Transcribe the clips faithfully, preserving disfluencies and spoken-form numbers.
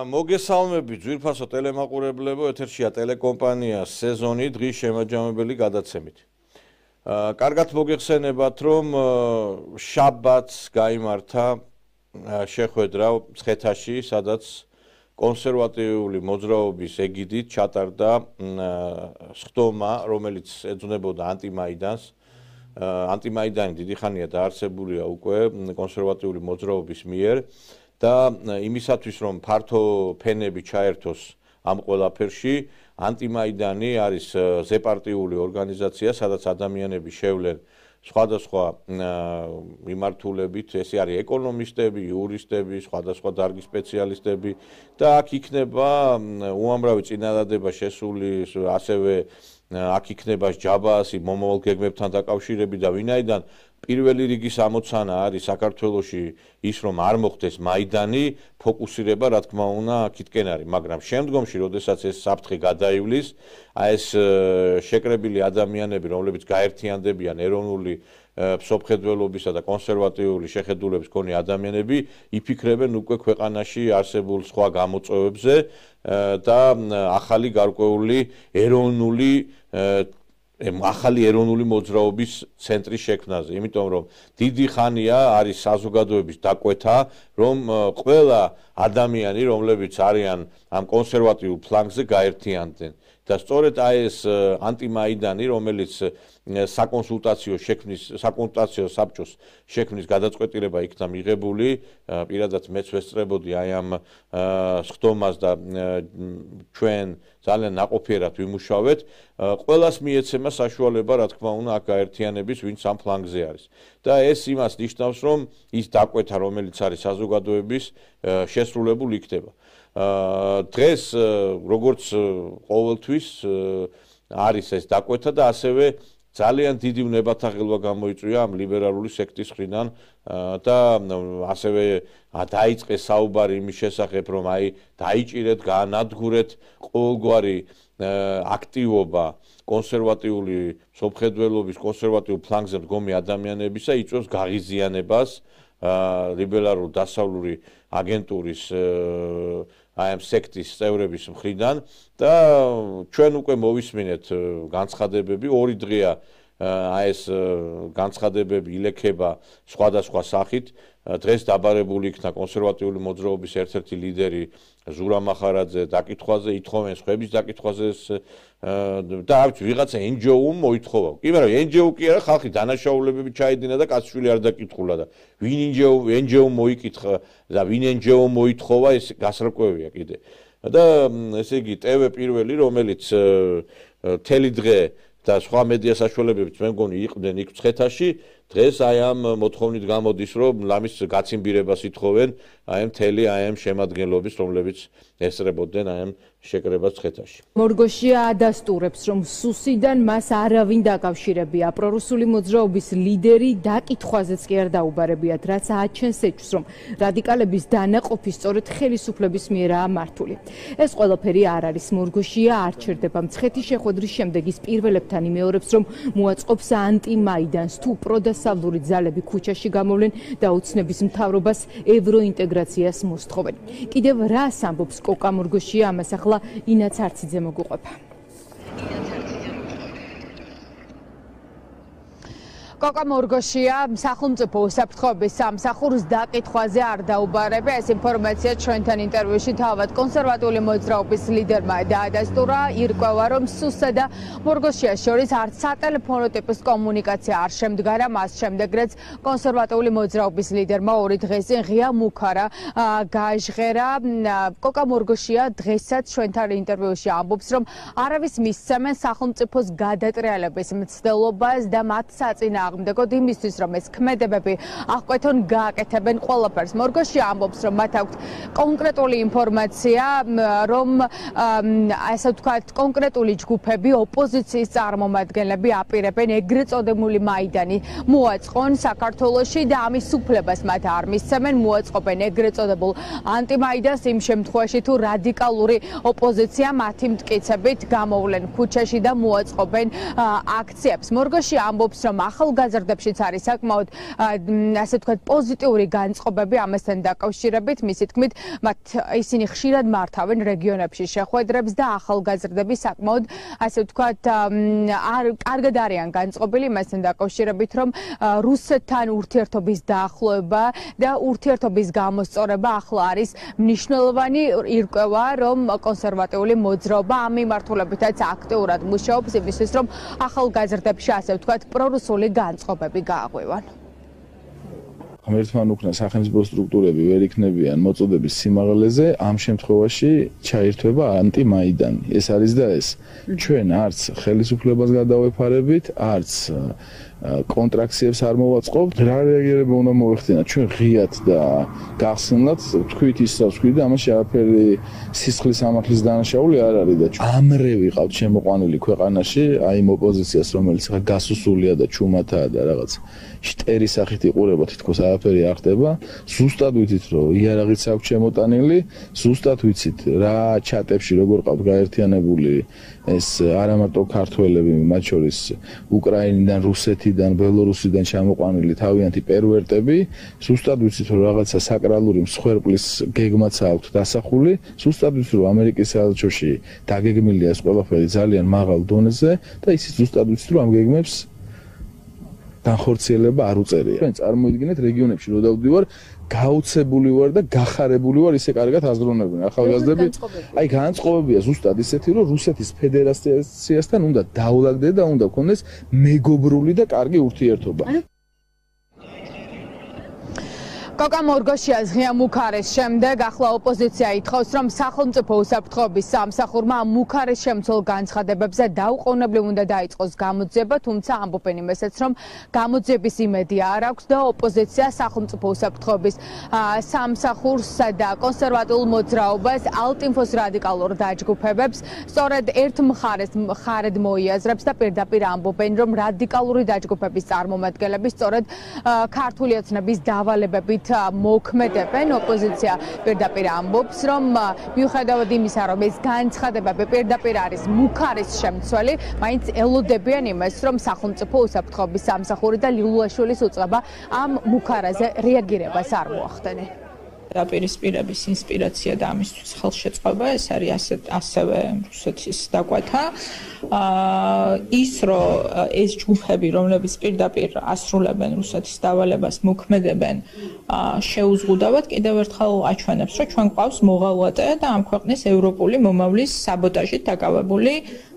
მოგესალმებით ძვირფასო ტელემაყურებლებო, ეთერშია ტელეკომპანია სეზონი დღის შემაჯამებელი გადაცემით. კარგად მოგეხსენებათ, რომ შაბათს გაიმართა შეხვედრა მცხეთაში, სადაც კონსერვატიული მოძრაობის ეგიდით ჩატარდა სხდომა, რომელიც ეძვნებოდა ანტიმაიდანს. ანტიმაიდანი დიდი ხანია დაარსებულია უკვე კონსერვატიული მოძრაობის მიერ. და იმისათვის რომ ფართო ფენები ჩაერთოს ამ ყველაფერში, ანტიმაიდანი არის ზეპარტიული ორგანიზაცია, სადაც ადამიანები შევლენ სხვადასხვა მიმართულებით, ეს არის ეკონომისტები, იურისტები, სხვადასხვა დარგის სპეციალისტები და აქ იქნება უამრავი წინადადება შესული, ასევე აქ იქნება ჯაბაასი მომავალ გეგმებთან დაკავშირებით და ვინაიდან პირველი რიგის ამოცანა არის საქართველოში ის რომ არ მოხდეს მაიდანი, ფოკუსირება რა თქმა უნდა აქეთკენ არის, მაგრამ შემდგომში, როდესაც ეს საფრთხე გადაივლის, აი ეს შეკრებილი ადამიანები, რომლებიც გაერთიანდებიან ეროვნული მსოფლმხედველობისა და კონსერვატიული შეხედულების მქონე ადამიანები, იფიქრებენ უკვე ქვეყანაში არსებულ სხვა გამოწვევებზე და ახალი გარკვეული ეროვნული ახალი ეროვნული მოძრაობის ცენტრის შექმნაზე, იმიტომ რომ დიდი ხანია არის საზოგადოების დაკვეთა, რომ ყველა ადამიანი, რომლებიც არიან ამ კონსერვატიულ ფლანგზე გაერთიანდნენ და სწორედ აი ეს ანტიმაიდანი, რომელიც საკონსულტაციო შექმნის, საკონსულტაციო საბჭოს შექმნის გადაწყვეტილება იქნა მიღებული, პირადად მეც ვესწრებოდი აი ამ სხდომას და ჩვენ ძალიან ნაყოფიერად ვიმუშავეთ, ყველას მიეცემა საშუალება, რა თქმა უნდა, აქ გაერთიანების, ვინც ამ ფლანგზე არის. და ეს იმას ნიშნავს, რომ ის დაკვეთა, რომელიც არის საზოგადოების, შესრულებული იქნება. დღეს როგორც ყოველთვის არის ეს დაკვეთა და ასევე ძალიან დიდი ვნებათაღელვა გამოიწვია ამ ლიბერალური სექტის მხრიდან და ასევე დაიწყეს საუბარი იმის შესახებ, რომ აი დაიჭირეთ, გაანადგურეთ ყოველგვარი აქტივობა კონსერვატიული მსოფლმხედველობის, კონსერვატიულ ფლანგზე მდგომი ადამიანებისა, იწვევს გაღიზიანებას ლიბერალურ დასავლური აგენტურის აი ამ სექტის წევრების მხრიდან და ჩვენ უკვე მოვისმინეთ განცხადებები, ორი დღეა აი ეს განცხადებები ილექება სხვადასხვა სახით. დღეს დაბარებული იქნა კონსერვატიული მოძრაობის ერთ-ერთი ლიდერი ზურა მახარაძე დაკითხვაზე, ითხოვენ სხვების დაკითხვაზე და არ ვიცი, ვიღაცა εν ჯი ო-მ მოითხოვა. კი, მაგრამ εν ჯი ო კი არა, ხალხი დანაშაულებები ჩაედინა და კაცშვილი არ დაკითხულა და ვინ εν ჯი ო მოიკითხა და ვინ εν ჯი ო მოითხოვა, ეს გასარკვევია კიდე. და ესე იგი, ტე ვე პირველი, რომელიც მთელი დღე და სხვა მედია საშუალებებით მე მგონი იყვნენ იქ მცხეთაში, დღეს აი ამ მოთხოვნით გამოდის, რომ ლამის გაციმბირებას ითხოვენ აი ამ მთელი აი ამ შემადგენლობის, რომლებიც ესწრებოდნენ აი ამ შეკრებას მცხეთაში. მორგოშია ადასტურებს, რომ სუსიდან მას არავინ დაკავშირებია. პრორუსული მოძრაობის ლიდერი დაკითხვაზეც კი არ დაუბარებიათ, რაც აჩენს ეჭვს, რომ რადიკალების დანაყოფი სწორედ ხელისუფლების მიერაა მართული. ეს ყველაფერი არ არის. მორგოშია არ ჩერდება. მცხეთის შეხვედრის შემდეგ ის პირველებთან იმეორებს, რომ მოაწყობს ანტიმაიდანს, თუ პროდასავლური ძალები ქუჩაში გამოვლენ და ოცნების მთავრობას ევროინტეგრაციას მოსთხოვენ. კიდევ რას ამბობს კოკა მორგოშია, ამას ახლა ინაც არციძე მოგუყვება. კოკა მორგოშია სახელმწიფო უსაფრთხოების სამსახურს დაკითხვაზე არ დაუბარებია. ეს ინფორმაცია ჩვენთან ინტერვიუში თავად კონსერვატიული მოძრაობის ლიდერმა დაადასტურა. ირკვევა, რომ სუსა და მორგოშიას შორის არც სატელეფონო ტიპის კომუნიკაცია არ შემდგარა. მას შემდეგ, რაც კონსერვატიული მოძრაობის ლიდერმა ორი დღე წინ ღია მუქარა გააჟღერა. კოკა მორგოშია დღესაც ჩვენთან ინტერვიუში ამბობს, რომ არავის მისცემენ სახელმწიფოს გადატრიალების მცდელობას და მათ საწინა აღმდეგოდ იმისთვის, რომ ეს ქმედებები აღკვეთონ გააკეთებენ ყველაფერს. მორგოშია ამბობს, რომ მათ აქვთ კონკრეტული ინფორმაცია, რომ ასე ვთქვათ, კონკრეტული ჯგუფები, ოპოზიციის წარმომადგენლები აპირებენ ეგრეთ წოდებული მაიდანი მოაწყონ საქართველოში და ამის უფლებას მათ არ მისცემენ, მოაწყობენ ეგრეთ წოდებულ ანტიმაიდანს იმ შემთხვევაში, თუ რადიკალური ოპოზიცია მათი მტკიცებით გამოვლენ ქუჩაში და მოაწყობენ აქციებს. მორგოშია ამბობს, რომ ახალ ახალგაზრდებშიც არის საკმაოდ ასე ვთქვათ პოზიტიური განწყობები ამასთან დაკავშირებით. მისი თქმით, მათ ისინი ხშირად მართავენ რეგიონებში შეხვედრებს და ახალგაზრდები საკმაოდ ასე ვთქვათ არ კარგად არიან განწყობილი მასთან დაკავშირებით, რომ რუსეთთან ურთიერთობის დაახლოება და ურთიერთობის გამოსწორება ახლა არის მნიშვნელოვანი ირკვევა, რომ კონსერვატიული მოძრაობა ამ მიმართულებითაც აქტიურად მუშაობს იმისთვის, რომ ახალგაზრდებში ასე ვთქვათ პრორუსული განწყობები გააღვივან. ღმერთთან უკნა სახელმწიფო სტრუქტურები ვერ იქნებიან მოწოდების სიმაღლეზე, ამ შემთხვევაში ჩაირთვება ანტიმაიდანი. ეს არის და ეს. ჩვენ არც ხელისუფლებას გადავეფარებით, არც კონტრაქციებს არ მოვაწყობთ. რა რეაგირება უნდა მოეხდინათ? ჩვენ ღიად და გახსნილად თქვით ისაც თქვით და ამაში არაფერი სისხლის ამახლის დანაშაული არ არის და ამრე ვიყავთ შემოყვანილი ქვეყანაში, აი იმ ოპოზიციას, რომელიც ხა გასუსულია და ჩუმათაა და რაღაც შტერის სახით იყურება, თითქოს არაფერი არ ხდება. ზუსტად ვიცით, რომ იარაღიც აქვს შემოტანილი, ზუსტად ვიცით რა ჩატებში როგორ ყავთ გაერთიანებული ეს არა მარტო ქართველები, მათ შორის უკრაინიდან, რუსეთიდან, ბელორუსიდან ჩამოყვანილი თავიანთი პერვერტები, ზუსტად ვიცით, რომ რაღაცა საკრალური მსხვერპლის გეგმაც აქვს დასახული, ზუსტად ვიცით, რომ ამერიკის საელჩოში დაგეგმილია ეს ყველაფერი ძალიან მაღალ დონეზე და ისიც ზუსტად ვიცით, რომ ამ გეგმებს განხორციელება არ უწერია. ჩვენ წარმოიდგინეთ რეგიონებში რო დავდივარ, გაუცებული ვარ და გახარებული ვარ ისე კარგად აზროვნებენ ახალგაზრდები. აი განწყობებია ზუსტად ისეთი, რომ რუსეთის ფედერაციასთან უნდა დაულაგდე და უნდა გქონდეს მეგობრული და კარგი ურთიერთობა. კოკა მორგოშიას ღია მუქარის შემდეგ ახლა ოპოზიცია ითხოვს, რომ სახელმწიფო უსაფრთხოების სამსახურმა მუქარის შემცველ განცხადებებზე დაუყოვნებლივ უნდა დაიწყოს გამოძიება, თუმცა ამბობენ იმასაც, რომ გამოძიების იმედი არ აქვს და ოპოზიცია სახელმწიფო უსაფრთხოების სამსახურსა და კონსერვატიულ მოძრაობას, ალტინფოს რადიკალურ დაჯგუფებებს სწორედ ერთ მხარეს მხარედ მოიაზრებს და პირდაპირ ამბობენ, რომ რადიკალური დაჯგუფების წარმომადგენლები სწორედ ქართული ოცნების დავალებებით მოქმედებენ. ოპოზიცია პირდაპირ ამბობს, რომ მიუხედავად იმისა, რომ ეს განცხადებები პირდაპირ არის მუქარის შემცველი, მაინც ელოდებიან იმას, რომ სახელმწიფო უსაფრთხოების სამსახური და ლილუაშვილის უწყება ამ მუქარაზე რეაგირებას არ მოახდენენ. დაპირისპირების ინსპირაცია და ამისთვის ხელშეწყობა ეს არის ასე ასევე რუსეთის დაკვეთა. ის რომ ეს ჯგუფები, რომლებიც პირდაპირ ასრულებენ რუსეთის დავალებას, მოქმედებენ, შეუზღუდავად კიდევ ერთხელ აჩვენებს, რომ ჩვენ გვყავს მოღალატე და ამ ქვეყნის ევროპული მომავლის საბოტაჟით დაკავებული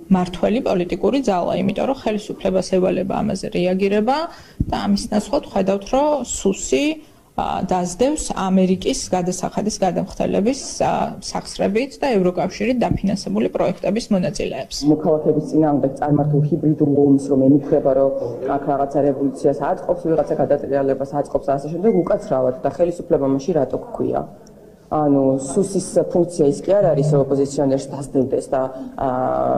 მართველი პოლიტიკური ძალა, იმიტომ რომ ხელისუფლებას ევალება ამაზე რეაგირება და ამის ნაცვლად ხედავთ, რომ სუსი დაძდევს ამერიკის გადასახადის გადამხდელების სახსრებით და ევროკავშირით დაფინანსებული პროექტების მონაწილეებს. მოქალაქეების წინააღმდეგ წარმართულ ჰიბრიდულ ომს, რომ ემუქრება, რომ აქ რაღაცა რევოლუციას აწყობს, ვიღაცა გადატრიალებას აწყობს და ასე შემდეგ, უკაცრავად და ხელისუფლება მაშინ რატო გქვია? ანუ სუსის ფუნქცია ის კი არ არის, რომ ოპოზიციონერს დასდევდეს და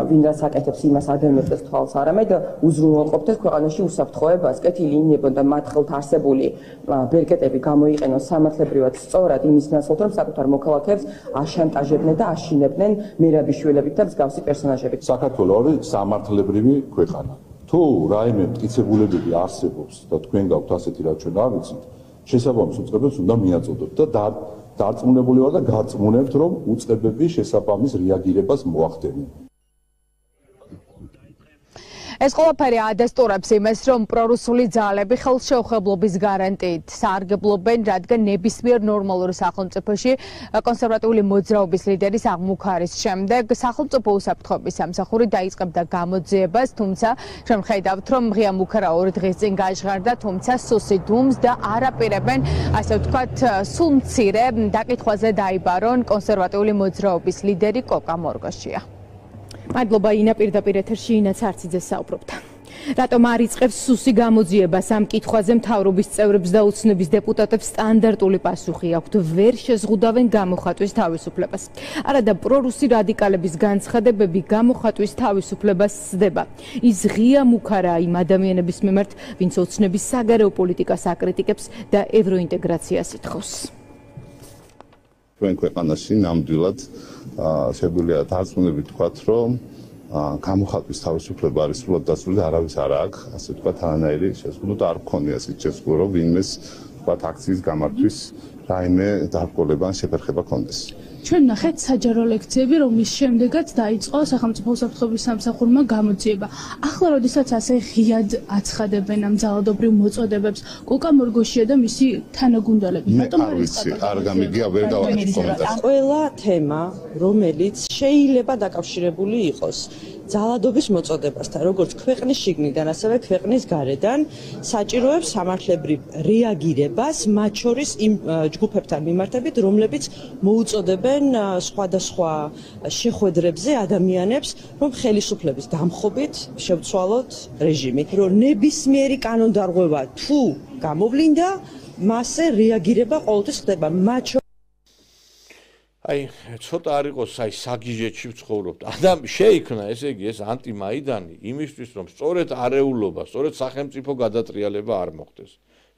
ვინ რაც აკეთებს იმას ადევნებდეს თვალს, არამედ უზრუნველყოფდეს ქვეყანაში უსაფრთხოებას, კეთილი ინებონ და მათ ხელთ არსებული ბერკეტები გამოიყენონ სამართლებრივად სწორად იმის ნაცვლად, რომ საკუთარ მოქალაქეებს აშანტაჟებდნენ და აშინებდნენ მერაბიშვილებით და მსგავსი პერსონაჟებით. საქართველო არის სამართლებრივი ქვეყანა. თუ რაიმე მტკიცებულებები არსებობს და თქვენ გაქვთ ასეთი, რაც ჩვენ არ ვიცით, შესაბამის უწყებებს უნდა მიაწოდოთ და დარწმუნებული ვარ და გარწმუნებთ, რომ უწყებები შესაბამის რეაგირებას მოახდენენ. ეს ყველაფერი ადასტურებს იმას, რომ პრორუსული ძალები ხელშეუხებლობის გარანტიით სარგებლობენ, რადგან ნებისმიერ ნორმალურ სახელმწიფოში კონსერვატიული მოძრაობის ლიდერის აღმუქარის შემდეგ სახელმწიფო უსაფრთხოების სამსახური დაიწყებდა გამოძიებას, თუმცა ჩვენ ხედავთ, რომ ღია მუქარა ორი დღის წინ გაჟღერდა, თუმცა სუსი დუმს და არაპირებენ, ასე ვთქვათ, სულ მცირე დაკითხვაზე დაიბარონ კონსერვატიული მოძრაობის ლიდერი კოკა მორგოშია. მადლობა ინა, პირდაპირ ეთერში ინაც არციძე საუბრობდა. რატომ არ იწყებს სუსი გამოძიებას ამ კითხვაზე მთავრობის წევრებს და ოცნების დეპუტატებს სტანდარტული პასუხი აქვთ, ვერ შეზღუდავენ გამოხატვის თავისუფლებას. არადა პრორუსი რადიკალების განცხადებები გამოხატვის თავისუფლებას სდება. ის ღია მუქარაა იმ ადამიანების მიმართ, ვინც ოცნების საგარეო პოლიტიკას აკრიტიკებს და ევროინტეგრაციას ითხოვს. ჩვენ ქვეყანაში ნამდვილად შეგვიძლია დარწმუნებით ვთქვათ, რომ გამოხატვის თავისუფლება არის სრულად დაცული და არავის არ აქვს, ასე ვთქვათ, თანაირი შეზღუდვა და არ მქონია ის შეზღუდვა, რომ ვინმეს ვთქვათ აქციის გამართვის რაიმე დაბრკოლება ან შეფერხება კონდეს. ჩვენ ნახეთ საჯარო ლექციები, რომლის შემდეგაც დაიწყო სახელმწიფო უსაფრთხოების სამსახურმა გამოძიება. ახლა როდესაც ასე ღიად აცხადებენ ამ ძალადობრივ მოწოდებებს, კოკა მორგოშია და მისი თანაგუნდელები, რატომ არ ვიცი, არ გამიგია, ვერ გავაკეთე კომენტარს. ყველა თემა, რომელიც შეიძლება დაკავშირებული იყოს ძალადობის მოწოდებასთან, როგორც ქვეყნის შიგნიდან, ასევე ქვეყნის გარედან, საჭიროებს სამართლებრივ რეაგირებას, მათ შორის იმ ჯგუფებთან მიმართებით, რომლებიც მოუწოდებენ სხვადასხვა შეხვედრებზე ადამიანებს, რომ ხელისუფლების დამხობით შევცვალოთ რეჟიმი. რომ ნებისმიერი კანონდარღვევა თუ გამოვლინდა, მასზე რეაგირება ყოველთვის ხდება. მათ აი, ცოტა არ იყოს აი საგიჟეთში ვცხოვრობთ. ადამ შეიქმნა, ესე იგი, ეს ანტიმაიდანი იმისთვის, რომ სწორედ არეულობა, სწორედ სახელმწიფო გადატრიალება არ მოხდეს.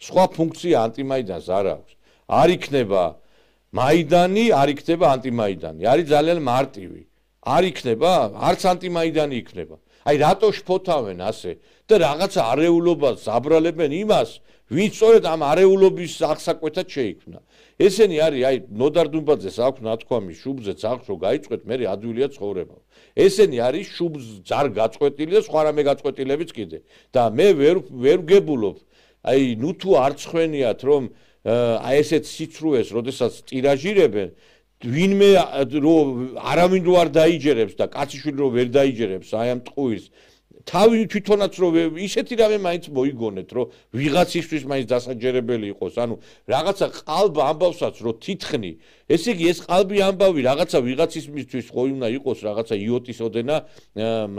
სხვა ფუნქცია ანტიმაიდანს არ აქვს. არ იქნება მაიდანი, არ იქნება ანტიმაიდანი. არის ძალიან მარტივი. არ იქნება, არც ანტიმაიდანი იქნება. აი, რატო შფოთავენ ასე და რაღაცა არეულობას აბრალებენ იმას, ვინც სწორედ ამ არეულობის აღსაკვეთად შეიქმნა. ესენი არის, აი, ნოდარ დუმბაძეს აქვს ნათქვამი, შუბზე ძაღლს რო გაიწყვეტ, მე ადვილია ცხოვრება. ესენი არის შუბს ძარ გაწყვეტილი და სხვა რამე გაწყვეტილებიც კიდე. და მე ვერ ვერ ვგებულობ, აი, ნუ თუ არ ცხვენიათ, რომ აი ესეთ სიცრუეს, როდესაც ტირაჟირებენ, ვინმე რო არავინ რო არ დაიჯერებს და კაციშვილი რო ვერ დაიჯერებს აი ამ ტყუილს, თავი თვითონაც რო ისეთი რამე მაინც მოიგონეთ, რომ ვიღაცისთვის მაინც დასაჯერებელი იყოს, ანუ რაღაცა ყალბ ამბავსაც რო თითხნი, ესე იგი ეს ყალბი ამბავი რაღაცა ვიღაცისთვის ხო უნდა იყოს რაღაცა იოტის ოდენა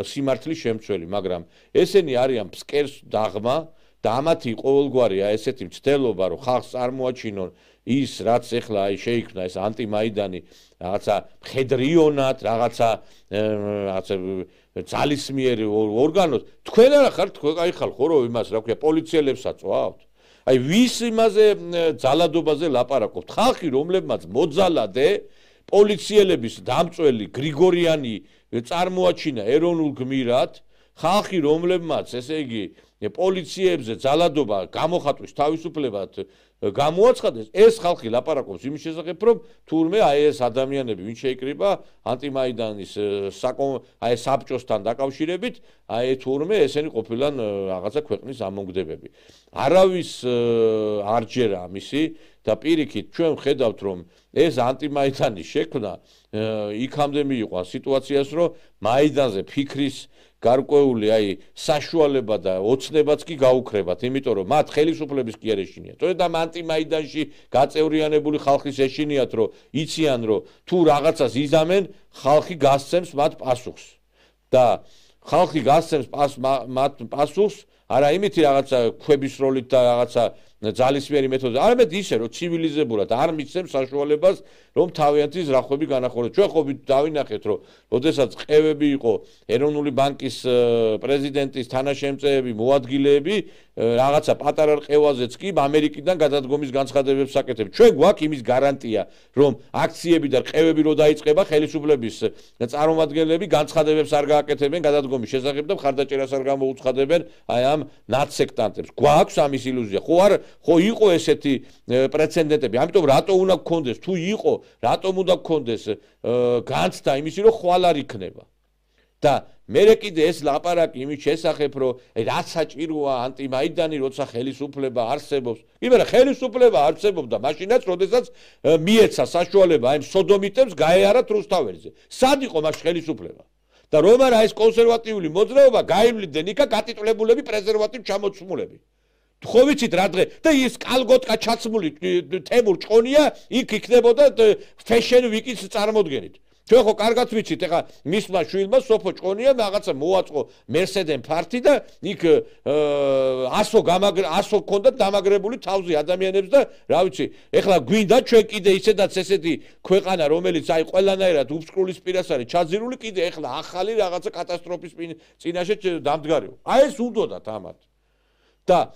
სიმართლის შემცველი, მაგრამ ესენი არიან ფსკერს დაღმა და ამათი ყოველგვარი აი ესეთი მცდელობა, რომ ხალხს წარმოაჩინონ ის, რაც ეხლა აი შეიქმნა ეს ანტიმაიდანი, რაღაცა მხედრიონად, რაღაცა რაღაცა ძალისმიერი ორგანოს, თქვენ არა ხართ, თქვენ აი ხალხ ხო რომ იმას რა ქვია, პოლიციელებს აწვავთ? აი ვის იმაზე ძალადობაზე ლაპარაკობთ? ხალხი, რომლებმაც მოძალადე პოლიციელების დამწველი გრიგორიანი წარმოაჩინა ეროვნულ გმირად, ხალხი, რომლებმაც ესე იგი პოლიციებზე ძალადობა გამოხატვის თავისუფლებად გამოაცხადეს, ეს ხალხი ლაპარაკობს იმის შესახებ, რომ თურმე აი ეს ადამიანები, ვინ შეიკრიბა ანტიმაიდანის აი საბჭოსთან დაკავშირებით, აი თურმე ესენი ყოფილან რაღაცა ქვეყნის ამონგდებები. არავის არ ჯერა ამისი და პირიქით ჩვენ ვხედავთ, რომ ეს ანტიმაიდანის შექმნა იქამდე მიიყვა სიტუაციას, რომ მაიდანზე ფიქრის გარკვეული აი საშუალება და ოცნებაც კი გაუქრებათ, იმიტომ რომ მათ ხელისუფლების კი არ ეშინიათ. სწორედ ამ ანტიმაიდანში გაწევრიანებული ხალხის ეშინიათ, რომ იციან, რომ თუ რაღაცას იზამენ, ხალხი გასცემს მათ პასუხს. და ხალხი გასცემს მათ პასუხს, არა იმითი რაღაცა ქვების როლით და რაღაცა ძალისმიერი მეთოდით, არამედ ისე, რომ ცივილიზებურად არ მისცემს საშუალებას, რომ თავიანთი ზრახვები განახორციელოს. ჩვენ ხო დავინახეთ, რომ როდესაც ყევები იყო ეროვნული ბანკის პრეზიდენტის თანაშემწეები, მოადგილეები, რაღაცა პატარა ყევაზეც კი ამერიკიდან გადადგომის განცხადებებს აკეთებს. ჩვენ გვაქვს იმის გარანტია, რომ აქციები და ყევები რო დაიწყება, ხელისუფლების წარმომადგენლები განცხადებებს არ გააკეთებენ გადადგომის შესახებ და მხარდაჭერას არ გამოუცხადებენ აი ამ ნაცსექტანტებს. გვაქვს ამის ილუზია. ხო არ ხო იყო ესეთი პრეცედენტები. ამიტომ რატო უნდა გქონდეს? თუ იყო, რატომ უნდა გქონდეს განცდა იმისი, რომ ხვალ არ იქნება. და მერე კიდე ეს ლაპარაკი იმის შესახებ, რომ რაც საჭიროა ანტიმაიდანი, როცა ხელისუფლება არსებობს. იმერა ხელისუფლება არსებობდა მაშინაც, როდესაც მიეცა საშუალება აი სოდომიტებს გაეარათ რუსთაველზე. სად იყო მას ხელისუფლება? და რომ არა ეს კონსერვატიული მოძრაობა გაივლიდნენ იქა გატიტულებულები პრეზერვატივ ჩამოცმულები. ხო ვიცით რა დღე და ის კალგოტკა ჩაცმული თემურ ჭყონია იქ იქნებოდა ფეშენ ვიკის წარმოდგენით. ჩვენ ხო კარგად ვიცით, ეხა მისმა შვილმა სოფო ჭყონია რაღაცა მოაწყო მერსედენ ფარტი და იქ ასო გამაგრ ასო ქონდა დამაგრებული თავზე ადამიანებს და რა ვიცი, ეხლა გვინდა ჩვენ კიდე ისედაც ესეთი ქვეყანა, რომელიც აი ყველანაირად უბსკრულის პირას არის ჩაძირული, კიდე ეხლა ახალი რაღაცა კატასტროფის წინაშე დამდგარიყო. აი ეს უნდათ ამათ. და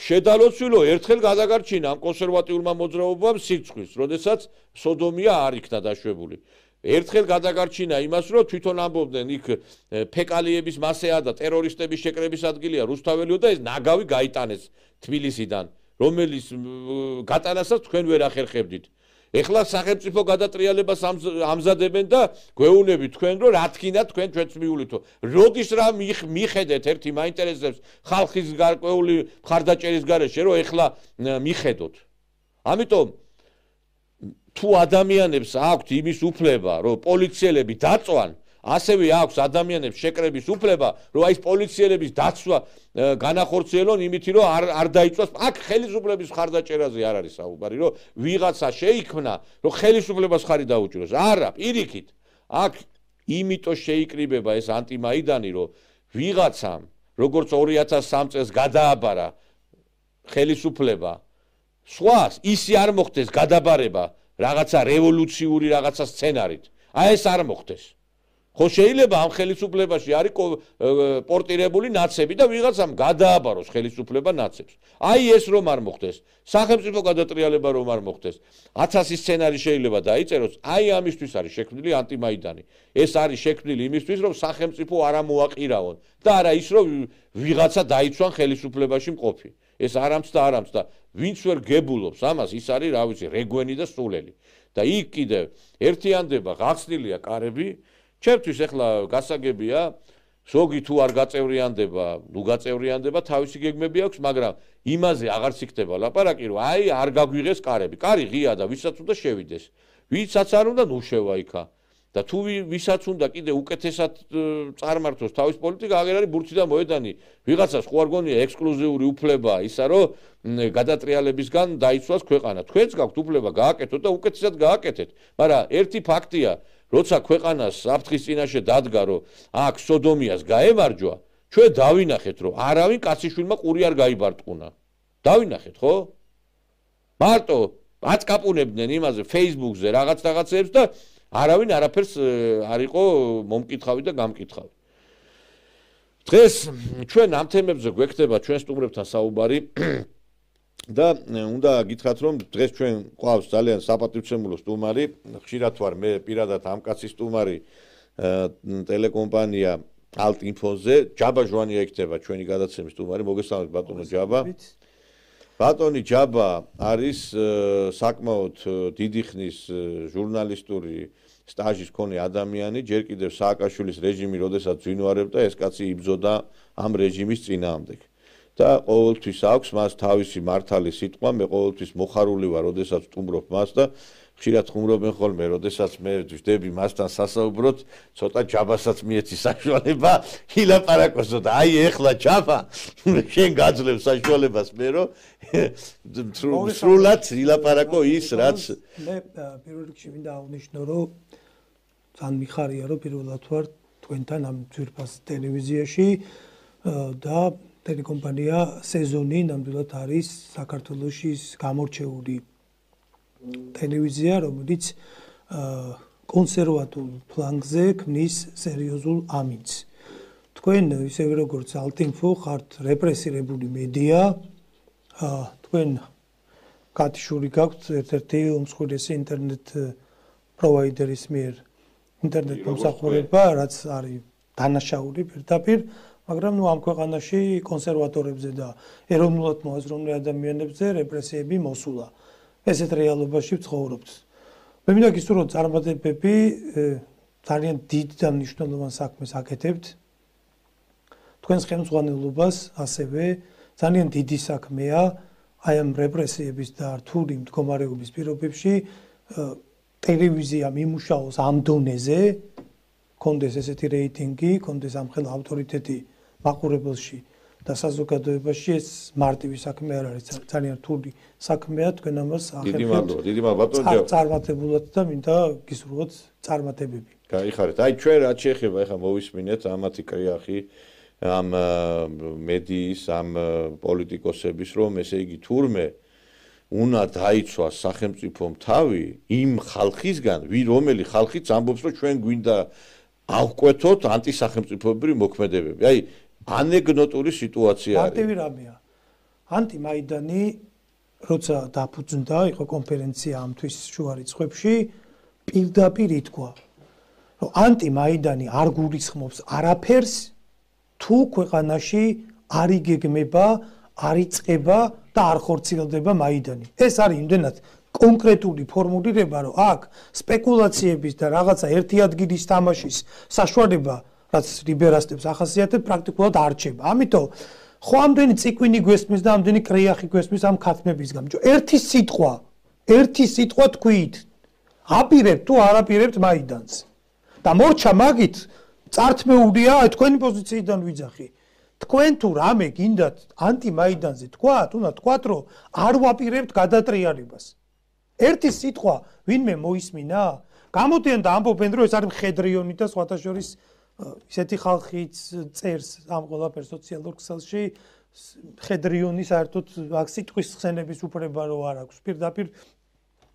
შედალოცვილო ერთხელ გადაგარჩინა ამ კონსერვატიულმა მოძრაობამ სიცხვის, როდესაც სოდომია არ იქნა დაშვებული. ერთხელ გადაგარჩინა იმას, რომ თვითონ ამბობდნენ იქ ფეკალიების მასეა და ტერორისტების შეკრების ადგილია რუსთაველიო და ეს ნაგავი გაიტანეს თბილისიდან, რომელიც გატანასაც თქვენ ვერ ახერხებდით. ეხლა სახელმწიფო გადატრიალებას ამზადებენ და გვეუბნებით თქვენ, რომ რა თქინა თქვენ ჩვენც მიულითო. როდის რა მიხედეთ ერთი მაინტერესებს ხალხის გარკვეული მხარდაჭერის გარეშე, რომ ეხლა მიხედოთ. ამიტომ თუ ადამიანებს აქვთ იმის უფლება, რომ პოლიციელები დაწვან, ასევე აქვს ადამიანებს შეკრების უფლება, რომ აი ეს პოლიციელების დაცვა განახორციელონ იმითი, რომ არ არ დაიწვას. აქ ხელისუფლების მხარდაჭერაზე არ არის საუბარი, რომ ვიღაცა შეიქმნა, რომ ხელისუფლებას ხარი დაუჭიროს. არა, პირიქით. აქ იმიტომ შეიკრიბება ეს ანტიმაიდანი, რომ ვიღაცამ, როგორც ორი ათას სამ წელს გადააბარა ხელისუფლება, სხვას ისი არ მოხდეს გადაბარება რაღაცა რევოლუციური რაღაცა სცენარით. აი ეს არ მოხდეს. ხო შეიძლება ამ ხელისუფლებაში არის პორტირებული ნაცები და ვიღაცამ გადააბაროს ხელისუფლება ნაცებს. აი ეს რომ არ მოხდეს, სახელმწიფო გადატრიალება რომ არ მოხდეს, ათასი სცენარი შეიძლება დაიწეროს, აი ამისთვის არის შექმნილი ანტიმაიდანი. ეს არის შექმნილი იმისთვის, რომ სახელმწიფო არ ამოაყირაონ და არა ის, რომ ვიღაცა დაიცვან ხელისუფლებაში მყოფი. ეს არამც და არამც და ვინც ვერ გებულობს ამას, ის არის, რა ვიცი, რეგვენი და სულელი. და იქ კიდევ ერთიანდება, გახსნილია კარები. ჩემთვის ეხლა გასაგებია, ზოგი თუ არ გაწევრიანდება, ნუ გაწევრიანდება, თავისი გეგმები აქვს, მაგრამ იმაზე აღარც იქნება ლაპარაკი, რომ აი არ გაგვიღეს კარები. კარი ღია და ვისაც უნდა შევიდეს. ვისაც არ უნდა, ნუ შევა იქა. და თუ ვისაც უნდა კიდე უკეთესად წარმართოს თავის პოლიტიკა, აღარ არის ბურთი და მოედანი. ვიღაცას ხო არ გონია ექსკლუზიური უფლება ისა, რომ გადატრიალებისგან დაიცვას ქვეყანა. თქვენც გაქვთ უფლება გააკეთოთ და უკეთესად გააკეთეთ. მაგრამ ერთი ფაქტია, როცა ქვეყანას საფრთხის წინაშე დადგა, რომ აქ სოდომიას გაემარჯვა, ჩვენ დავინახეთ, რომ არავინ კაციშვილმა ყური არ გაიბარტყუნა. დავინახეთ, ხო? მარტო აწკაპუნებდნენ იმაზე Facebook-ზე რაღაც რაღაცებს და არავინ არაფერს არ იყო მომკითხავი და გამკითხავი. დღეს ჩვენ ამ თემებზე გვექნება ჩვენ სტუმრებთან საუბარი და უნდა გითხრათ, რომ დღეს ჩვენ ყავს ძალიან საპატივცემულო სტუმარი, ხშირად ვარ მე პირადად ამ კაცის სტუმარი ტელეკომპანია ალტ-ინფოზე, ჯაბა ჟვანია იქნება ჩვენი გადაცემის სტუმარი. მოგესალმებით ბატონო ჯაბა. ბატონი ჯაბა არის საკმაოდ დიდი ხნის ჟურნალისტური სტაჟის მქონე ადამიანი, ჯერ კიდევ სააკაშვილის რეჟიმი, როდესაც ძვინვარებდა, ეს კაცი იბრძოდა ამ რეჟიმის წინააღმდეგ. და ყოველთვის აქვს მას თავისი მართალი სიტყვა, მე ყოველთვის მოხარული ვარ, როდესაც სტუმრობ მას და ხშირად ხუმრობენ ხოლმე, როდესაც მე ვждები მასთან სასაუბროთ, ცოტა ჯაბასაც მიეცი საშუალება ილაპარაკოსო და აი ეხლა ჯაბა შენ გაძლევ საშუალებას მე რომ სრულად ილაპარაკო ის რაც მე პირველ რიგში მინდა აღნიშნო, რომ ძალიან მიხარია, რომ პირველად ვარ თქვენთან ამ ძვირფას ტელევიზიაში და ტელეკომპანია სეზონი ნამდვილად არის საქართველოში გამორჩეული ტელევიზია, რომელიც კონსერვატულ ფლანგზე ქმნის სერიოზულ ამინდს. თქვენ ისევე როგორც ალტ-ინფო ხართ რეპრესირებული მედია, თქვენ კატიშური გაქვთ ერთ-ერთი უმსხვილესი ინტერნეტ პროვაიდერის მიერ ინტერნეტ მომსახურება, რაც არის დანაშაული პირდაპირ, მაგრამ ნუ ამ ქვეყანაში კონსერვატორებზე და ეროვნულად მოაზროვნე ადამიანებზე რეპრესიები მოსულა. ესეთ რეალობაში ვცხოვრობთ. მე მინდა გისურვო, რომ წარმატებები ძალიან დიდ და მნიშვნელოვან საქმეს აკეთებთ. თქვენს ხელმძღვანელობას ასევე ძალიან დიდი საქმეა აი ამ რეპრესიების და რთული მდგომარეობის პირობებში ტელევიზიამ იმუშაოს ამ დონეზე, კონდეს ესეთი რეიტინგი, კონდეს ამხელა ავტორიტეტი მაყურებელში და საზოგადოებაში, ეს მარტივი საქმე არ არის, ძალიან რთული საქმეა, თქვენ ამას ახერხებთ. დიდი მადლობა, დიდი მადლობა ბატონო. წარმატებულად და მინდა გისურვოთ წარმატებები. გაიხარეთ. აი ჩვენ რაც შეეხება ახლა მოვისმინეთ ამათი კრიახი ამ მედიის, ამ პოლიტიკოსების, რომ ესე იგი თურმე უნდა დაიცვას სახელმწიფომ თავი იმ ხალხისგან, ვი რომელი ხალხიც ამბობს, რომ ჩვენ გვინდა ავკვეთოთ ანტისახელმწიფოებრივი მოქმედებები. აი ანეკდოტური სიტუაცია არის. მარტივი რამეა. ანტიმაიდანი, როცა დაფუძნდა, იყო კონფერენცია ამ თვის შუა რიცხვებში, პირდაპირ ითქვა, რომ ანტიმაიდანი არ გულისხმობს არაფერს თუ ქვეყანაში არ იგეგმება, არ იწყება და არ ხორციელდება მაიდანი. ეს არის იმდენად კონკრეტული ფორმულირება, რომ აქ სპეკულაციების და რაღაცა ერთი ადგილის თამაშის საშუალება, რაც ლიბერალებს ახასიათებს, პრაქტიკულად არ რჩება. ამიტომ ხო ამდენი ციკვინი გვესმის და ამდენი კრეახი გვესმის ამ ქათმების გამო. ერთი სიტყვა, ერთი სიტყვა თქვით, აპირებთ თუ არ აპირებთ მაიდანს. და მორჩა მაგით წართმეულია თქვენი პოზიციიდან ვიძახი. თქვენ თუ რამე გინდათ ანტიმაიდანზე თქვათ, უნდა თქვათ, რომ არ ვაპირებთ გადატრიალებას. ერთი სიტყვა ვინმე მოისმინა? გამოდიან და ამბობენ, რომ ეს არის მხედრიონი და სხვათა შორის ისეთი ხალხიც წერს ამ ყველაფერს სოციალურ ქსელში, მხედრიონი საერთოდ აქ სიტყვის ხსენების უფლება რო არ აქვს. პირდაპირ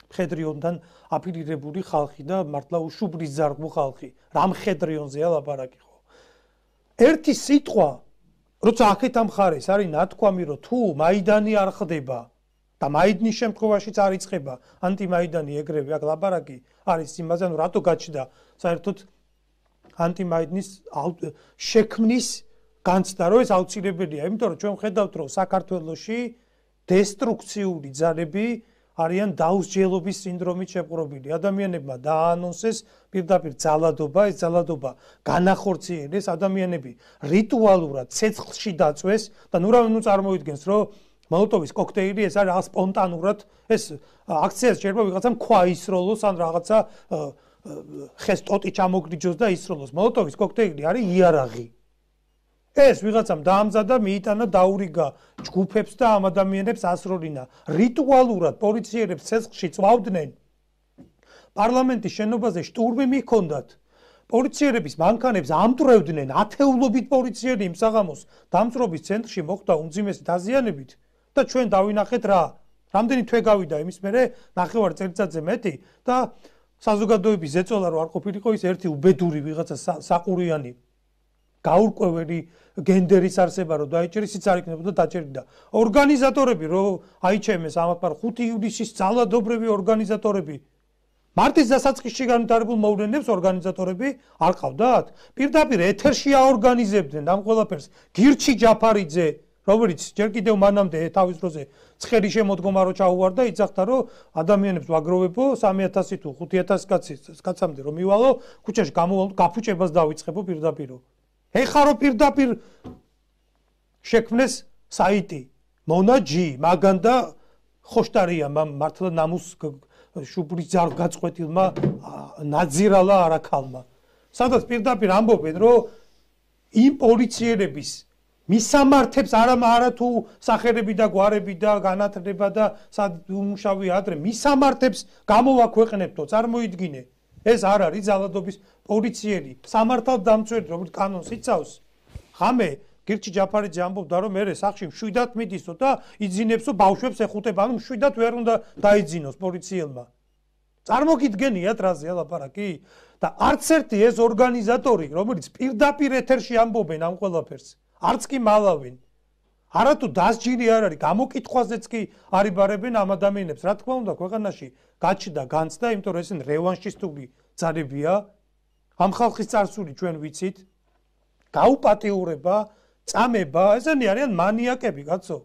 მხედრიონთან აფილირებული ხალხი და მართლა უშუბლის ზარგმო ხალხი. რა მხედრიონზეა ლაპარაკი ხო? ერთი სიტყვა, როცა აქეთ ამ ხარეს არის ნათქვამი, რომ თუ მაიდანი არ ხდება და მაიდნის შემთხვევაშიც არ იწყება ანტიმაიდანი ეგრევე, აქ ლაპარაკი არის იმაზე, რომ რატო გაჩნდა საერთოდ ანტიმაიდნის შექმნის განცდა, რომ ეს აუცილებელია, იმიტომ რომ ჩვენ ვხედავთ, რომ საქართველოში დესტრუქციული ძალები არიან დაუსჯელობის სინდრომით შეპყრობილი. ადამიანებმა დააანონსეს პირდაპირ ძალადობა, ეს ძალადობა განახორციელეს, ადამიანები რიტუალურად ცეცხლში დაწვეს და ნუ რავი ნუ წარმოიდგენს, რომ მოლოტოვის კოქტეილი ეს არის რაღაც სპონტანურად, ეს აქციას შეიძლება ვიღაცამ ქვა ისროლოს ან რაღაცა ხეს ტოტი ჩამოგრიჯოს და ისროლოს. მოლოტოვის კოქტეილი არის იარაღი. ეს ვიღაცამ დაამზადა, მიიტანა, დაურიგა ჯგუფებს და ამ ადამიანებს ასროლინა. რიტუალურად პოლიციელებს ცეცხლში წვავდნენ. პარლამენტის შენობაზე შტურმი მიჰქონდათ. პოლიციელების მანქანებს ამტვრევდნენ, ათეულობით პოლიციელი იმ საღამოს დამწრობის ცენტრში მოხდა უმძიმესი დაზიანებით და ჩვენ დავინახეთ რა. რამდენი თვე გავიდა იმის მერე, ნახევარ წელიწადზე მეტი და საზოგადოების ზეწოლა რო არ ყოფილიყო ის ერთი უბედური ვიღაცა საყურიანი გაურკვეველი გენდერის არსება რო დაიჭერეს, ის არ იქნებოდა დაჭერილი და ორგანიზატორები რო აიჩემეს ამათ ხუთი ივლისის ძალადობრივი ორგანიზატორები მარტის დასაწყისში განვითარებულ მოვლენებს ორგანიზატორები არ ყავდათ? პირდაპირ ეთერში აორგანიზებდნენ ამ ყველაფერს. გირჩი ჯაფარიძე, რომელიც ჯერ კიდევ მანამდე თავის დროზე ცხელი შემოდგომა რო ჩაუვარდა, იცახდა რომ ადამიანებს ვაგროვებო სამი ათასი თუ ხუთი ათასი კაცამდე რომ მივალო, ქუჩაში გამოვალო, გაფუჭებას დავიწყებო პირდაპირ. ეხლა რო პირდაპირ შექმნეს საიტი მონაჯი, მაგან და ხოშტარია მართლა ნამუს შუბლის ძარ გაწყვეტილმა ნაძირალა არაქალმა. სადაც პირდაპირ ამბობენ, რომ იმ პოლიციელების მისამართებს არა არა თუ სახელები და გვარები და განათლება და უმუშავი ადრე მისამართებს გამოვაქვეყნებთო, წარმოიდგინე. ეს არ არის ძალადობის პოლიციელი, სამართალ დამცველი, რომელიც კანონს იცავს. ღამე გირჩი ჯაფარიძე ამბობდა, რომ მე სახში მშვიდად მიდისო და იძინებსო ბავშვებს ეხუტება, ანუ მშვიდად ვერ უნდა დაიძინოს პოლიციელმა. წარმოგიდგენიათ რაზე ლაპარაკი? და არც ერთი ეს ორგანიზატორი, რომელიც პირდაპირ ეთერში ამბობენ ამ ყველაფერს, არც კი მალავენ. არათუ დასჯილი არ არის, გამოკითხვაზეც კი არიბარებენ ამ ადამიანებს. რა თქმა უნდა, ქვეყანაში გაჩნდა განცდა, იმიტომ რომ ესენ რევანშისტული ძალებია. ამ ხალხის წარსული ჩვენ ვიცით. გაუპატიურება, წამება, ესენი არიან მანიაკები, კაცო.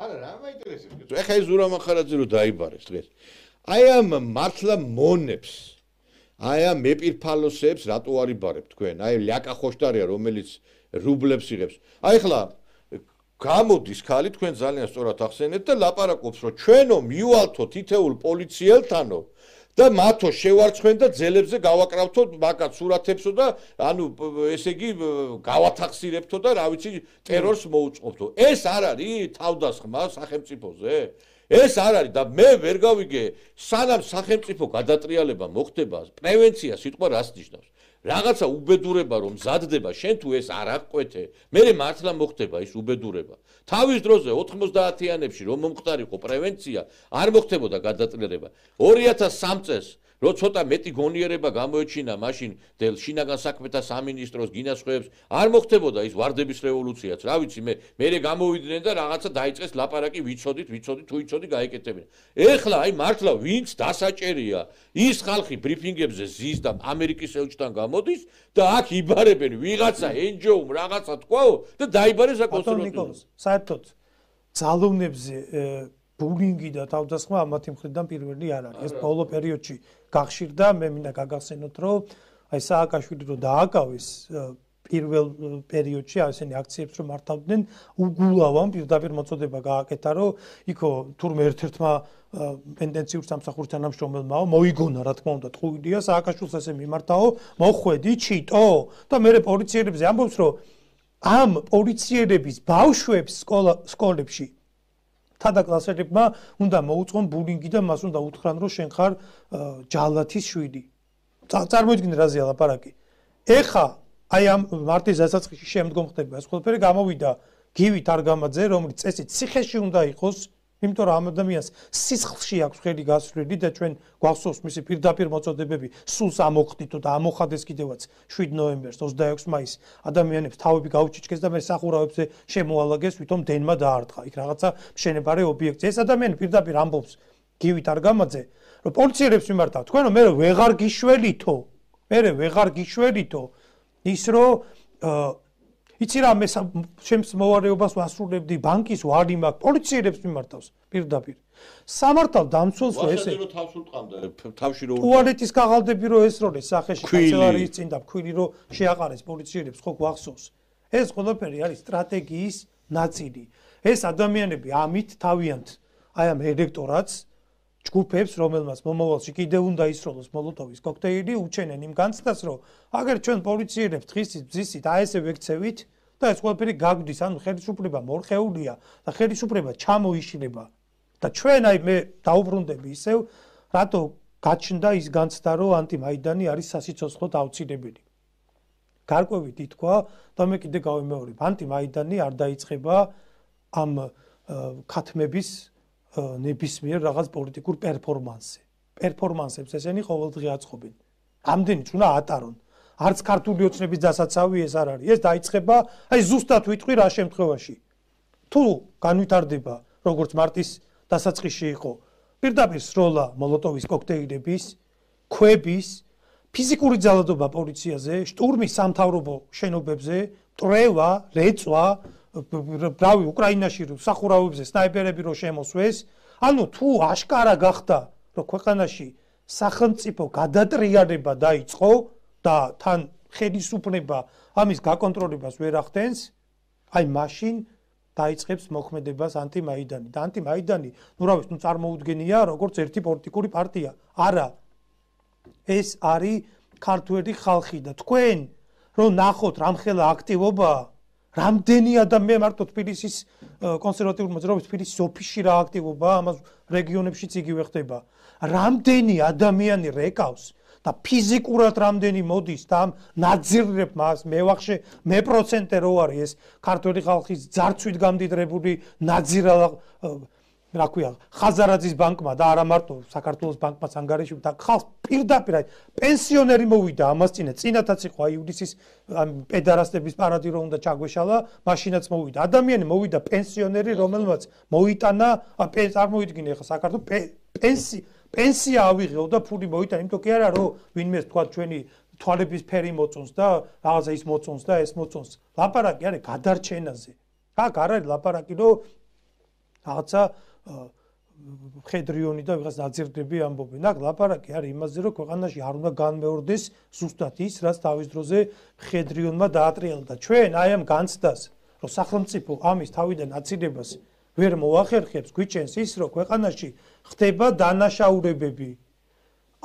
არა, რა მაინტერესებს? ეხა ეს ზურა მახარაძე რო დაიბარეს დღეს. აი ამ მართლა მონებს, აი ამ მეპირფალოსებს რატო არიბარებ თქვენ? აი ლიაკა ხოშტარია, რომელიც რუბლებს იღებს. აი ხლა გამოდის ხალი თქვენ ძალიან სწორად ახსენეთ და ლაპარაკობს რომ ჩვენო მივალთო თითეულ პოლიციელთანო და მათო შევარცხენ და ძელებზე გავაკრავთო მაგათ სურათებსო და ანუ ესე იგი გავათახსირებთო და რა ვიცი ტერორს მოუწყობთო. ეს არ არის თავდასხმა სახელმწიფოზე? ეს არ არის და მე ვერ გავიგე სანამ სახელმწიფო გადატრიალება მოხდება, პრევენცია სიტყვა რას ნიშნავს? რაღაცა უბედურება რომ მზადდება, შენ თუ ეს არ აღკვეთე, მე მართლა მოხდება ის უბედურება. თავის დროზე ოთხმოცდაათიანებში რომ მომხდარიყო პრევენცია, არ მოხდებოდა გადატრიალება. ორი ათას სამი წელს რო ცოტა მეტი გონიერება გამოეჩინა მაშინ დელ შინაგან საქმეთა სამინისტროს გინასხვეებს არ მოხდებოდა ის ვარდების რევოლუციაც რა ვიცი მე მე გამოვიდნენ და რაღაცა დაიწყეს ლაპარაკი ვიცოდით ვიცოდით თუ იცოდი გაეკეთებინა ეხლა აი მართლა ვინც დასაჭერია ის ხალხი ბრიფინგებზე ზის და ამერიკის ელჩთან გამოდის და აქ იბარებენ ვიღაცა ენჯოუმ რაღაცა თქვაო და დაიბარეს აკონსერვატორი საერთოდ ძალოვნებზე ბულინგი და თავდასხმა ამათი მხრიდან პირველი არ არის. ეს ბოლო პერიოდში გახშირდა, მე მინდა გაგახსენოთ, რომ აი სააკაშვილი რო დააკავეს პირველ პერიოდში ასენი აქციებს რომ მართავდნენ, უგულავამ პირდაპირ მოწოდება გააკეთა, რომ იქო თურმე ერთ-ერთმა პენდენციურ სამსახურს თანამშრომელმაო მოიგონა, რა თქმა უნდა, ტყუილია სააკაშვილს ესე მიმართაო, მოხვედი ჩიტო და მე პოლიციელებზე ამბობს, რომ ამ პოლიციელების ბავშვებს სკოლა სკოლებში თადა კლასელებმა უნდა მოუწყონ ბულინგი და მას უნდა უთხრან რომ შენ ხარ ჯალათის შვილი. წარმოიდგინე რაზეა ლაპარაკი. ეხა აი ამ მარტის დასაწყისში შემდგომ ხდება ეს ყველაფერი გამოვიდა გივი თარგამაძე რომელიც წესით ციხეში უნდა იყოს იმიტომ რომ ამ ადამიანს სისხლში აქვს ხელი გასვლილი და ჩვენ გვახსოვს მისი პირდაპირ მოწოდებები სულს ამოხდითო და ამოხადეს კიდევაც შვიდ ნოემბერს ოცდაექვსი მაისს ადამიანებს თავები გაუჩიჩქეს და მე სახურავებზე შემოალაგეს ვითომ დენმა დაარტყა იქ რაღაცა მშენებარე ობიექტი ეს ადამიანი პირდაპირ ამბობს გივი თარგამაძე რომ პოლიციელებს მიმართავ თქვენ რომ მე ვეღარ გიშველითო მე ვეღარ გიშველითო ის რომ იცი რა მე ჩემს მოვარეობას ვასრულებდი ბანკის ვარი მაქვს პოლიციელებს მიმართავს პირდაპირ სამართალ დამცველს რო ესე თავს უტყამდა თავში რო ტუალეტის კაღალდები რო ესროლეს სახეში კანცელარიის წინ და ქვილი რო შეაყარეს პოლიციელებს ხო გვახსოვს ეს ყველაფერი არის სტრატეგიის ნაწილი ეს ადამიანები ამით თავიანთ აი ამ ელექტორატს ჯგუფებს რომელმაც მომავალში კიდევ უნდა ისროლოს მოლოტოვის კოქტეილი უჩენენ იმ განცდას რომ აგერ ჩვენ პოლიციელებს დღისით ბზისით აი ესე ვექცევით და ეს ყველაფერი გაგვდის ანუ ხელისუფლება მორხეულია და ხელისუფლება ჩამოიშლება და ჩვენ აი მე დაუბრუნდები ისევ რატო გაჩნდა ის განცდა რომ ანტიმაიდანი არის სასიცოცხლოდ აუცილებელი გარკვევით ითქვა და მე კიდე გავიმეორებ ანტიმაიდანი არ დაიწყება ამ ქათმების ნებისმიერ რაღაც პოლიტიკურ პერფორმანსზე. პერფორმანსებს ესენი ყოველდღე აწყობენ. ამდენიც უნდა ატარონ. არც ქართული ოცნების დასაცავი ეს არ არის. ეს დაიწყება, აი ზუსტად ვიტყვი რა შემთხვევაში. თუ განვითარდება, როგორც მარტის დასაწყისში იყო, პირდაპირ სროლა მოლოტოვის კოქტეილების, ქვების, ფიზიკური ძალადობა პოლიციაზე, შტურმი სამთავრობო შენობებზე, მტრევა, რეწვა ბრავი უკრაინაში სახურავებზე სნაიპერები რო შემოსვეს ანუ თუ აშკარა გახდა რომ ქვეყანაში სახელმწიფო გადატრიალება დაიწყო და თან ხელისუფლება ამის გაკონტროლებას ვერ ახდენს აი მაშინ დაიწყებს მოქმედებას ანტიმაიდანი და ანტიმაიდანი ნუ რა ვიცი ნუ წარმოუდგენია როგორც ერთი პოლიტიკური პარტია არა ეს არის ქართველი ხალხი და თქვენ რომ ნახოთ რამხელა აქტივობა რამდენი ადამიანი მარტო თბილისის კონსერვატიული მოძრაობის თბილისის ოფისში რა აქტივობაა ამას რეგიონებშიც იგივე ხდება რამდენი ადამიანი რეკავს და ფიზიკურად რამდენი მოდის და ამ ნაძირებ მას მე ვახშე მე პროცენტე რო არის ეს ქართველი ხალხის ძარცვით გამდიდრებული ნაძირა რა ქვია ხაზარაძის ბანკმა და არა მარტო საქართველოს ბანკმაც ანგარიში და ხალხ პირდაპირ აი პენსიონერი მოვიდა ამას წინა წინათაც იყო აი ივლისის პედარასტების პარადი რო უნდა ჩაგვეშალა მაშინაც მოვიდა ადამიანი მოვიდა პენსიონერი რომელმაც მოიტანა წარმოიდგინე ახლა საქართველოს პენსი პენსია ავიღეო და ფული მოიტანა იმიტომ კი არა რომ ვინმეს თქვა ჩვენი თვალების ფერი მოწონს და რაღაცა ის მოწონს და ეს მოწონს ლაპარაკი არის გადარჩენაზე აქ არ არის ლაპარაკი რომ რაღაცა ხედრიონი და ვიღაც ნაძირდები ამბობენ. აქ ლაპარაკი არის იმაზე, რომ ქვეყანაში არ უნდა განმეორდეს ზუსტად ის, რაც თავის დროზე ხედრიონმა დაატრიალა. ჩვენ აი ამ განცდას, რომ სახელმწიფო ამის თავიდან აცილებას ვერ მოახერხებს, გვიჩენს ის, რომ ქვეყანაში ხდება დანაშაულებები.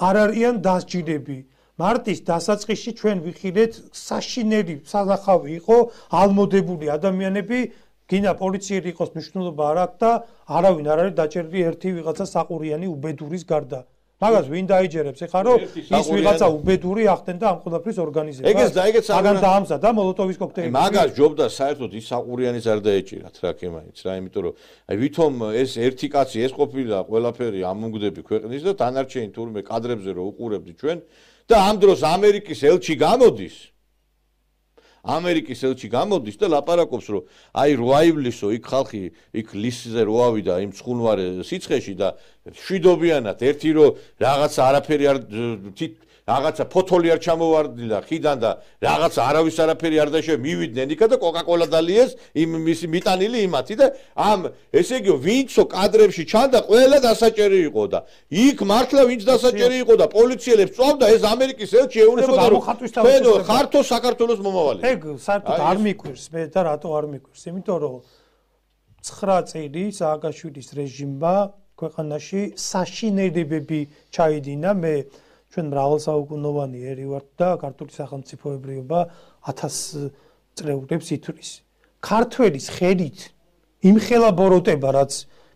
არ არიან დასჯილები. მარტის დასაწყისში ჩვენ ვიხილეთ საშინელი სანახავი იყო ალმოდებული ადამიანები გინდა პოლიციელი იყოს მნიშვნელობა არ აქვს და არავინ არ არის დაჭერილი ერთი ვიღაცა საყურიანი უბედურის გარდა. მაგას ვინ დაიჯერებს ეხლა რომ ის ვიღაცა უბედური ახდენდა ამ ყველაფრის ორგანიზებას. ეგეც და ეგეც მაგან დაამზადა მოლოტოვის კოქტეილი. მაგას ჯობდა საერთოდ ის საყურიანიც არ დაეჭირათ რა კემაიც რა, იმიტომ რომ აი ვითომ ეს ერთი კაცი ეს ყოფილა ყველაფერი ამონგდები ქვეყნის და დანარჩენი თურმე კადრებზე რო უყურებდი ჩვენ და ამ დროს ამერიკის ელჩი გამოდის. ამერიკის ელჩი გამოდის და ლაპარაკობს რომ აი რო აივლისო იქ ხალხი იქ ლისზე რო ავიდა იმ ცხუნვარე სიცხეში და შვიდობიანად ერთი რო რაღაცა არაფერი არ რაღაცა ფოთოლი არ ჩამოვარდნილა ხიდან და რაღაცა არავის არაფერი არ დაიშე მივიდნენ იქა და კოკაკოლა დალიეს იმ მისი მიტანილი იმათი და ამ ესე იგი ვინცო კადრებში ჩანდა ყველა დასაჭერი იყო და იქ მართლა ვინც დასაჭერი იყო და პოლიციელებს წვავდა ეს ამერიკის ელჩი ეუბნებოდა რომ თქვენო ხართო საქართველოს მომავალი. ეგ საერთოდ არ მიკვირს მე და რატო არ მიკვირს? იმიტომ რომ ცხრა წელი სააკაშვილის რეჟიმმა ქვეყანაში საშინელებები ჩაიდინა მე ჩვენ მრავალსაუკუნოვანი ერი ვართ და ქართული სახელმწიფოებრიობა ათას წლეულებს ითვლის. ქართველის ხელით იმხელა ბოროტება რაც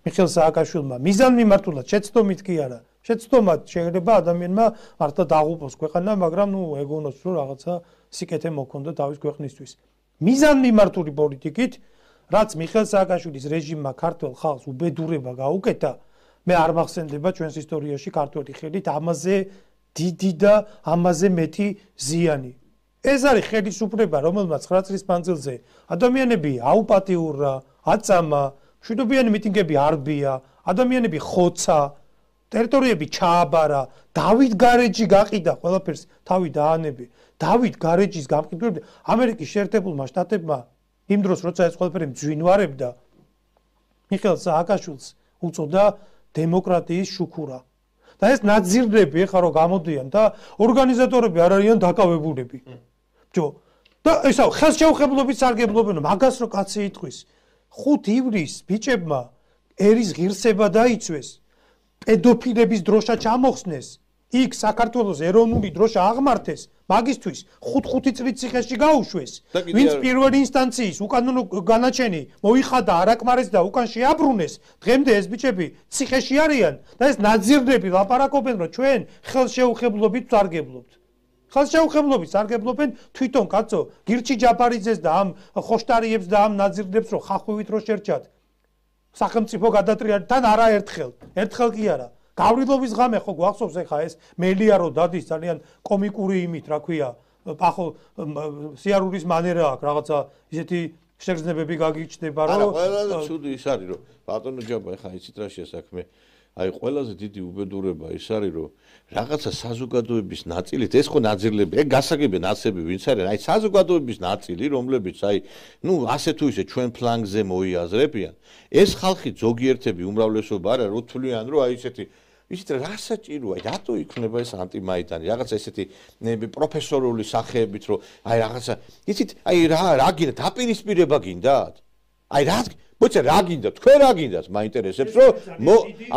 მიხეილ სააკაშვილმა მიზანმიმართულად შეცდომით კი არა შეცდომად შეიძლება ადამიანმა მართლა დაღუპოს ქვეყანა მაგრამ ნუ ეგონოს რომ რაღაცა სიკეთე მოქონდა თავის ქვეყნისთვის. მიზანმიმართული პოლიტიკით რაც მიხეილ სააკაშვილის რეჟიმმა ქართულ ხალხს უბედურება გაუკეთა მე არ მახსენდება ჩვენს ისტორიაში ქართველი ხელით ამაზე დიდი და ამაზე მეტი ზიანი. ეს არის ხელისუფლება, რომელმაც ცხრა წლის მანძილზე ადამიანები აუპატიურა, აწამა, მშვიდობიანი მიტინგები არბია, ადამიანები ხოცა, ტერიტორიები ჩააბარა, დავით გარეჯი გაყიდა ყველაფერს თავი დაანები. დავით გარეჯის გამყიდველი ამერიკის შეერთებულმა შტატებმა იმ დროს როცა ეს ყველაფერი მძვინვარებდა მიხეილ სააკაშვილს უწოდა დემოკრატიის შუქურა. და ეს ნაძირდები ეხლა რომ გამოდიან და ორგანიზატორები არ არიან დაკავებულები. ჯო და ესა ხელშეუხებლობით სარგებლობენ მაგას რო კაცი იტყვის. ხუთ ივლისს ბიჭებმა ერის ღირსება დაიცვეს. პედოფილების დროშა ჩამოხსნეს. იქ საქართველოს ეროვნული დროშა აღმართეს. მაგისთვის ხუთ-ხუთი წლით ციხეში გაუშვეს. ვინც პირველი ინსტანციის უკანონო განაჩენი მოიხადა არაკმარეს და უკან შეაბრუნეს, დღემდე ეს ბიჭები ციხეში არიან და ეს ნაძირდები ლაპარაკობენ, რომ ჩვენ ხელშეუხებლობით ვსარგებლობთ. ხელშეუხებლობით სარგებლობენ თვითონ კაცო, გირჩი ჯაფარიძეს და ამ ხოშტარიებს და ამ ნაძირდებს რო ხახვივით რო შერჩათ. სახელმწიფო გადატრიალეთ თან არაერთხელ, ერთხელ კი არა. გავრილობის ღამე ხო გვახსოვს ეხა ეს მელია რო დადის ძალიან კომიკური იმით რა ქვია ახო სიარულის მანერა აქვს რაღაცა ისეთი შეგრძნებები გაგიჩნდება რომ არა ყველაზე ცუდი ის არის რომ ბატონო ჯაბა ეხა იცით რა შესაქმე აი ყველაზე დიდი უბედურება ის არის რომ რაღაცა საზოგადოების ნაწილით ეს ხო ნაძირლები ეგ გასაგებია ნაცები ვინც არის აი საზოგადოების ნაწილი რომლებიც აი ნუ ასე თუ ისე ჩვენ ფლანგზე მოიაზრებიან ეს ხალხი ზოგიერთები უმრავლესობა არა რო თვლიან რომ აი ესეთი ისეთ რა საჭიროა რატო იქნება ეს ანტიმაიდანი რაღაცა ესეთი პროფესორული სახეებით რომ აი რაღაცა იცით აი რა რა გინდა დაპირისპირება გინდათ აი რა მოიცა რა გინდა თქვენ რა გინდათ მაინტერესებს რომ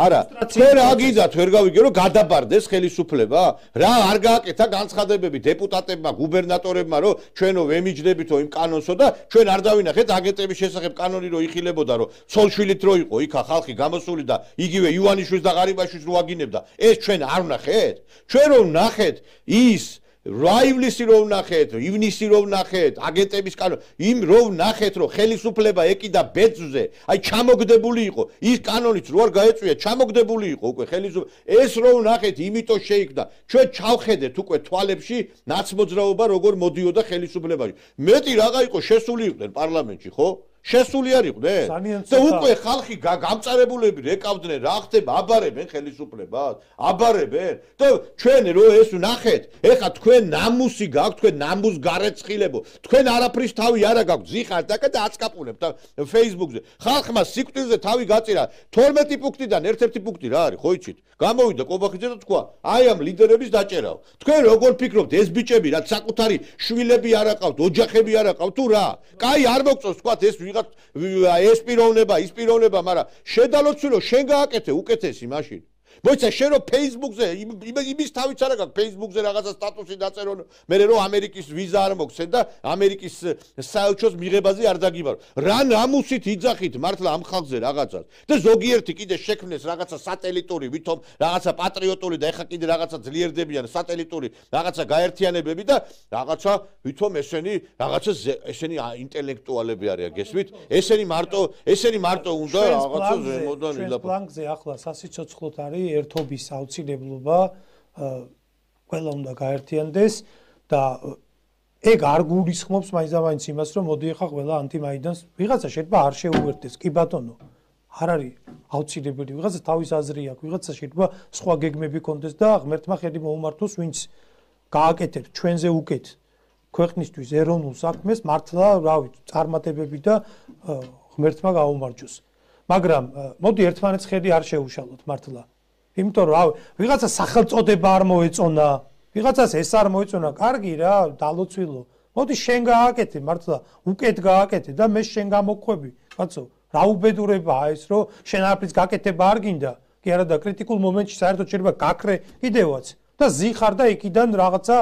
არა თქვენ რა გინდათ ვერ გავიგე რომ გადაბარდეს ხელისუფლება რა არ გააკეთა განცხადებები დეპუტატებმა გუბერნატორებმა რომ ჩვენო ვემიჯნებითო იმ კანონსო და ჩვენ არ დავინახეთ აგენტების შესახებ კანონი რო იხილებოდა რომ ცოლშვილით რო იყო იქა ხალხი გამოსული და იგივე ივანიშვილს და ღარიბაშვილს რო აგინებდა ეს ჩვენ არ ვნახეთ ჩვენ რო ვნახეთ ის რაივლისი რო ვნახეთ, ივნისი რო ვნახეთ, აგენტების კანონი, იმ რო ვნახეთ, რომ ხელისუფლება ეკიდა ბეძზე, აი ჩამოგდებული იყო, ის კანონიც რო არ გაეწვია, ჩამოგდებული იყო უკვე ხელისუფლება. ეს რო ვნახეთ, იმიტომ შეიქმნა. ჩვენ ჩავხედეთ უკვე თვალებში ნაცმოძრაობა როგორ მოდიოდა ხელისუფლებაში. მეტი რაღა იყო შესული იყვნენ პარლამენტში, ხო? შესული არ იყვნენ და უკვე ხალხი გამწარებულები რეკავდნენ რა ხდება აბარებენ ხელისუფლებას აბარებენ და ჩვენ რო ეს ვნახეთ ეხა თქვენ ნამუსი გაქვთ თქვენ ნამუს გარეცხილებო თქვენ არაფრის თავი არა გაქვთ ზიხართ და დააწკაპულებთ Facebook-ზე ხალხმა სიკვდილზე თავი გაწირა თორმეტი პუნქტიდან ერთ-ერთი პუნქტი რა არის ხო იცით გამოვიდა კობახიძე და თქვა აი ამ ლიდერების დაჭერაო თქვენ როგორ ფიქრობთ ეს ბიჭები რაც საკუთარი შვილები არ აყავთ ოჯახები არ აყავთ თუ რა კაი არ მოგწონს თქვა ეს ეს პიროვნება, ის პიროვნება, მაგრამ შედალოცვილო შენ გააკეთე უკეთესი მაშინ. მოიცა შენ რო Facebook-ზე იმის თავიც არა გაქვს Facebook-ზე რაღაცა სტატუსი დაწერონ მე რო ამერიკის ვიზა არ მოგცენ და ამერიკის საელჩოს მიღებაზე არ დაგიბარო რა ნამუსით იძახით მართლა ამ ხალხზე რაღაცას და ზოგიერთი კიდე შექმნეს რაღაცა სატელიტური ვითომ რაღაცა პატრიოტული და ეხა კიდე რაღაცა ძლიერდებიან სატელიტური რაღაცა გაერთიანებები და რაღაცა ვითომ ესენი რაღაცა ესენი ინტელექტუალები არიან გესმით ესენი მარტო ესენი მარტო უნდა რაღაცა ზემოდან ვილაპარაკო პლანკზე ახლა სასიცოცხლოდ არის ერთობის აუცილებლობა ყველა უნდა გაერთიანდეს და ეგ არ გულისხმობს მაინც იმას რომ მოდი ახლა ყველა ანტიმაიდანს ვიღაცა შეიძლება არ შეუერთდეს კი ბატონო არ არის აუცილებელი ვიღაცა თავის აზრი აქვს ვიღაცა შეიძლება სხვა გეგმები კონდეს და ღმერთმა ხელი მოუმართოს ვინც გააკეთებს ჩვენზე უკეთ ქვეყნისთვის ეროვნულ საქმეს მართლა რა ვიცი წარმატებები და ღმერთმა გაუმარჯოს მაგრამ მოდი ერთმანეთს ხელი არ შეუშალოთ მართლა იმიტომ რომ ვიღაცა სახელწოდება არ მოეწონა ვიღაცას ეს არ მოეწონა კარგი რა დალოცვილო მოდი შენ გააკეთე მართლა უკეთ გააკეთე და მე შენ გამოგხვები კაცო რა უბედურებაა ეს რომ შენ არაფრის გაკეთება არ გინდა კი არა და კრიტიკულ მომენტში საერთოდ შეიძლება გაქრე კიდევაც და ზიხარ და იქიდან რაღაცა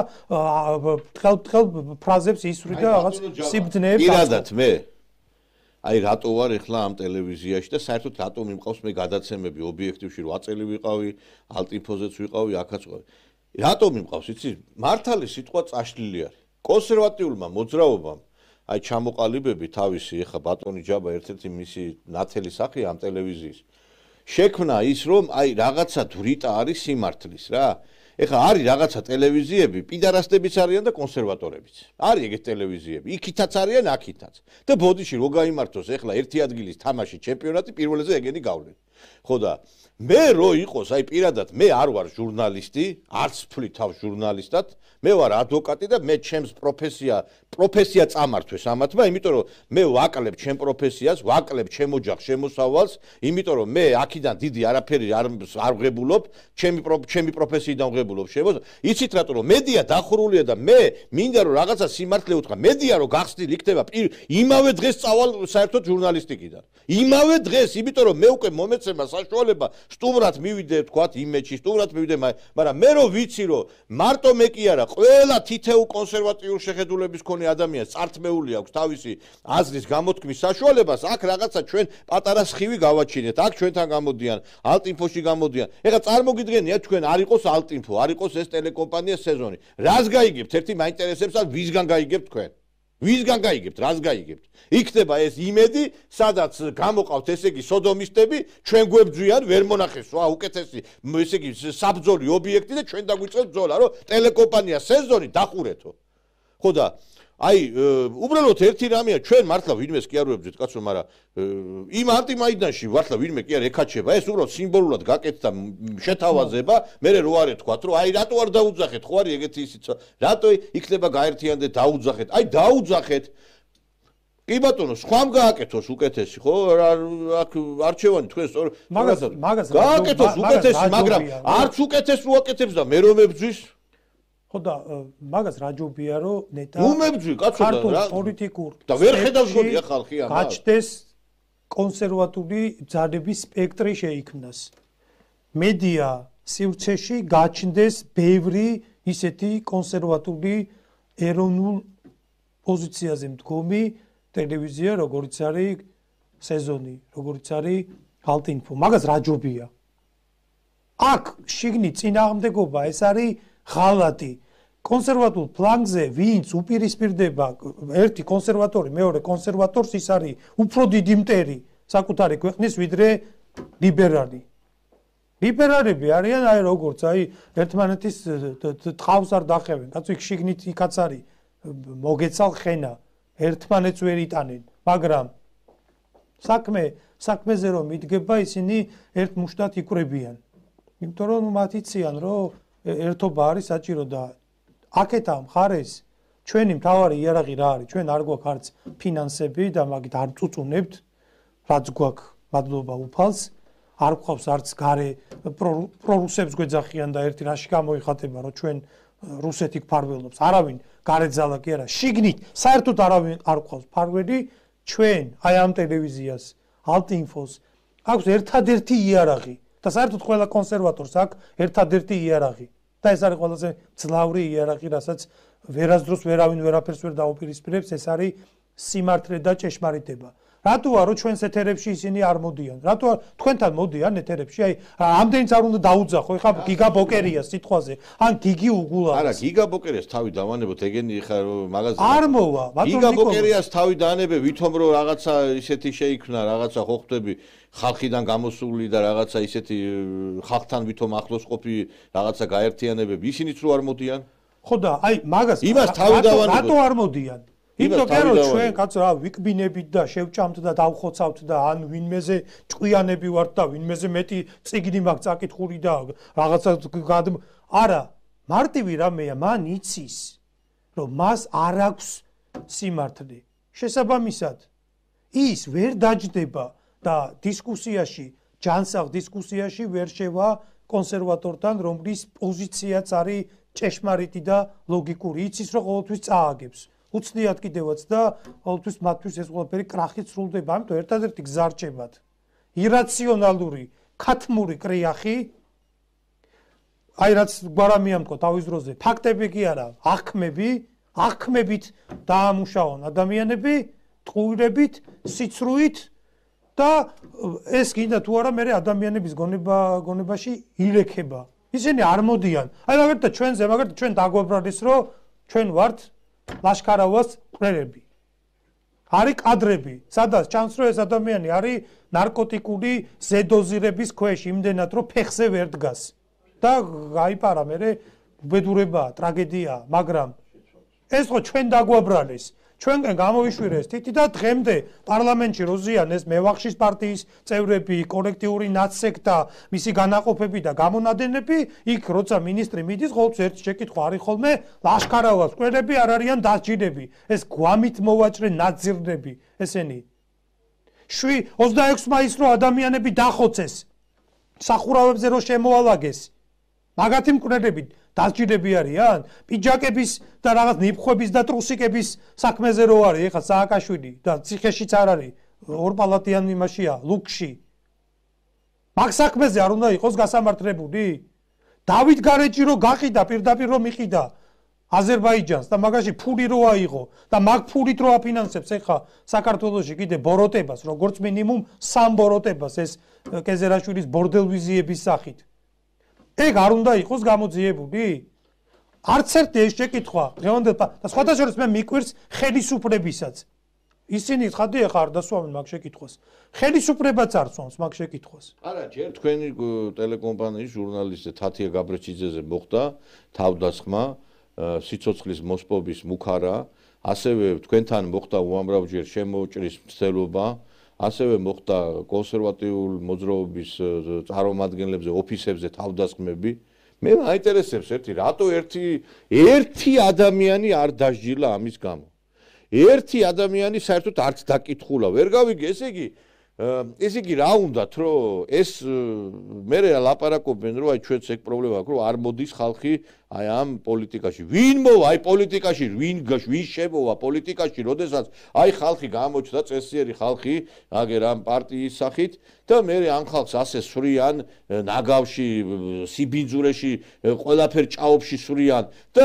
ხელ-ხელ ფრაზებს ისვრი და რაღაც სიბძნეებს პირადად მე აი რატო ვარ ახლა ამ ტელევიზიაში და საერთოდ რატო მიმყავს მე გადაცემები ობიექტივში რომ აწელი ვიყავი ალტინფოზეც ვიყავი აქაც ვიყავი რატო მიმყავს იცი მართალი სიტყვა წაშლილი არის კონსერვატიულმა მოძრაობამ აი ჩამოყალიბები თავისი ახლა ბატონი ჯაბა ერთ-ერთი მისი ნათელი სახე ამ ტელევიზიის შექმნა ის რომ აი რაღაცა დრიტა არის სიმართლის რა ეხლა არის რაღაცა ტელევიზიები პიდარასტებიც არიან და კონსერვატორებიც არის ეგეთ ტელევიზიები იქითაც არიან აქითაც და ბოდიში რო გაიმართოს ეხლა ერთი ადგილის თამაში ჩემპიონატი პირველზე ეგენი გავლენ ხო და მე რო იყოს აი პირადად მე არ ვარ ჟურნალისტი არც ვფლი თავს ჟურნალისტად მე ვარ ადვოკატი და მე ჩემს პროფესია პროფესია წამართვეს ამათმა იმიტომ რომ მე ვაკლებ ჩემ პროფესიას ვაკლებ ჩემ ოჯახს შემოსავალს იმიტომ რომ მე აქიდან დიდი არაფერი არ არ ვღებულობ ჩემი ჩემი პროფესიიდან ვღებულობ შემოს იცით რატო რომ მედია დახურულია და მე მინდა რომ რაღაცა სიმართლე უთხრა მედია რომ გახსნილ იქნება იმავე დღეს წავალ საერთოდ ჟურნალისტიკიდან იმავე დღეს იმიტომ რომ მე უკვე მომეცემა საშუალება სტუმრად მივიდე თქვათ იმეჩი სტუმრად მივიდე მაგრამ მე რო ვიცი რომ მარტო მე კი არა ყველა თითეულ კონსერვატიულ შეხედულების მქონე ადამიანს წართმეული აქვს თავისი აზრის გამოთქმის საშუალებას აქ რაღაცა ჩვენ პატარა სხივი გავაჩინეთ აქ ჩვენთან გამოდიან ალტინფოში გამოდიან ეხლა წარმოგიდგენია თქვენ არ იყოს ალტინფო არ იყოს ეს ტელეკომპანია სეზონი რას გაიგებთ ერთი მაინტერესებს ან ვისგან გაიგებთ თქვენ ვისგან გაიგებთ რას გაიგებთ იქნება ეს იმედი სადაც გამოყავთ ესე იგი სოდომისტები ჩვენ გვებძვიან ვერ მონახეს ვა უკეთესი ესე იგი საბძოლი ობიექტი და ჩვენ დაგვიწყებთ ბძოლა რომ ტელეკომპანია სეზონი დახურეთო ხო და აი უბრალოდ ერთი რამეა ჩვენ მართლა ვინმეს კი არ ვებძვით კაცო მაგრამ იმ ანტიმაიდანში მართლა ვინმე კი არ ეკაჩება ეს უბრალოდ სიმბოლურად გაკეთდა შეთავაზება მე რო არ ეთქვათ რომ აი რატო არ დაუძახეთ ხო არის ეგეთი ისიც რატო იქნება გაერთიანდე დაუძახეთ აი დაუძახეთ კი ბატონო სხვამ გააკეთოს უკეთესი ხო აქ არჩევანი თქვენ სწორ მაგას გააკეთოს უკეთესი მაგრამ არც უკეთეს რო აკეთებს და მე რომ მებძვის ხო და მაგას რა ჯობია რომ ნეტა უმებძვი კაცო და პოლიტიკურ და ვერ ხედავს გონია ხალხი ამას გაჩნდეს კონსერვატული ძალების სპექტრი შეიქმნას მედია სივრცეში გაჩნდეს ბევრი ისეთი კონსერვატული ეროვნულ პოზიციაზე მდგომი ტელევიზია როგორც არის სეზონი როგორც არის ალტინფო მაგას რა ჯობია აქ შიგნით წინააღმდეგობა ეს არის ღალატი კონსერვატულ ფლანგზე ვინც უპირისპირდება ერთი კონსერვატორი მეორე კონსერვატორს ის არის უფრო დიდი მტერი საკუთარი ქვეყნის ვიდრე ლიბერალი ლიბერალები არიან აი როგორც აი ერთმანეთის თავს არ დახევენ კაცო იქ შიგნით იქაც არის მოგეცალ ხენა ერთმანეთს ვერ იტანენ მაგრამ საქმე საქმეზე რომ მიდგება ისინი ერთ მუშტად იკვრებიან იმიტომ რომ მათ იციან რომ ერთობა არის საჭირო და აქეთა მხარეს ჩვენი მთავარი იარაღი რა არის ჩვენ არ გვაქვს არც ფინანსები და მაგით არ წუწუნებთ რაც გვაქვს მადლობა უფალს არ გვყავს არც გარე პრორუსებს გვეძახიან და ერთი რაში გამოიხატება რომ ჩვენ რუსეთი გფარველობს არავინ გარეძალა კი არა შიგნით საერთოდ არავინ არ გვყავს ფარველი ჩვენ აი ამ ტელევიზიას ალტინფოს აქვს ერთადერთი იარაღი და საერთოდ ყველა კონსერვატორს აქვს ერთადერთი იარაღი და ეს არის ყველაზე ძლავრი იარაღი, რასაც ვერასდროს ვერავინ ვერაფერს ვერ დაუპირისპირებს, ეს არის სიმართლე და ჭეშმარიტება. რატოა რომ ჩვენს ეთერებში ისინი არ მოდიან? რატოა თქვენთან მოდიან ეთერებში? აი, ამდენიც არ უნდა დაუძახო, ეხლა გიგა ბოკერია სიტყვაზე, ან გიგი უგულა. არა, გიგა ბოკერიას თავი დავანებოთ, ეგენი ხა მაგაზე. არ მოვა, ბატონო გიგა ბოკერიას თავი დაანებე, ვითომ რომ რაღაცა ისეთი შეიქმნა, რაღაცა ხო ხვდები, ხალხიდან გამოსული და რაღაცა ისეთი ხალხთან ვითომ ახლოს ყოფი რაღაცა გაერთიანებები, ისინიც რო არ მოდიან? ხო და აი მაგას იმას თავი დავანებოთ. რატო არ მოდიან? იმიტომ რომ ჩვენ კაცო რა ვიკბინებით და შევჭამთ და დავხოცავთ და ან ვინმეზე ჭკვიანები ვართ და ვინმეზე მეტი წიგნი მაქვს წაკითხული და რაღაცა არა მარტივი რამეა მან იცის რომ მას არ აქვს სიმართლე შესაბამისად ის ვერ დაჯდება და დისკუსიაში ჯანსაღ დისკუსიაში ვერ შევა კონსერვატორთან რომლის პოზიციაც არის ჭეშმარიტი და ლოგიკური იცის რომ ყოველთვის წააგებს უცნიათ კიდევაც და ყოველთვის მათთვის ეს ყველაფერი კრახით სრულდება, ამიტომ ერთადერთი გზა რჩებათ. ირაციონალური, ქათმური კრიახი, აი რაც გვარამია მქო თავის დროზე, ფაქტები კი არა, აღქმები, აღქმებით დაამუშავონ ადამიანები, ტყუილებით, სიცრუით და ეს კიდე თუ არა მე ადამიანების გონება გონებაში ილექება. ისინი არ მოდიან. აი მაგალითად ჩვენზე, მაგალითად ჩვენ დაგვაბრალეს რომ ჩვენ ვართ ლაშქარავას მკვლელები. არის კადრები, სადაც ჩანს რომ ეს ადამიანი არის ნარკოტიკული ზედოზირების ქვეშ, იმდენად რომ ფეხზე ვერ დგას. და გაიპარა მე უბედურებაა, ტრაგედიაა, მაგრამ ეს ხო ჩვენ დაგვაბრალეს. ჩვენგან გამოვიშვირეს თითი და დღემდე პარლამენტში როზიან ეს მევახშის პარტიის წევრები, კოლექტიური ნაცსექტა, მისი განაყოფები და გამონადენები, იქ როცა მინისტრი მიდის, ყოველთვის ერთი შეკითხვა არის ხოლმე, ლაშქარავას მკვლელები არ არიან დასჯილები, ეს გვამით მოვაჭრე ნაძირნები, ესენი. შვი ოცდაექვსი მაისს რო ადამიანები დახოცეს, სახურავებზე რო შემოალაგეს, მაგათი მკვლელები დასჯილები არიან? პიჯაკების და რაღაც ნიფხვების და ტრუსიკების საქმეზე რო არის, ეხლა სააკაშვილი და ციხეშიც არ არის, ორპალატიან იმაშია, ლუკში. მაგ საქმეზე არ უნდა იყოს გასამართლებული? დავით გარეჯი რო გაყიდა, პირდაპირ რო მიყიდა აზერბაიჯანს და მაგაში ფული რო აიღო და მაგ ფულით რო აფინანსებს ეხლა საქართველოში კიდე ბოროტებას, როგორც მინიმუმ სამ ბოროტებას ეს კეზერაშვილის ბორდელვიზიების სახით. ეგ არ უნდა იყოს გამოძიებული? არც ერთი ეს შეკითხვა დღევანდელ და სხვათა შორის მე მიკვირს ხელისუფლებისაც. ისინი ხადი ახლა არ დასვამენ მაგ შეკითხვას. ხელისუფლებაც არ სვამს მაგ შეკითხვას. არა, ჯერ თქვენი ტელეკომპანიის ჟურნალისტზე თათია გაბრეჩიძეზე მოხდა თავდასხმა, სიცოცხლის მოსპობის მუქარა, ასევე თქვენთან მოხდა უამრავჯერ შემოჭრის მცდელობა. ასევე მოხდა კონსერვატიულ მოძრაობის წარმომადგენლებზე, ოფისებზე თავდასხმები. მე მაინტერესებს ერთი, რატო ერთი ერთი ადამიანი არ დასჯილა ამის გამო. ერთი ადამიანი საერთოდ არც დაკითხულა. ვერ გავიგე, ესე იგი, ესე იგი რა უნდათ, რომ ეს მე ლაპარაკობენ, რომ აი ჩვენც ეგ პრობლემა აქვს, რომ არ მოდის ხალხი აი ამ პოლიტიკაში. ვინ მოვა აი პოლიტიკაში, ვინ ვინ შემოვა პოლიტიკაში, როდესაც აი ხალხი გამოჩნდა, წესიერი ხალხი, აგერ ამ პარტიის სახით და მე ამ ხალხს ასე სვრიან ნაგავში, სიბინძურეში, ყველაფერ ჭაობში სვრიან და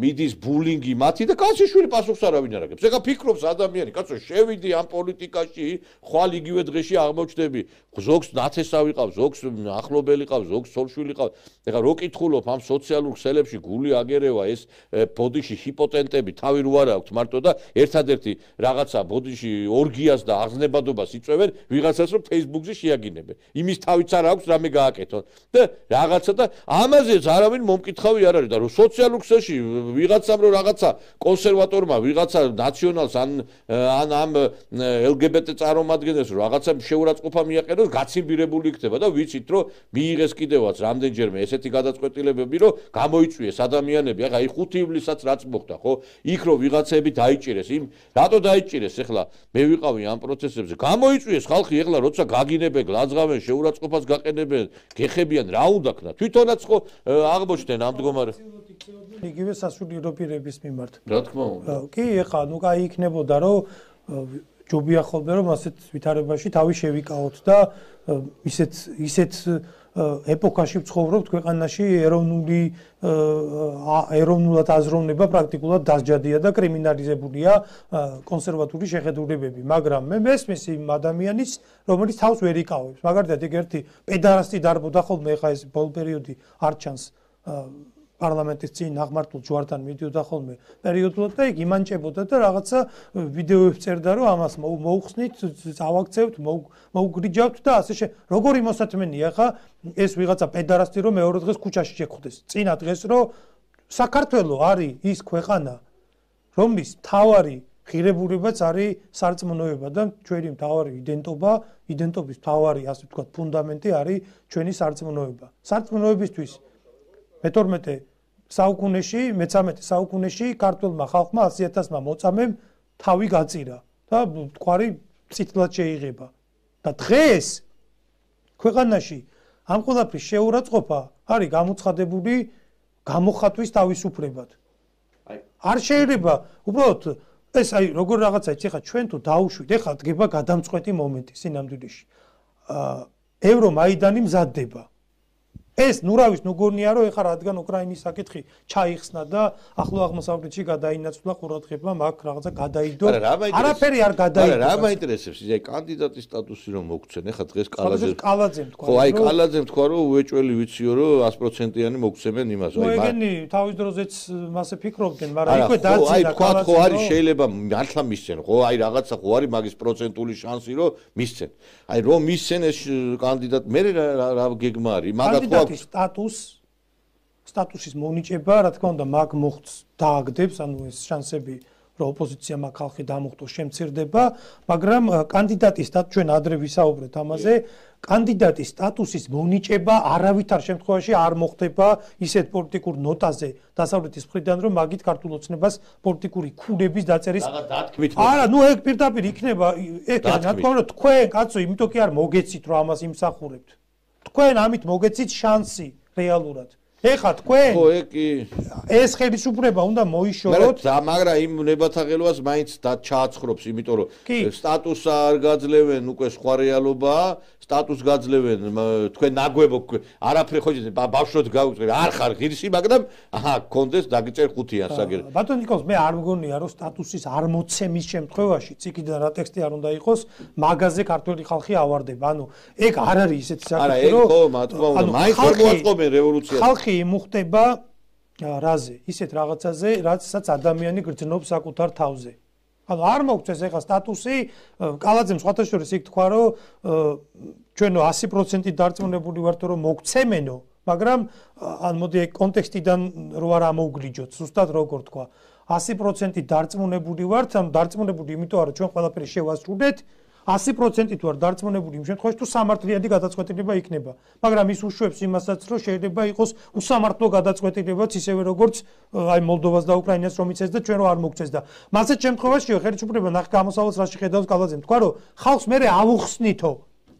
მიდის ბულინგი მათი და კაციშვილი პასუხს არავინ არ აგებს. ეხა ფიქრობს ადამიანი, კაცო, შევიდი ამ პოლიტიკაში, ხვალ იგივე დღეში აღმოჩნდები, ზოგს ნათესავი ყავს, ზოგს ახლობელი ყავს, ზოგს სოლშვილი ყავს. ეხა რო კითხულობ ამ სოციალურ ქსელებში გული აგერევა ეს ბოდიში ჰიპოტენტები თავი რო არ აქვს მარტო და ერთადერთი რაღაცა ბოდიში ორგიას და აღზნებადობას იწვევენ ვიღაცას რომ Facebook-ზე შეაგინებენ. იმის თავიც არ აქვს რამე გააკეთონ და რაღაცა და ამაზეც არავინ მომკითხავი არ არის და რომ სოციალურ ქსელში ვიღაცამ რომ რაღაცა კონსერვატორმა ვიღაცა ნაციონალს ან ან ამ ელ ჯი ბი ტი წარმომადგენელს რომ რაღაცა შეურაცხყოფა მიაყენოს გაცილბირებული იქნება და ვიცით რომ მიიღეს კიდევაც რამდენჯერმე ესეთი გადაწყვეტილებები რომ გამოიწვიეს ადამიანები, ახლა აი ხუთი ივლისსაც რაც მოხდა, ხო? იქ რომ ვიღაცები დაიჭირეს, იმ რატო დაიჭირეს ახლა? მე ვიყავი ამ პროცესებზე. გამოიწვიეს ხალხი ახლა როცა გაგინებენ, გლაძღავენ, შეურაცხყოფას გაყენებენ, გეხებიან, რა უნდა ქნა? თვითონაც ხო აღმოჩნდნენ ამ მდგომარეობას. იგივე სასულიერო პირების მიმართ. რა თქმა უნდა. კი, ახლა ნუ კაი იქნებოდა რომ ჯობია ხოლმე რომ ასეთ ვითარებაში თავი შევიკავოთ და ისეთ ისეთ ეპოქაში ვცხოვრობთ ქვეყანაში ეროვნული ეროვნულად აზროვნება პრაქტიკულად დასჯადია და კრიმინალიზებულია კონსერვატული შეხედულებები, მაგრამ მე მესმის იმ ადამიანის, რომელიც თავს ვერ იკავებს. მაგალითად, ეგ ერთი პედარასტი დარბოდა ხოლმე, ეხა ეს ბოლო პერიოდი არ ჩანს პარლამენტის წინ აღმართულ ჯვართან მიდიოდა ხოლმე პერიოდულად და იქ იმანჭებოდა და რაღაცა ვიდეოებს წერდა რომ ამას მოუხსნით, წავაქცევთ, მოუგრიჯავთ და ასე შე. როგორი მოსათმენია ხა ეს ვიღაცა პედარასტი რომ მეორე დღეს ქუჩაში შეხვდეს. წინა დღეს რომ საქართველო არის ის ქვეყანა, რომლის მთავარი ღირებულებაც არის სარწმუნოება და ჩვენი მთავარი იდენტობა, იდენტობის მთავარი ასე ვთქვათ ფუნდამენტი არის ჩვენი სარწმუნოება. სარწმუნოებისთვის მეთორმეტე საუკუნეში, მეცამეტე საუკუნეში ქართულმა ხალხმა ასი ათასმა მოწამემ თავი გაწირა და თქვარი წითლად შეიღება. და დღეს ქვეყანაში ამ ყველაფრის შეურაცხყოფა არის გამოცხადებული გამოხატვის თავისუფლებად. არ შეიძლება უბრალოდ ეს აი როგორ რაღაცა იცი ხა ჩვენ თუ დაუშვით, ეხლა დგება გადამწყვეტი მომენტი სინამდვილეში. ევრომაიდანი მზადდება. ეს ნურავის ნუგონია რომ ეხლა რადგან უკრაინის საკითხი ჩაიხსნა და ახლო აღმოსავლეთში გადაინაცვლა ყურადღება მაგ რაღაცა გადაიდო არაფერი არ გადაიდო რა მაინტერესებს ის აი კანდიდატის სტატუსი რომ მოგცენ ეხლა დღეს კალაძე კალაძემ თქვა ხო აი კალაძემ თქვა რომ უეჭველი ვიციო რომ sto პროცენტიანი მოგცემენ იმას აი ეგენი თავის დროზეც მასე ფიქრობდნენ მაგრამ იქვე დაძინა აი თქვა ხო არის შეიძლება მართლა მისცენ ხო აი რაღაცა ხო არის მაგის პროცენტული შანსი რომ მისცენ აი რომ მისცენ ეს კანდიდატ მე რა გეგმა არის მაგათ ხო სტატუს სტატუსის მონიჭება, რა თქმა უნდა, მაგ მოხდს დააგდებს, ანუ ეს შანსები, რომ ოპოზიცია მაგ ხალხი დამუხტოს შემცირდება, მაგრამ კანდიდატის სტატუსი ჩვენ ადრე ვისაუბრეთ ამაზე, კანდიდატის სტატუსის მონიჭება არავითარ შემთხვევაში არ მოხდება ისეთ პოლიტიკურ ნოტაზე დასავლეთის მხრიდან, რომ მაგით ქართულ ოცნებას პოლიტიკური ქულების დაწერის არა, ნუ ეგ პირდაპირ იქნება, ეგ რა თქმა უნდა, თქვენ კაცო, იმიტომ კი არ მოგეცით, რომ ამას იმსახურებთ. თქვენ ამით მოგეცით შანსი რეალურად. ეხლა თქვენ ხო ეგ კი ეს ხელისუფლება უნდა მოიშოროთ და მაგრამ იმ ნებათაღელვას მაინც ჩააცხრობს, იმიტომ რომ სტატუსს არ გაძლევენ უკვე სხვა რეალობაა, სტატუსს გაძლევენ თქვენ ნაგვებო არაფერი ხო ბავშვად გავუწევ არ ხარ ღირსი, მაგრამ აჰა გქონდეს დაგიწერ ხუთიან საგერ. ბატონ ნიკოლს მე არ მგონია რომ სტატუსის არ მოცემის შემთხვევაში ციკიდან რა ტექსტი არ უნდა იყოს, მაგაზე ქართული ხალხი ავარდება. ანუ ეგ არ არის ისეთი საკითხი რომ არა ეგ ხო მათქმა უნდა მაინც არ მოაწყობენ რევოლუციას. ხალხი იმუხტება რაზე, ისეთ რაღაცაზე, რაცაც ადამიანი გრძნობს საკუთარ თავზე. ანუ არ მოგწეს ეხლა სტატუსი, კალაძემ სხვათა შორის იქ თქვა, რომ ჩვენო sto პროცენტი დარწმუნებული ვართ, რომ მოგცემენო, მაგრამ ან მოდი კონტექსტიდან რო არ ამოუგრიჯოთ, ზუსტად როგორ თქვა. sto პროცენტი დარწმუნებული ვართ, ანუ დარწმუნებული იმიტომ არა, ჩვენ ყველაფერი შევასრულეთ, sto პროცენტი თუ არ დარწმუნებული იმ შემთხვევაში თუ სამართლიანი გადაწყვეტილება იქნება. მაგრამ ის უშვებს იმასაც, რომ შეიძლება იყოს უსამართლო გადაწყვეტილებაც ისევე როგორც აი მოლდოვას და უკრაინას რომ იცეს და ჩვენ რო არ მოგწეს და მასეთ შემთხვევაშიო ხელისუფლება ნახ გამოსავალს რაში ხედავს კალაძემ თქვა რომ ხალხს მე ავუხსნითო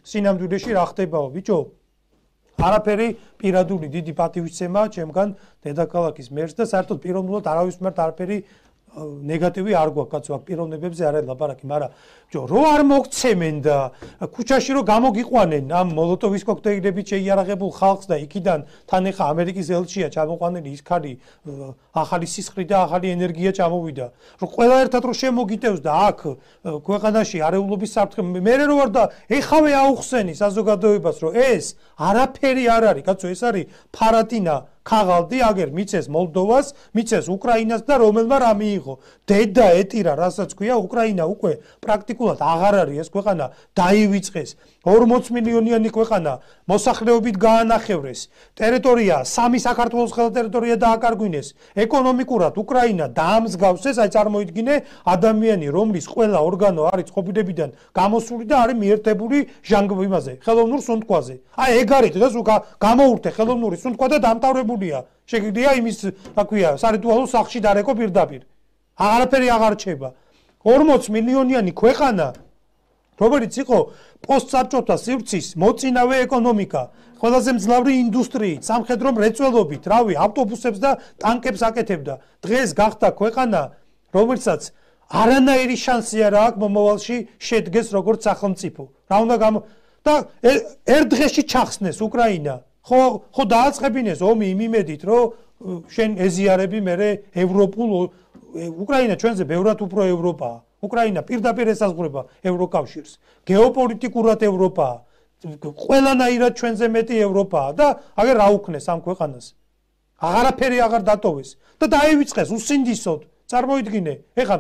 სინამდვილეში რა ხდებაო ბიჭო არაფერი პირადული დიდი პატივისცემა ჩემგან დედაქალაქის მერს და საერთოდ პიროვნულად არავის მიმართ არაფერი ნეგატივი არ გვაქვს კაცო აქ პიროვნებებზე არ არის ლაპარაკი, მაგრამ ჯო რო არ მოგცემენ და ქუჩაში რო გამოგიყვანენ ამ მოლოტოვის კოქტეილებით შეიარაღებულ ხალხს და იქიდან თან ეხა ამერიკის ელჩია ჩამოყვანილი ის ხალი ახალი სისხლი და ახალი ენერგია ჩამოვიდა რომ ყველა ერთად რო შემოგიტევს და აქ ქვეყანაში არეულობის საფრთხე მე რო ვარ და ეხავე აუხსენი საზოგადოებას რომ ეს არაფერი არ არის კაცო ეს არის ფარატინა ქაღალდი აგერ მიცეს მოლდოვას, მიცეს უკრაინას და რომელმა რა მიიღო. დედა ეტირა, რასაც ქვია, უკრაინა უკვე პრაქტიკულად აღარ არის ეს ქვეყანა დაივიწყეს. ორმოც მილიონიანი ქვეყანა მოსახლეობით გაანახევრეს. ტერიტორია სამი საქართველოს ხელა ტერიტორია დააკარგვინეს. ეკონომიკურად უკრაინა დაამსგავს ეს, აი წარმოიდგინე ადამიანი, რომლის ყველა ორგანო არის ყოფილებიდან გამოსული და არის მიერთებული ჟანგ იმაზე, ხელოვნურ სუნთქვაზე. აი ეგ არის დღეს გამოურთე ხელოვნური სუნთქვა და დამტავრებულია. შეგიძლია იმის, რა ქვია, სარიტუალო სახლში დარეკო პირდაპირ. არაფერი აღარ რჩება. ორმოც მილიონიანი ქვეყანა რომელიც იყო პოსტსაბჭოთა სივრცის მოწინავე ეკონომიკა, ყველაზე მძლავრი ინდუსტრიით, სამხედრო მრეწველობით, რავი, ავტობუსებს და ტანკებს აკეთებდა. დღეს გახდა ქვეყანა, რომელსაც არანაირი შანსი არ აქვს მომავალში შედგეს როგორც სახელმწიფო. რა უნდა გამო და ერთ დღეში ჩახსნეს უკრაინა. ხო ხო დააწყებინეს ომი იმ იმედით, რომ შენ ეზიარები მე ევროპულ უკრაინა ჩვენზე ბევრად უფრო ევროპაა. უკრაინა პირდაპირ ესაზღვრება ევროკავშირს. გეოპოლიტიკურად ევროპაა. ყველანაირად ჩვენზე მეტი ევროპაა და აგერ რა უქნეს ამ ქვეყანას. აღარაფერი აღარ დატოვეს და დაივიწყეს უსინდისოდ. წარმოიდგინე, ეხლა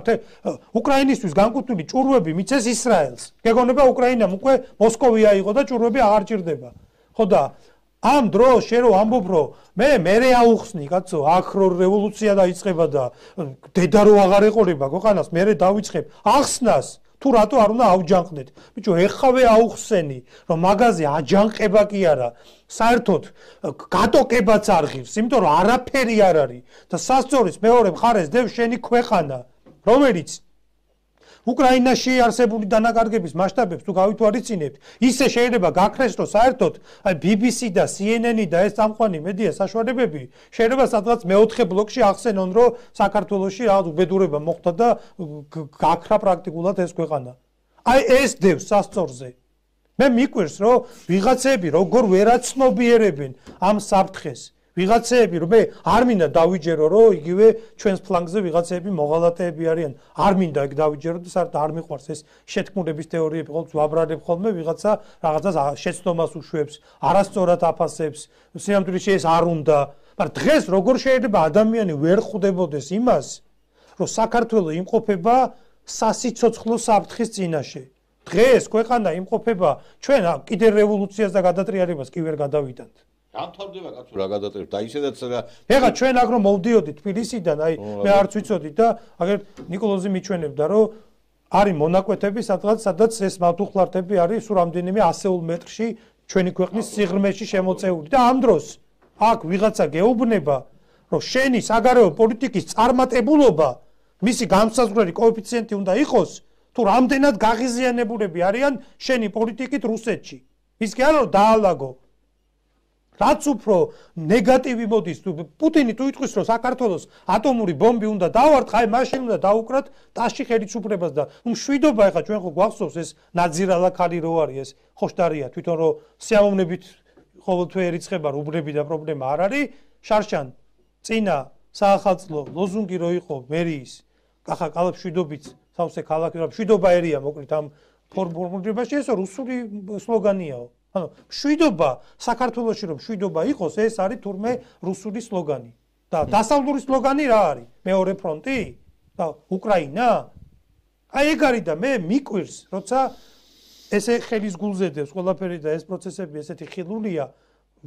უკრაინისთვის განკუთვნილი ჭურვები მიცეს ისრაელს. გეგონება უკრაინამ უკვე მოსკოვი აიღო და ჭურვები აღარ ჭირდება. ხო და ამ დროს შენ რო ამბობ რომ მე მერე აუხსნი კაცო, აქ რო რევოლუცია დაიწყება და დედა რო აღარ ეყოლება ქვეყანას, მერე დავიწყებ ახსნას. თუ რატო არ უნდა ავჯანყდეთ? ბიჭო, ეხავე აუხსენი, რომ მაგაზე აჯანყება კი არა, საერთოდ გატოკებაც არ ღირს, იმიტომ რომ არაფერი არ არის და სასწორის მეორე მხარეს დევს შენი ქვეყანა, რომელიც უკრაინაში არსებული დანაკარგების მასშტაბებს თუ გავითვალისწინებთ, ისე შეიძლება გაქრეს, რომ საერთოდ აი ბი ბი სი და სი ენ ენი და ეს წამყვანი მედია საშუალებები შეიძლება სადღაც მეოთხე ბლოკში ახსენონ, რომ საქართველოში რაღაც უბედურება მოხდა და გაქრა პრაქტიკულად ეს ქვეყანა. აი ეს დევს სასწორზე. მე მიკვირს, რომ ვიღაცები როგორ ვერაცნობიერებენ ამ საფრთხეს. ვიღაცები რომ მე არ მინდა დავიჯერო რომ იგივე ჩვენს ფლანგზე ვიღაცები მოღალატეები არიან არ მინდა ეგ დავიჯერო და საერთოდ არ მიყვარს ეს შეთქმულების თეორიები ყოველთვის ვაბრალებ ხოლმე ვიღაცა რაღაცას შეცდომას უშვებს არასწორად აფასებს სიამთვილეში ეს არ უნდა მაგრამ დღეს როგორ შეიძლება ადამიანი ვერ ხვდებოდეს იმას რომ საქართველო იმყოფება სასიცოცხლო საფრთხის წინაშე დღეს ქვეყანა იმყოფება ჩვენ კიდე რევოლუციას და გადატრიალებას კი ვერ გადავიდანთ დამთავრდება კაცო რა გადატრიალებს და ისედაც რა ეხლა ჩვენ აგრო მოვდიოდით თბილისიდან აი მე არც ვიცოდი და აგერ ნიკოლოზი მიჩვენებდა რომ არის მონაკვეთები სადღაც სადაც ეს მავთუხლართები არის სულ რამდენიმე ასეულ მეტრში ჩვენი ქვეყნის სიღრმეში შემოწეული და ამ დროს აქ ვიღაცა გეუბნება რომ შენი საგარეო პოლიტიკის წარმატებულობა მისი განსაზღვრელი კოეფიციენტი უნდა იყოს თუ რამდენად გაღიზიანებულები არიან შენი პოლიტიკით რუსეთში ის კი არა რომ დაალაგო რაც უფრო ნეგატივი მოდის თუ პუტინი თუ იტყვის რომ საქართველოს ატომური ბომბი უნდა დავარტყა აი მაშინ უნდა დაუკრათ ტაში ხელისუფლებას და მშვიდობა ეხა ჩვენ ხო გვახსოვს ეს ნაძირალა ქალი რო არის ეს ხოშტარია თვითონ რომ სიამოვნებით ყოველთვე ერიცხება რუბრები და პრობლემა არ არის შარშან წინა საახალწლო ლოზუნგი რო იყო მერიის ახლა კალაფშვიდობით სავსე ქალაქი რა მშვიდობა ერია მოკლედ ამ ფორმულირებაში ეს რუსული სლოგანიაო ანუ მშვიდობა საქართველოში რომ მშვიდობა იყოს ეს არის თურმე რუსული სლოგანი და დასავლური სლოგანი რა არის მეორე ფრონტი და უკრაინა აი ეგ არის და მე მიკვირს როცა ესე ხელის გულზედებს ყველაფერი და ეს პროცესები ესეთი ხილულია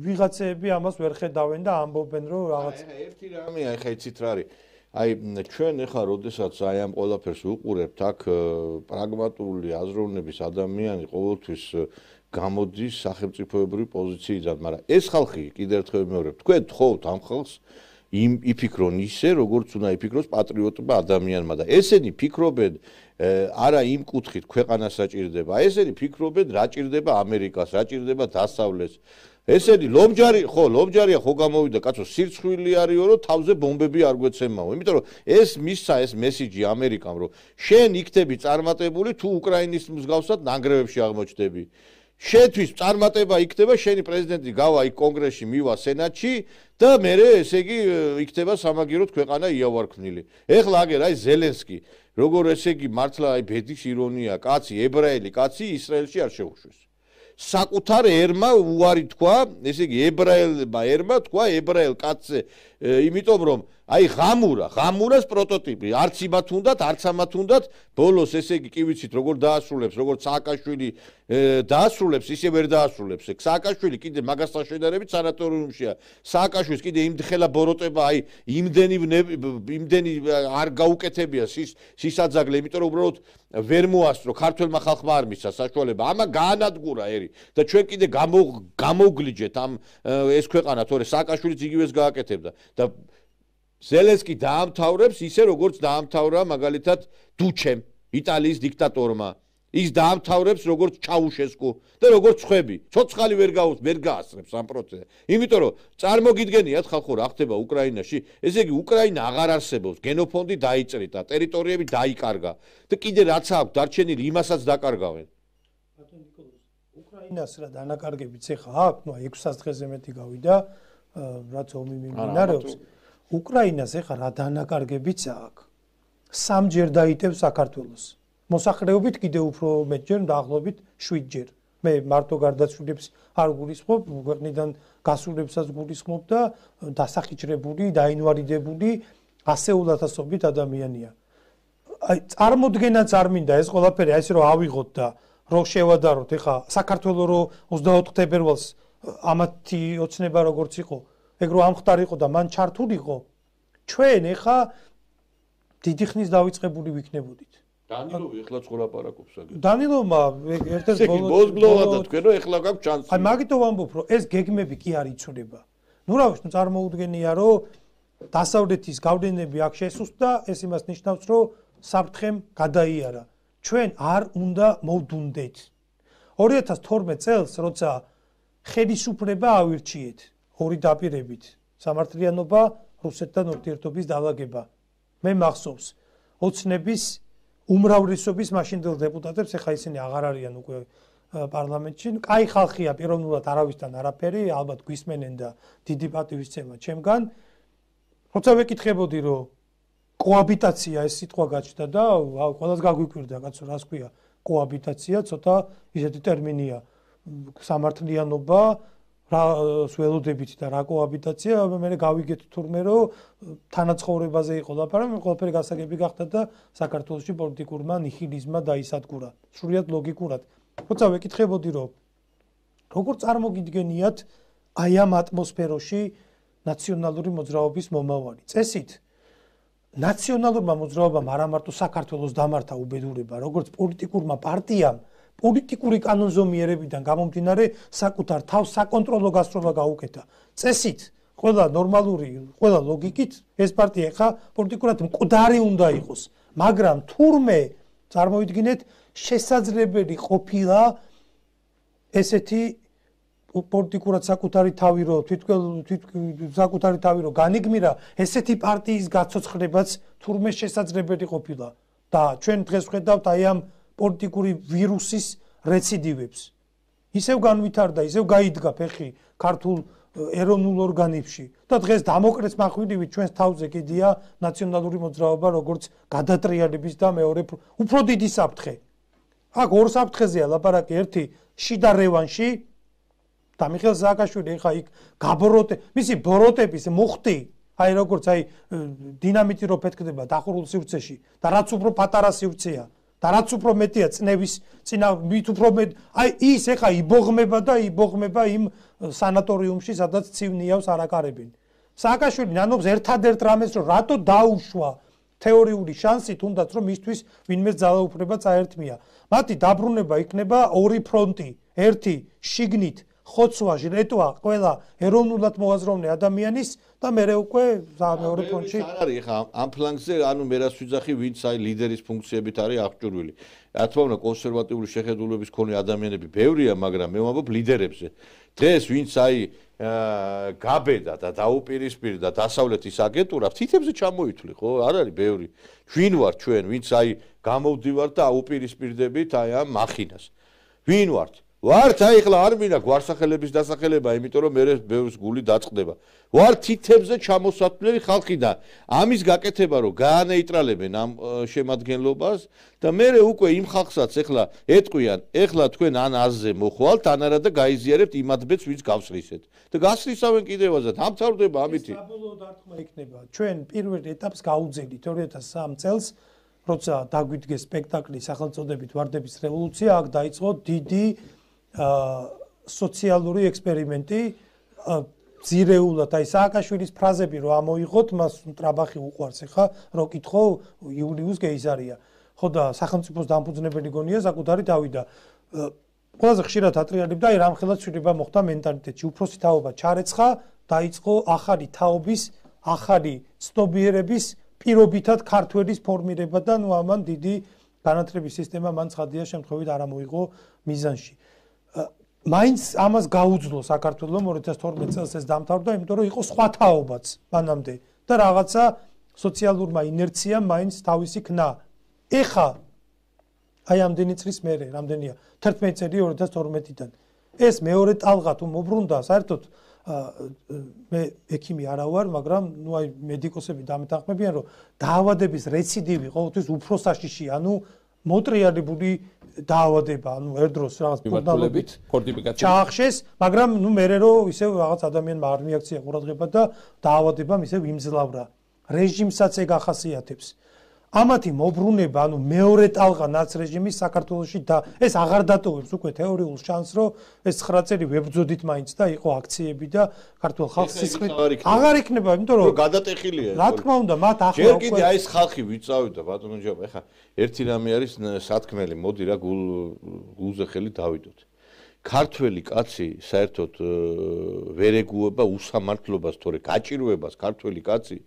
ვიღაცები ამას ვერ ხედავენ და ამბობენ რომ რაღაც ერთი რამეა ეხა იცით რა არის აი ჩვენ ეხლა როდესაც აი ამ ყველაფერს უყურებთ აქ პრაგმატული აზროვნების ადამიანი ყოველთვის გამოდის სახელმწიფოებრივი პოზიციიდან, მაგრამ ეს ხალხი კიდევ ერთხელ მეორე, თქვენ თხოვთ ამ ხალხს იმ იფიქრონ ისე, როგორც უნდა იფიქროს პატრიოტმა ადამიანმა და ესენი ფიქრობენ არა იმ კუთხით ქვეყანას საჭირდება, ესენი ფიქრობენ რა ჭირდება ამერიკას, რა ჭირდება დასავლეთს. ესენი ლომჯარი, ხო, ლომჯარია ხო გამოვიდა, კაცო, სირცხვილი არისო, რომ თავზე ბომბები არ გვეცემაო. იმიტომ რომ ეს მისცა ეს მესიჯი ამერიკამ, რომ შენ იქნები წარმატებული, თუ უკრაინის მსგავსად ნანგრევებში აღმოჩნდები. შეთვის წარმატება იქნება შენი პრეზიდენტი გავა იქ კონგრესში მივა სენატში და მერე ესე იგი იქნება სამაგიეროდ ქვეყანა იავარქმნილი. ეხლა აგერ აი ზელენსკი როგორ ესე იგი მართლა აი ბედის ირონია კაცი ებრაელი კაცი ისრაელში არ შეუშვეს. საკუთარ ერმა უარი თქვა, ესე იგი ებრაელმა ერმა თქვა ებრაელ კაცზე, იმიტომ რომ აი ღამურა, ღამურას პროტოტიპი, არც იმათ უნდათ, არც ამათ უნდათ, ბოლოს ესე იგი კი ვიცით როგორ დაასრულებს, როგორც სააკაშვილი დაასრულებს, ისე ვერ დაასრულებს. სააკაშვილი კიდე მაგასთან შედარებით სანატორიუმშია. სააკაშვილის კიდე იმდხელა ბოროტება, აი იმდენი იმდენი არ გაუკეთებია სისაძაგლე, იმიტომ რომ უბრალოდ ვერ მოასწრო ქართველმა ხალხმა არ მისცა საშუალება. ამა გაანადგურა ერი და ჩვენ კიდე გამოვგლიჯეთ ამ ეს ქვეყანა, თორე სააკაშვილიც იგივეს გააკეთებდა და ზელენსკი დაამთავრებს ისე როგორც დაამთავრა მაგალითად დუჩემ, იტალიის დიქტატორმა. ის დაამთავრებს როგორც ჩაუშესკუ და როგორც ხვები. ცოცხალი ვერ გაუს, ვერ გაასწრებს ამ პროცესს. იმიტომ რომ წარმოგიდგენიათ ხალხო რა ხდება უკრაინაში, ესე იგი უკრაინა აღარ არსებობს, გენოფონდი დაიჭრიტა, ტერიტორიები დაიკარგა და კიდე რაც აქვს დარჩენილი იმასაც დაკარგავენ. ბატონ ნიკოლოზ, უკრაინას რა დანაკარგებიც ეხა აქვს, ნუ ექვსას დღეზე მეტი გავიდა, რაც ომი მიმდინარეობს. უკრაინას ეხა რა დანაკარგებიც აქვს. სამჯერ დაიტევს საქართველოს. მოსახლეობით კიდევ უფრო მეტჯერ დაახლოებით შვიდჯერ. მე მარტო გარდაცვლილებს არ გულისხმობ, ქვეყნიდან გასულებსაც გულისხმობ და დასახიჭრებული, დაინვალიდებული ასეულათასობით ადამიანია. აი წარმოდგენაც არ მინდა ეს ყველაფერი აი ესე რომ ავიღოთ და რომ შევადაროთ, ეხა საქართველოს რო ოცდაოთხ თებერვალს ამათი ოცნება როგორც იყო, ეგ რო ამხდარ იყო და მან ჩართულიყო, ჩვენ ეხა დიდი ხნის დავიწყებული ვიქნებოდით. დანილოვი ეხლა ცხოვრაპარაკობს აგერ. დანილოვმა ერთ-ერთ ბოლოს ბოლოა და თქვენო ეხლა გაქვს ჩანსი. აი მაგითო ვამბობ, რომ ეს გეგმები კი არ იცვლება. ნუ რა ვიცი, წარმოუდგენია, რომ დასავლეთის გავლენები აქ შესუსტდა, ეს იმას ნიშნავს, რომ საფრთხემ გადაიარა. ჩვენ არ უნდა მოვდუნდეთ. ორი ათას თორმეტ წელს, როცა ხელისუფლება ავირჩიეთ, ორი დაპირებით, სამართლიანობა, რუსეთთან ურთიერთობის დაალაგება. მე მახსოვს ოცნების უმრავლესობის მაშინდელ დეპუტატებს, ეხა ისინი აღარ არიან უკვე პარლამენტში. კაი ხალხია, პიროვნულად არავისთან არაფერი, ალბათ გვისმენენ და დიდი პატივისცემა ჩემგან. როცა ვეკითხებოდი, რომ კოაბიტაცია ეს სიტყვა გაჩნდა და ყველას გაგვიკვირდა, კაცო, რას ქვია კოაბიტაცია, ცოტა ისეთი ტერმინია. სამართლიანობა, რა სველოდებით და რა კოაბიტაცია, მე გავიგეთ თურმე, რომ თანაცხოვრებაზე იყო ლაპარაკი, ყველაფერი გასაგები გახდა და საქართველოში პოლიტიკურმა ნიჰილიზმმა დაისადგურა. სრულიად ლოგიკურად. როცა ვეკითხებოდი, რომ როგორ წარმოგიდგენიათ აი ამ ატმოსფეროში ნაციონალური მოძრაობის მომავალი. წესით ნაციონალურმა მოძრაობამ არა მარტო საქართველოს დამართა უბედურება, როგორც პოლიტიკურმა პარტიამ, პოლიტიკური კანონზომიერებიდან გამომდინარე საკუთარ თავს საკონტროლო გასროლა გაუკეთა. წესით, ყველა ნორმალური, ყველა ლოგიკით ეს პარტია ხა პოლიტიკურად მკვდარი უნდა იყოს, მაგრამ თურმე წარმოიდგინეთ შესაძლებელი ყოფილა ესეთი პოლიტიკურად საკუთარი თავი რო თვითონ საკუთარი თავი რო განიგმირა, ესეთი პარტიის გაცოცხლებაც თურმე შესაძლებელი ყოფილა და ჩვენ დღეს ვხედავთ აი ამ პოლიტიკური ვირუსის რეციდივებს. ისევ განვითარდა, ისევ გაიდგა ფეხი ქართულ ეროვნულ ორგანებში და დღეს დამოკრეც מחვილივით ჩვენს თავზე კიდია ნაციონალური მოძრაობა, როგორც გადატრიალების და მეორე უფრო დიდი საფრთხე. აქ ორ საფრთხეზეა ლაპარაკი, ერთი შიდა რევანში და მიხეილ სააკაშვილი ხა იქ გაბოროტე, მისი ბოროტების მუხტი, აი როგორც აი დინამიტი რო ფეთქდება დახურულ სივრცეში და რაც უფრო პატარა სივრცეა და რაც უფრო მეტია წნევის წინა მით უფრო მეტ აი ის ეხა იბოღმება და იბოღმება იმ სანატორიუმში, სადაც ცივნიავს არაკარებენ. სააკაშვილი ნანობს ერთადერთ რამეს, რომ რატო დაუშვა თეორიული შანსი, თუნდაც რომ მისთვის ვინმე ძალაუფლება წაერთმია. მათი დაბრუნება იქნება ორი ფრონტი, ერთი შიგნით ხოცვა, ჟლეტვა ყველა ეროვნულად მოაზროვნე ადამიანის და მეორე უკვე მეორე ფრონტში. არ არის ხა ამ ფლანგზე, ანუ მე რას ვიძახი, ვინც აი ლიდერის ფუნქციებით არის აღჭურვილი. რა თქმა უნდა, კონსერვატიული შეხედულების მქონე ადამიანები ბევრია, მაგრამ მე ვამბობ ლიდერებზე. დღეს ვინც აი გაბედა და დაუპირისპირდა დასავლეთის აგენტურას, თითებზე ჩამოითვლი, ხო? არ არის ბევრი. ვინ ვარ ჩვენ, ვინც აი გამოვდივართ და აუპირისპირდებით აი ამ მახინას. ვინ ვართ? ვართ აი ხლა არ მინდა გვარსახელების დასახელება, იმიტომ რომ მე ბევრს გული დაწყდება. ვართ თითებზე ჩამოსათვლელი ხალხი და ამის გაკეთება რომ გაანეიტრალებენ ამ შემადგენლობას და მე უკვე იმ ხალხსაც ეხლა ეტყვიან, ეხლა თქვენ ან აზზე მოხვალთ, ან არა და გაიზიარებთ იმ ადბეც, ვინც გავსრისეთ. და გასრისავენ კიდევაზად, ამთავრდება ამითი. ეს საბოლოო დარტყმა იქნება. ჩვენ პირველ ეტაპს გაუძელით ორი ათას სამ წელს, როცა დაგვიდგეს სპექტაკლი სახელწოდებით ვარდების რევოლუცია, აქ დაიწყო დიდი სოციალური ექსპერიმენტი, ძირეულად აი სააკაშვილის ფრაზები რო ამოიღოთ, მას ტრაბახი უყვარს ხა, რო კითხო იულიუს გეიზარია. ხო და სახელმწიფოს დამფუძნებელი გონია საკუთარი თავი და ყველაზე ხშირად ატრიალებდა აი რამხელა ცვლილება მოხდა მენტალიტეტში. უფროსი თაობა ჩარეცხა, დაიწყო ახალი თაობის, ახალი ცნობიერების პირობითად ქართველის ფორმირება და ნუ ამან დიდი განათლების სისტემა მან ცხადია შემთხვევით არ მოიღო მიზანში. მაინც ამას გაუძლო საქართველოს ორი ათას თორმეტ წელს ეს დამთავრდა, იმიტომ რომ იყო სხვა თაობაც მანამდე და რაღაცა სოციალურმა ინერციამ მაინც თავისი ქნა. ეხა აი ამდენი წლის მერე, რამდენია? თერთმეტი წელი ორი ათას თორმეტიდან. ეს მეორე ტალღა თუ მოbrunდა, საერთოდ მე ექიმი არა ვარ, მაგრამ ნუ აი მედიკოსები დამეთანხმებიან, რომ დაავადების რეციდივი ყოველთვის უფრო საშიში, ანუ მოტრიალებული დაავადება, ანუ ერთდროს რაღაც მიმართულებით ფორტიფიკაცია ჩაახშეს, მაგრამ ნუ მერე რომ ისევ რაღაც ადამიანმა არ მიაქცია ყურადღება და დაავადებამ ისევ იმძლავრა. რეჟიმსაც ეგ ახასიათებს. ამათი მოbrunება, ანუ მეორე ტალღა ნაცრეჟიმის საქართველოში და ეს აღარ დატოვებს უკვე თეორიულ შანსს, რომ ეს ცხრა წელი ვებრძოდით მაინც და იყო აქციები და ქართულ ხალხს სისხლით აღარ იქნება, იმიტომ რომ გადატეხილია. რა თქმა უნდა, მათ ახლა ჯერ კიდე აი ეს ხალხი ვიწავდა ბატონო ჯაბა, ეხა ერთი რამე არის სათქმელი, მოდი რა გულ გულზე ხელი დავიდოთ. ქართველი კაცი საერთოდ ვერ ეგუება უსამართლობას, თორე გაჭირვებას ქართველი კაცი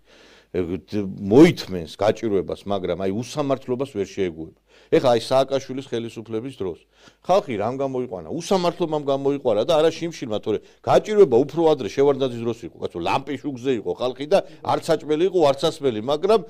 მოითმენს გაჭირვებას, მაგრამ აი უსამართლობას ვერ შეეგუება. ეხლა აი სააკაშვილის ხელისუფლების დროს ხალხი რამ გამოიყვანა? უსამართლობამ გამოიყვანა და არა შიმშილმა, თორე გაჭირვება უფრო ადრე შევარდნაძის დროს იყო, კაცო ლამპიშუგზე იყო ხალხი და არც საჭმელი იყო, არც ასმელი, მაგრამ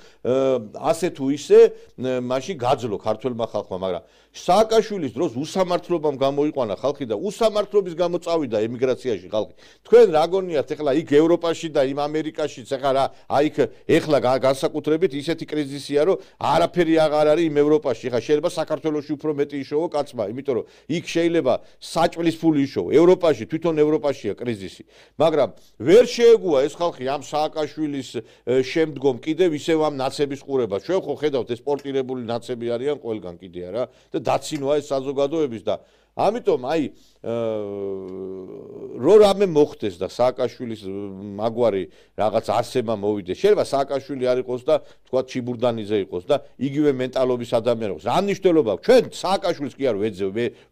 ასე თუ ისე მაშინ გაძლო ქართველმა ხალხმა, მაგრამ სააკაშვილის დროს უსამართლობამ გამოიყვანა ხალხი და უსამართლობის გამო წავიდა ემიგრაციაში ხალხი. თქვენ რა გონიათ ეხლა იქ ევროპაში და იმ ამერიკაშიც ეხლა რა აი ეხლა განსაკუთრებით ისეთი კრიზისია, რომ არაფერი აღარ არის იმ ევროპაში. ეხლა შეიძლება საქართველოში უფრო მეტი იშოვო კაცმა, იმიტომ რომ იქ შეიძლება საჭმლის ფული იშოვო. ევროპაში თვითონ ევროპაშია კრიზისი. მაგრამ ვერ შეეგუა ეს ხალხი ამ სააკაშვილის შემდგომ კიდევ ისევ ამ ნაცების ყურებას. ჩვენ ხო ხედავთ ეს სპორტირებული ნაცები არიან ყველგან კიდე არა და დაცინვა ეს საზოგადოების და ამიტომ აი რო რამე მოხდეს და სააკაშვილის მაგვარი რაღაც არსება მოვიდეს. შეიძლება სააკაშვილი არ იყოს და თქვა ჩიბურდანიზე იყოს და იგივე მენტალობის ადამიანი იყოს. რა მნიშვნელობა აქვს? ჩვენ სააკაშვილს კი არ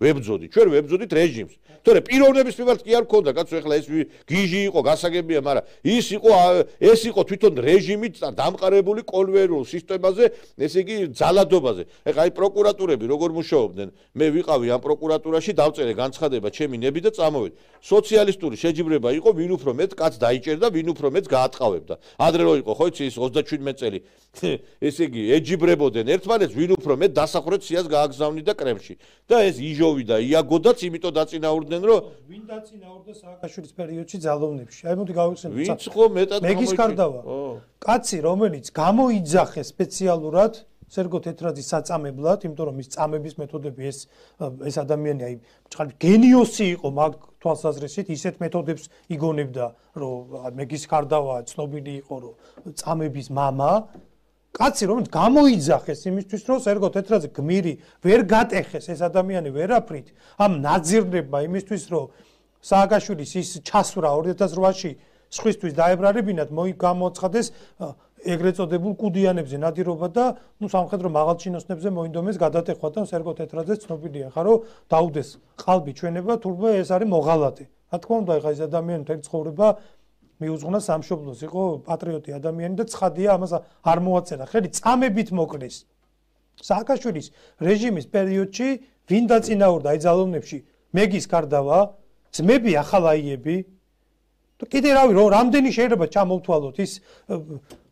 ვებძოდით, ჩვენ ვებძოდით რეჟიმს. თორე პიროვნების მიმართ კი არ ქონდა, კაცო, ეხლა ეს გიჟი იყო, გასაგებია, მაგრამ ის იყო ეს იყო თვითონ რეჟიმით დამყარებული კოლვერულ სისტემაზე, ესე იგი ძალადობაზე. ეხლა აი პროკურატურები როგორ მუშაობდნენ? მე ვიყავი ამ პროკურატურაში, დავწერე განცხადება ჩემი ნები და წამოვედი. სოციალისტური შეჯიბრება იყო, ვინ უფრო მეტ კაც დაიჭერდა, ვინ უფრო მეტ გაატყავებდა. ადრე რო იყო, ხო იცი ის ოცდაშვიდმეტი წელი. ესე იგი ეჯიბრებოდნენ ერთმანეთს, ვინ უფრო მეტ დასახურეთ სიას გააგზავნიდა კრემლში. და ეს იჟოვი და იაგოდაც იმიტომ დაწინაურდნენ, რომ ვინ დაწინაურდა სააკაშვილის პერიოდში ძალოვნებში. აი მოდი გავიხსენოთ. ვინც ხო მეტად მეგის კარდავა. კაცი, რომელიც გამოიძახეს სპეციალურად სერგო თეთრაძის საწამებლად, იმიტომ რომ ის წამების მეთოდები ეს ეს ადამიანი აი ჭყალ გენიოსი იყო მაგ თვალსაზრისით, ისეთ მეთოდებს იგონებდა, რომ მეგის კარდავა ცნობილი იყო, რომ წამების მამა, კაცი რომელიც გამოიძახეს იმისთვის, რომ სერგო თეთრაძე გმირი ვერ გატეხეს ეს ადამიანი ვერაფრით, ამ ნაძირნებმა იმისთვის, რომ სააკაშვილის ის ჩასვრა ორი ათას რვაში სხვისთვის დაებრარებინათ, მოიგამოცხადეს ეგრეთ წოდებულ კუდიანებზე ნადირობა და ნუ სამხედრო მაღალჩინოსნებზე მოინდომეს გადატეხვა და სერგო თეთრაძე ცნობილია ხა რომ დაუდეს ყალბი ჩვენება, თურმე ეს არის მოღალატე. რა თქმა უნდა, ეხა ეს ადამიანი მთელი ცხოვრება მიუძღვნა სამშობლოს, იყო პატრიოტი ადამიანი და ცხადია ამას არ მოაწერა ხელი წამებით მოკლეს. სააკაშვილის რეჟიმის პერიოდში ვინ დაწინაურდა აი ძალოვნებში? მეგის კარდავა, ძმები ახალაიები და კიდე რავი რომ რამდენი შეიძლება ჩამოვთვალოთ ის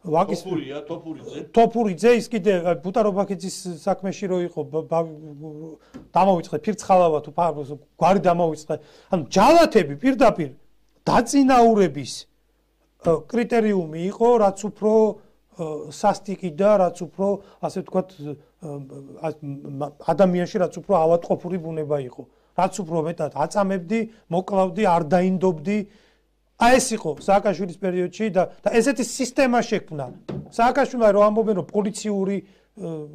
ვაკის ტოფურია, ტოფურიძე. ტოფურიძე ის კიდე ბუტარობაქიძის საქმეში რო იყო დამოვიწყე ფირცხალავა თუ გვარი დამოვიწყე. ანუ ჯალათები პირდაპირ დაწინაურების კრიტერიუმი იყო, რაც უფრო სასტიკი და რაც უფრო ასე ვთქვათ ადამიანში რაც უფრო ავადმყოფური ბუნება იყო. რაც უფრო მეტად აწამებდი, მოკლავდი, არ დაინდობდი. აი ეს იყო სააკაშვილის პერიოდში და და ესეთი სისტემა შექმნა. სააკაშვილმა რომ ამბობენ რომ პოლიციური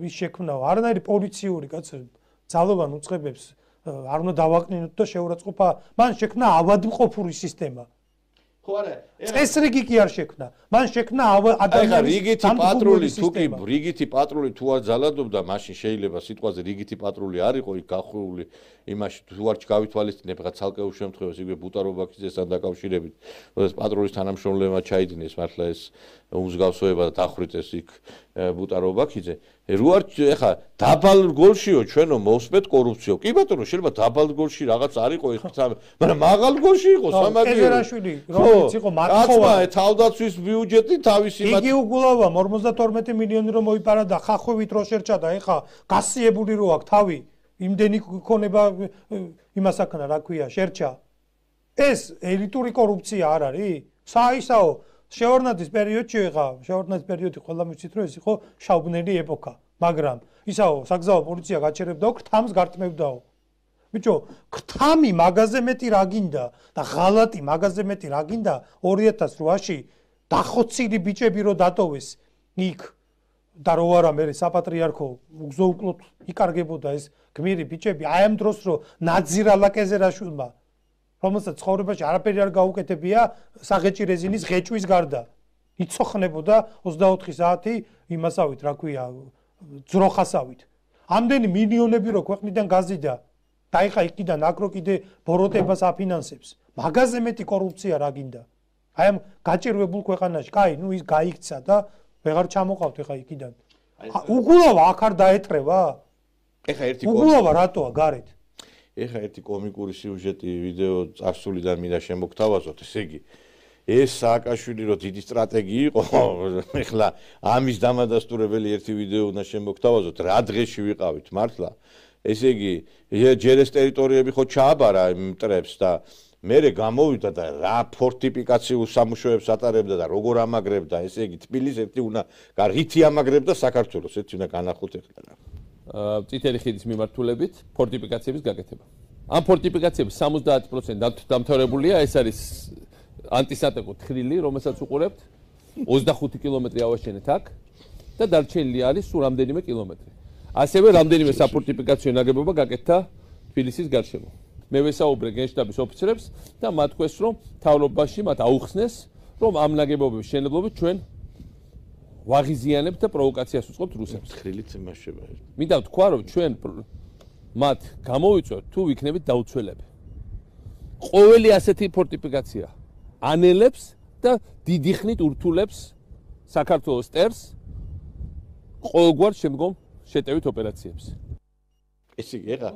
ის შექმნა, არანაირი პოლიციური კაცო ძალოვან უწყებებს არ უნდა დავაკნინოთ და შეურაცხყოფა. მან შექმნა ავადმყოფური სისტემა. ხო არა წესრიგი კი არ შექმნა მან შექმნა ადამიანის რიგითი პატრული თუ კი რიგითი პატრული თუ არ ძალადობდა მაშინ შეიძლება სიტყვაზე რიგითი პატრული არ იყო იქ გახვეული იმაში თუ არ გავითვალისწინებ რა ცალკეულ შემთხვევაში იგივე ბუტარობაქიძესთან დაკავშირებით როდესაც პატრულის თანამშრომლებმა ჩაიდინეს მართლა ეს უმსგავსოება და დახვრიტეს იქ ბუტარობაქიძე რო არ ეხა დაბალ გოლშიო ჩვენო მოვსმეთ კორუფციო კი ბატონო შეიძლება დაბალ გოლში რაღაც არ იყო ეს მაგრამ მაღალ გოლში იყო სამაგიერო ეზერაშვილი რომელიც იყო მათხოვა თავდაცვის ბიუჯეტი თავისი იგი უგულავა ორმოცდათორმეტი მილიონი რომ მოიპარა და ხახვევით რო შერჩა და ეხა გასიებული რო აქვს თავი იმდენი ქონება იმასაკნა რა ქვია შერჩა ეს ელიტური კორუფცია არ არის საისაო შეორნაძის პერიოდში ეხა შეორნაძის პერიოდი ყველა მიცით რომ ეს იყო შავბნელი ეპოქა მაგრამ ისაო საგზაო პოლიცია გაჩერებდა ქრთამს გარტმევდაო ბიჭო ქრთამი მაგაზე მეტი რა გინდა და ღალატი მაგაზე მეტი რა გინდა ორი ათას რვაში დახოცილი ბიჭები რო დატოვეს იქ და რო არა მე საპატრიარქო უგზოუკლოდ იკარგებოდა ეს გმირი ბიჭები აი ამ დროს რო ნაძირალა კეზერაშვილმა რომელსაც ცხოვრებაში არაფერი არ გაუკეთებია საღეჭი რეზინის ღეჭვის გარდა იცოხნებოდა ოცდაოთხი საათი იმასავით რა ქვია ძროხასავით ამდენი მილიონები რო ქვეყნიდან გაზიდა და ეხა იქიდან აკრო კიდე ბოროტებას აფინანსებს მაგაზე მეტი კორუფცია რა გინდა აი ამ გაჭირვებულ ქვეყანაში კაი ნუ ის გაიქცა და ვეღარ ჩამოყავთ ეხა იქიდან უგულავა აქ არ დაეტრევა ეხა ერთი უგულავა რატოა გარეთ ეხა ერთი კომიკური სიუჟეტი ვიდეო წარსულიდან მინდა შემოგთავაზოთ ესე იგი ეს სააკაშვილი რო დიდი სტრატეგი იყო ეხლა ამის დამადასტურებელი ერთი ვიდეო უნდა შემოგთავაზოთ რა დღეში ვიყავით მართლა ესე იგი ჯერ ეს ტერიტორიები ხო ჩააბარა მტრებს და მერე გამოვიდა და რა ფორტიფიკაციულ სამუშაოებს ატარებდა და როგორ ამაგრებდა ესე იგი თბილისს ერთი უნდა რითი ამაგრებდა საქართველოს ერთი უნდა განახოთ ეხლა რა წითელი ხიდის მიმართულებით ფორტიფიკაციების გაკეთება. ამ ფორტიფიკაციების სამოცდაათი პროცენტი დამთავრებულია, ეს არის ანტისატეკო თხრილი, რომელსაც უყურებთ ოცდახუთი კილომეტრი ავაშენეთ აქ და დარჩენილი არის სულ რამდენიმე კილომეტრი. ასევე რამდენიმე საფორტიფიკაციო ნაგებობა გაკეთდა თბილისის გარშემო. მე ვესაუბრე გენშტაბის ოფიცრებს და მათ თქვეს, რომ თავრობაში მათ აუხსნეს, რომ ამ ნაგებობების შენებლობით ჩვენ ვაღიზიანებთ და პროვოკაციას უწყობთ რუსებს. თხრილით იმაშება. მინდა ვთქვა, რომ ჩვენ მათ გამოვიწვევთ თუ ვიქნებით დაუცველები. ყოველი ასეთი ფორტიფიკაცია ანელებს და დიდი ხნით ურთულებს საქართველოს ტერს ყოველგვარ შემდგომ შეტევით ოპერაციებს. ესე იგი ეხა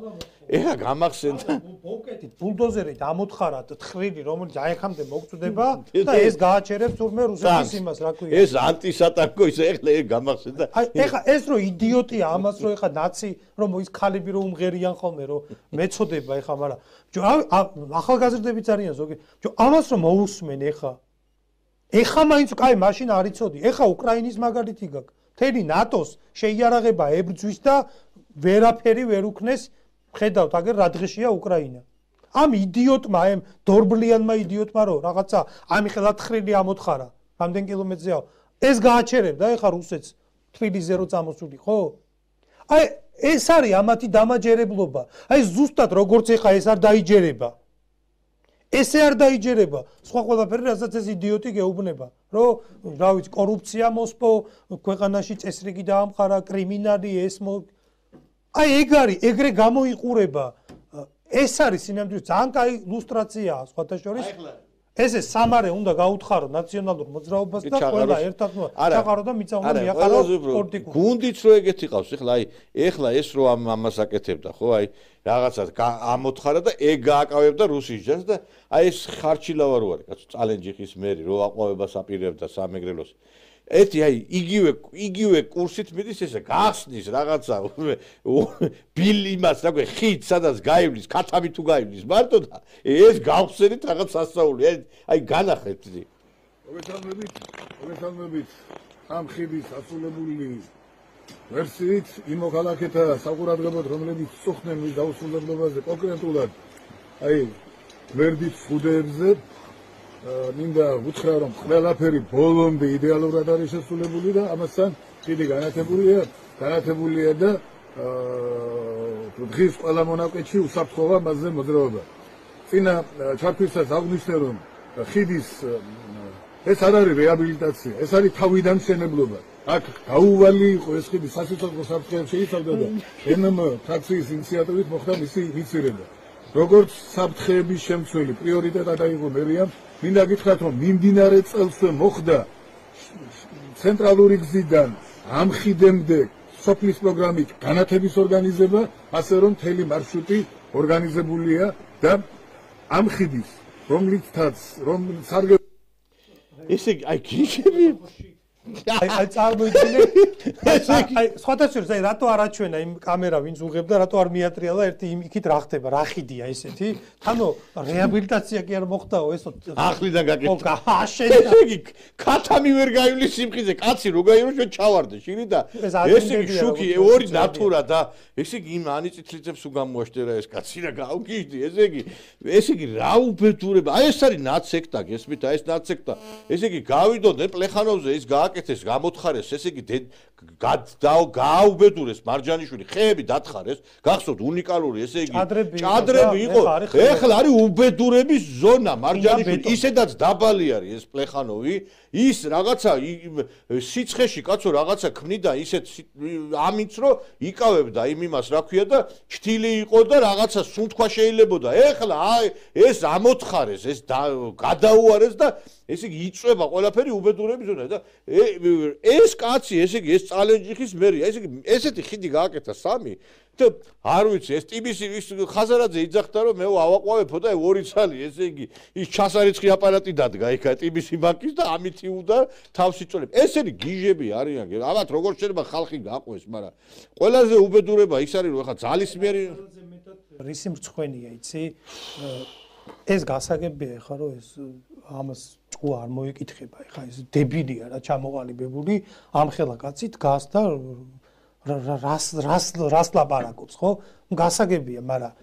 ეხა გამახსენდა ბოკეტით ბულდოზერით ამოთხარათ თხრილი რომელიც აი ხამდე მოგწდება და ეს გააჩერებს თურმე რუსეთის იმას რა ქვია ეს ანტისატანკო ის ეხლა ეს გამახსენდა აი ეხა ეს რო იდიოტია ამას რო ეხა ნაცი რომ ის ქალები რო უმღერიან ხოლმე რომ მეწოდება ეხა მაგრამ ახალგაზრდებიც არიან ზოგი ამას რომ მოусმენ ეხა ეხა მაინც კაი მაშინ არ იცოდი ეხა უკრაინის მაგალითი გაქვს მთელი ნატოს შეიარაღება ებრძვის და ვერაფერი ვერ უქნეს ხედავთ აგერ რა დღეშია უკრაინა ამ იდიოტმა ამ დორბლიანმა იდიოტმა რო რაღაცა ამიხელა თხრილი ამოთხარა რამდენ კილომეტრზეა ეს გააჩერებდა ეხა რუსეთს თბილისზე რო წამოსული ხო აი ეს არის ამათი დამაჯერებლობა აი ზუსტად როგორც ეხა ეს არ დაიჯერება ესე არ დაიჯერება სხვა ყველაფერი რასაც ეს იდიოტი გეუბნება რომ რა ვიცი კორუფცია მოსპო ქვეყანაში წესრიგი დაამყარა კრიმინალი ეს აი ეგ არის ეგრე გამოიყურება ეს არის სინამდვილე ძალიან კაი ილუსტრაციაა სხვათა შორის ესე სამარე უნდა გაუთხარო ნაციონალურ მოძრაობას და ყველა ერთად ჩაყარო და მიწა უნდა მიაყარო სპორტიკულ გუნდიც რო ეგეთი ყავს ეხლა აი ეხლა ეს რო ამას აკეთებდა ხო აი რაღაცა ამოთხარა და ეგ გააკავებდა რუსის ჯარს და აი ეს ხარჩილავა რო არის კაცო წალენჯიხის მერი რო აყვავებას აპირებდა სამეგრელოს ეთი აი იგივე იგივე კურსით მიდის ესე გახსნის რაღაცა ბილი იმას რა ქვია ხით სადაც გაივლის ქათამი თუ გაივლის მარტო და ეს გავხსენით რაღაც სასწაული აი განახეთ მოგესალმებით მოგესალმებით ამ ხიდის ასულებული ვერსიით იმ მოქალაქეთა საყურადღებოდ რომლებიც წუხდნენ მის დაუსრულებლობაზე კონკრეტულად აი გვერდით ფუდებზე მინდა უთხრა რომ ყველაფერი ბოლომდე იდეალურად არის შესრულებული და ამასთან ხიდი განათებულია განათებულია და დღის ყველა მონაკვეთში უსაფრთხოა მასზე მოძრაობა. წინა ჩართვისას აღვნიშნე რომ ხიდის ეს არ არის რეაბილიტაცია, ეს არის თავიდან მშენებლობა. აქ გაუვალი იყო ეს ხიდი სასიცოცხლო საფრთხეებს შეიცავდა და ენ ემ ფრაქციის ინიციატივით მოხდა მისი ინიცირება. როგორც საფრთხეების შემცველი პრიორიტეტად აიღო მერიამ, მინდა გითხრათ, რომ მიმდინარე წელსვე მოხდა ცენტრალური გზიდან ამ ხიდემდე სოფლის პროგრამით განათების ორგანიზება, ასე რომ მთელი მარშრუტი ორგანიზებულია და ამ ხიდის, რომლითაც რომ სარგე ესე აი გიშები აი აი წარმოიდგინე აი სხვათა შორის აი რატო არ აჩვენა იმ კამერა ვინც უღებდა რატო არ მიატრიალა ერთი იმ იქით რა ხდება რა ხიდია ესეთი თანო რეაბილიტაცია კი არ მოხდაო ესო ახლიდან გაკეთდა აშენ ესე იგი ქათამი ვერ გაივლის სიმხიზე კაცი რო გაირო ჩვენ ჩავარდე შირი და ესე იგი შუქი ორი ნატურა და ესე იგი იმ ანიწითლიცებს უგამოაშტერა ეს კაცი რა გავგიჟდი ესე იგი ესე იგი რა უბედურება აი ეს არის ნაცექტა გესმით აი ეს ნაცექტა ესე იგი გავიდოდნენ პლეხანოვზე ის გააკეთეს გამოთხარეს ესე იგი გააუბედურეს მარჯანიშვილი ხეები დათხარეს გახსოვთ უნიკალური ესე იგი ჭადრები იყო ეხლა არის უბედურების ზონა მარჯანიშვილი ისედაც დაბალი არის ეს პლეხანოვი ის რაღაცა სიცხეში კაცო რაღაცა ქმნიდა ისეთ ამიც რომ იკავებდა იმ იმას რა ქვია და ჩთილი იყო და რაღაცა სუნთქვა შეიძლებოდა ეხლა აი ეს ამოთხარეს ეს გადაუარეს და ესე იგი იწვება ყველაფერი უბედურების ზონა და ეს კაცი ესე იგი ეს წალენჯიხის მერია ესე იგი ესეთი ხიდი გააკეთა სამი და არ ვიცი ეს ტიბისი ის ხაზარაძე იძახდა რომ მე ავაყვავებო და ორი ცალი ესე იგი ის ჩასარიცხი აპარატი დადგა იქა ტიბისი ბანკის და ამით იუდა თავს იწოლებ ესენი გიჟები არიან ამათ როგორ შეიძლება ხალხი გაყვეს მაგრამ ყველაზე უბედურება ის არის რომ ეხა ძალისმიერი რისი მრცხვენია იცი ეს გასაგებია ხა რომ ეს ამას ჭკუა არ მოიკითხება ეხა ეს დებილია რა ჩამოყალიბებული ამ ხელა კაცი დგას და რას რას რას ლაპარაკობს ხო გასაგებია მაგრამ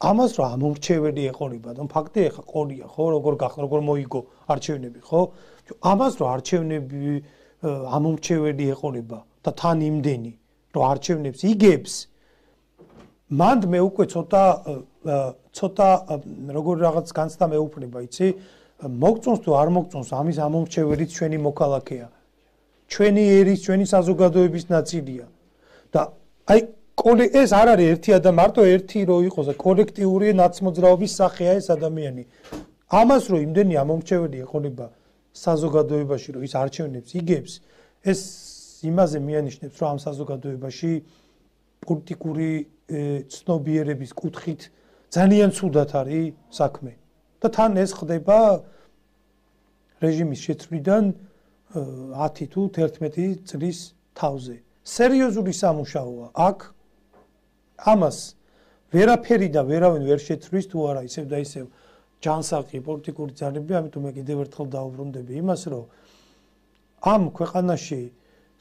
ამას რა ამორჩეველი ეყოლება და ფაქტი ეხა ყოლია ხო როგორ გახდა როგორ მოიგო არჩევნები ხო ამას რა არჩევნები ამორჩეველი ეყოლება და თან იმდენი რომ არჩევნებს იგებს მანდ მე უკვე ცოტა ცოტა როგორ რაღაც განცდა მეუფლება იცი მოგწონს თუ არ მოგწონს ამის ამორჩეველიც ჩვენი მოქალაქეა ჩვენი ერის ჩვენი საზოგადოების ნაწილია და აი ეს არ არის ერთი ადამიანი მარტო ერთი რო იყოს კოლექტიური ნაცმოძრაობის სახეა ეს ადამიანი ამას რო იმდენი ამორჩეველი ეყოლება საზოგადოებაში რომ ის არჩევნებს იგებს ეს იმაზე მიანიშნებს რომ ამ საზოგადოებაში პოლიტიკური ცნობიერების კუთხით ძალიან ცუდად არის საქმე და თან ეს ხდება რეჟიმის შეცვლიდან ათი თუ თერთმეტი წლის თავზე სერიოზული სამუშაოა აქ ამას ვერაფერი და ვერავინ ვერ შეცვლის თუ არა ისევ და ისევ ჯანსაღი პოლიტიკური ძალები ამიტომ მე კიდევ ერთხელ დაუბრუნდები იმას რომ ამ ქვეყანაში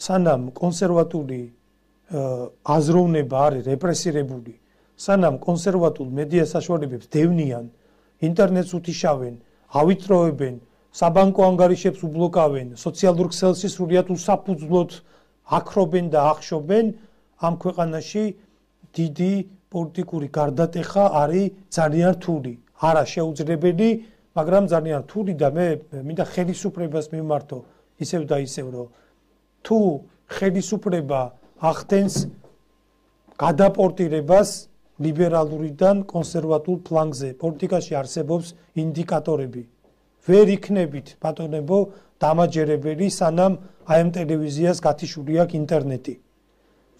სანამ კონსერვატული აზროვნება არის რეპრესირებული სანამ კონსერვატულ მედია საშუალებებს დევნიან ინტერნეტს უთიშავენ ავიწროებენ საბანკო ანგარიშებს უბლოკავენ სოციალურ ქსელში სრულიად უსაფუძვლოდ აქრობენ და ახშობენ ამ ქვეყანაში დიდი პოლიტიკური გარდატეხა არის ძალიან რთული არა შეუძლებელი მაგრამ ძალიან რთული და მე მინდა ხელისუფლებას მიმართო ისევ და ისევ რომ თუ ხელისუფლება ახდენს გადაპორტირებას ლიბერალურიდან კონსერვატულ ფლანგზე პოლიტიკაში არსებობს ინდიკატორები ვერ იქნებით ბატონებო დამაჯერებელი სანამ აი ამ ტელევიზიას გათიშული აქვს ინტერნეტი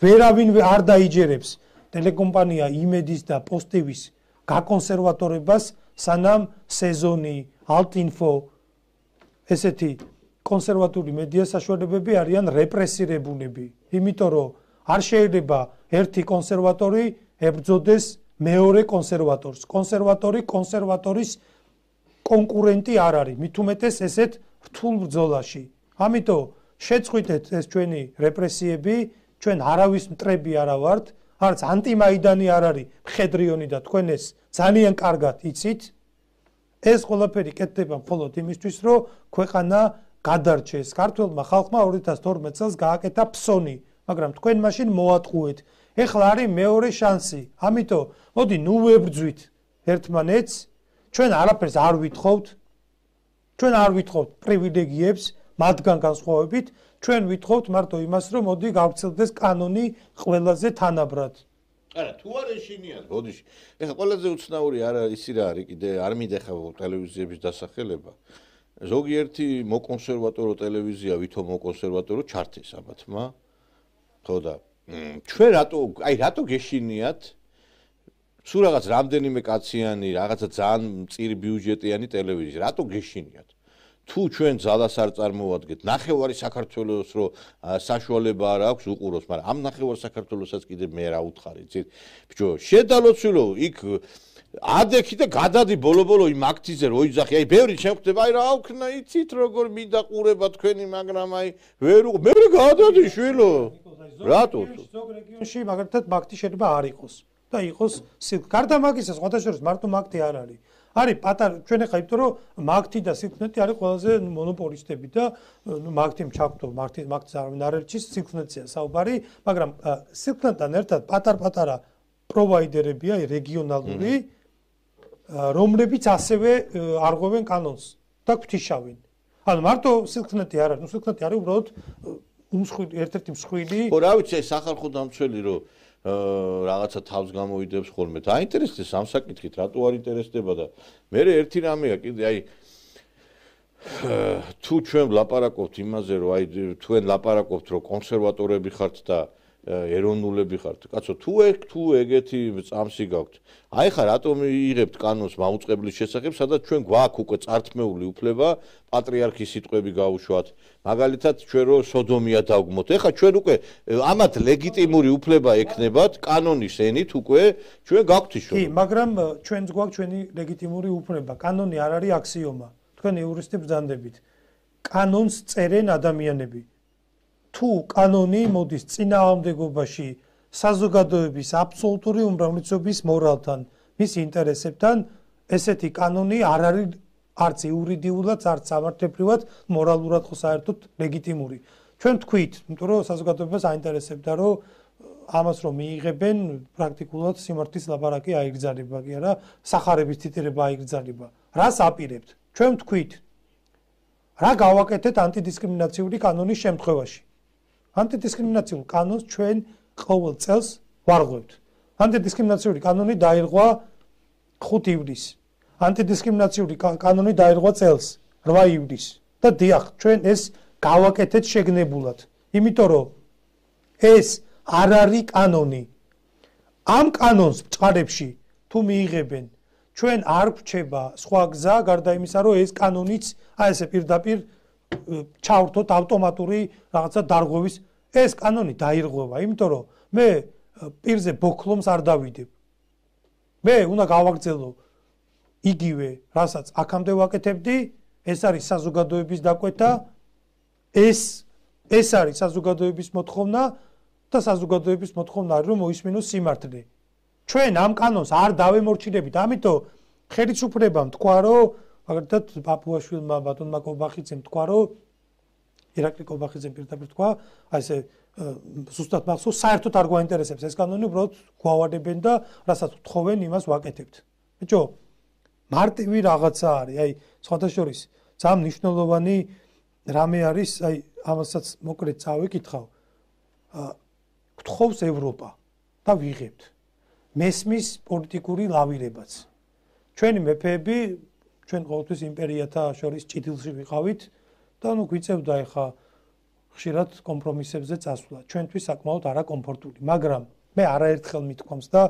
ვერავინ არ დაიჯერებს ტელეკომპანია იმედის და პოსტივის გაკონსერვატორებას სანამ სეზონი ალტინფო ესეთი კონსერვატული მედია საშუალებები არიან რეპრესირებულები იმიტომ რომ არ შეიძლება ერთი კონსერვატორი ებრძოდეს მეორე კონსერვატორს კონსერვატორი კონსერვატორის კონკურენტი არ არის მით უმეტეს ესეთ რთულ ბრძოლაში ამიტომ შეწყვიტეთ ეს ჩვენი რეპრესიები ჩვენ არავის მტრები არა ვართ არც ანტიმაიდანი არ არის მხედრიონი და თქვენ ეს ძალიან კარგად იცით ეს ყველაფერი კეთდება მხოლოდ იმისთვის რომ ქვეყანა გადარჩეს ქართულმა ხალხმა ორი ათას თორმეტ წელს გააკეთა ფსონი მაგრამ თქვენ მაშინ მოატყუეთ ეხლა არის მეორე შანსი ამიტომ მოდი ნუ ვებრძვით ერთმანეთს ჩვენ არაფერს არ ვითხოვთ ჩვენ არ ვითხოვთ პრივილეგიებს მათგან განსხვავებით, ჩვენ ვითხოვთ მარტო იმას, რომ მოდი გავცილდეს კანონი ყველაზე თანაბრად. არა, თუ არ ეშინიათ, ბოდიში. ეხლა ყველაზე უცნაური არა ისი რა არის კიდე არ მიდეხა ტელევიზიების დასახელება. ზოგიერთი მოკონსერვატორო ტელევიზია, ვითომ მოკონსერვატორო ჩართეს ამათმა. ხო და ჩვენ რატო, აი რატო გეშინიათ? სულ რაღაც რამდენიმე კაციანი, რაღაცა ძალიან მწირი ბიუჯეტიანი ტელევიზია, რატო გეშინიათ? თუ ჩვენ ძალას არ წარმოვადგეთ, ნახევარი საქართველოს რო საშუალება არ აქვს უყუროს, მაგრამ ამ ნახევარ საქართველოსაც კიდე მე რა უთხარი, ძირ. ბიჭო, შედალოცულო იქ ადექი და გადადი ბოლო-ბოლო იმ აქტიზე რო იძახი, აი ბევრი შემხვდება, აი რა ვქნა, იცით როგორ მინდა ყურება თქვენი, მაგრამ აი ვერ უყ მე გადადი შვილო. რატო? ზოგ რეგიონში მაგალითად მაგთი შეიძლება არ იყოს და იყოს სილქ. გარდა მაგისა, სხვათა შორის მარტო მაგთი არ არის. არის პატარა ჩვენ ახლა იმიტომ რომ მაგთი და სილქნეტი არის ყველაზე მონოპოლისტები და მაგთიმ ჩაგვდო მაგთი მაგთს არ ვინარელჩის სილქნეტია საუბარი, მაგრამ სილქნეტთან ერთად პატარ-პატარა პროვაიდერებია რეგიონალური, რომლებიც ასევე არღვევენ კანონს და გვთიშავენ. ანუ მარტო სილქნეტი არ არის, ნუ სილქნეტი არის უბრალოდ უმსხვილი ერთ-ერთი მსხვილი. ხო, რა ვიცი, ეს სახალხო დამცველი რომ რაღაცა თავს გამოიდებს ხოლმე. დაინტერესდეს ამ საკითხით, რატო არ ინტერესდება და მე ერთი რამეა კიდე აი თუ ჩვენ ვლაპარაკობთ იმაზე, რომ აი თქვენ ლაპარაკობთ, რომ კონსერვატორები ხართ და ეროვნულები ხართ. კაცო, თუ ეგ თუ ეგეთი წამსი გაქვთ. აი ხა რატომ იღებთ კანონს მაუწყებლის შესახებ, სადაც ჩვენ გვაქვს უკვე წართმეული უფლება პატრიარქის სიტყვები გაუშვათ. მაგალითად, ჩვენ რო სოდომია დავგმოთ. ეხა ჩვენ უკვე ამათ ლეგიტიმური უფლება ექნებათ კანონის ენით უკვე ჩვენ გაქვთ ის. კი, მაგრამ ჩვენც გვაქვს ჩვენი ლეგიტიმური უფლება. კანონი არ არის აქსიომა. თქვენ იურისტი ბრძანდებით. კანონს წერენ ადამიანები. თუ კანონი მოდის წინააღმდეგობაში საზოგადოების აბსოლუტური უმრავლესობის მორალთან, მის ინტერესებთან, ესეთი კანონი არ არის არც იურიდიულად, არც სამართლებრივად, მორალურად ხო საერთოდ ლეგიტიმური. ჩვენ თქვით, იმიტომ რომ საზოგადოებას აინტერესებდა, რომ ამას რომ მიიღებენ, პრაქტიკულად სიმართლის ლაპარაკი აიგრძალება, კი არა, სახარების ციტირება აიგრძალება. რას აპირებთ? ჩვენ თქვით, რა გავაკეთეთ ანტიდისკრიმინაციული კანონის შემთხვევაში? ანტიდისკრიმინაციულ კანონს ჩვენ ყოველ წელს ვარღვევთ. ანტიდისკრიმინაციული კანონი დაირღვა ხუთი ივლისს. ანტიდისკრიმინაციული კანონი დაირღვა წელს რვა ივლისს და დიახ, ჩვენ ეს გავაკეთეთ შეგნებულად. იმიტომ რომ ეს არ არის კანონი. ამ კანონს ბწყარებში თუ მიიღებენ, ჩვენ არ გვჩება სხვა გზა გარდა იმისა, რომ ეს კანონიც აი ესე პირდაპირ ჩავრთოთ ავტომატური რაღაცა დარღვევის. ეს კანონი დაირღვევა, იმიტომ რომ მე პირზე ბოქლომს არ დავიდებ. მე უნდა გავაგრძელო იგივე, რასაც აქამდე ვაკეთებდი, ეს არის საზოგადოების დაკვეთა, ეს ეს არის საზოგადოების მოთხოვნა და საზოგადოების მოთხოვნა არის რომ მოისმინოს სიმართლე. ჩვენ ამ კანონს არ დავემორჩილებით, ამიტომ ხელისუფლებამ თქვა, რომ მაგალითად პაპუაშვილმა ბატონმა კობახიძემ თქვა, რომ ირაკლი კობახიძემ პირდაპირ თქვა, აი ესე ზუსტად მახსოვს, საერთოდ არ გვაინტერესებს ეს კანონი, უბრალოდ გვავარდებენ და რასაც ვთხოვენ, იმას ვაკეთებთ. ბიჭო, მარტივი რაღაცა არის, აი სხვათა შორის ძალიან მნიშვნელოვანი რამე არის, აი ამასაც მოკლედ წავიკითხავ. გთხოვს ევროპა და ვიღებთ. მესმის პოლიტიკური ლავირებაც. ჩვენი მეფეები, ჩვენ ყოველთვის იმპერიათა შორის ჭიდილში ვიყავით და ნუ გვიწევდა ეხა ხშირად კომპრომისებზე წასვლა. ჩვენთვის საკმაოდ არაკომფორტული, მაგრამ მე არაერთხელ მithქვამს და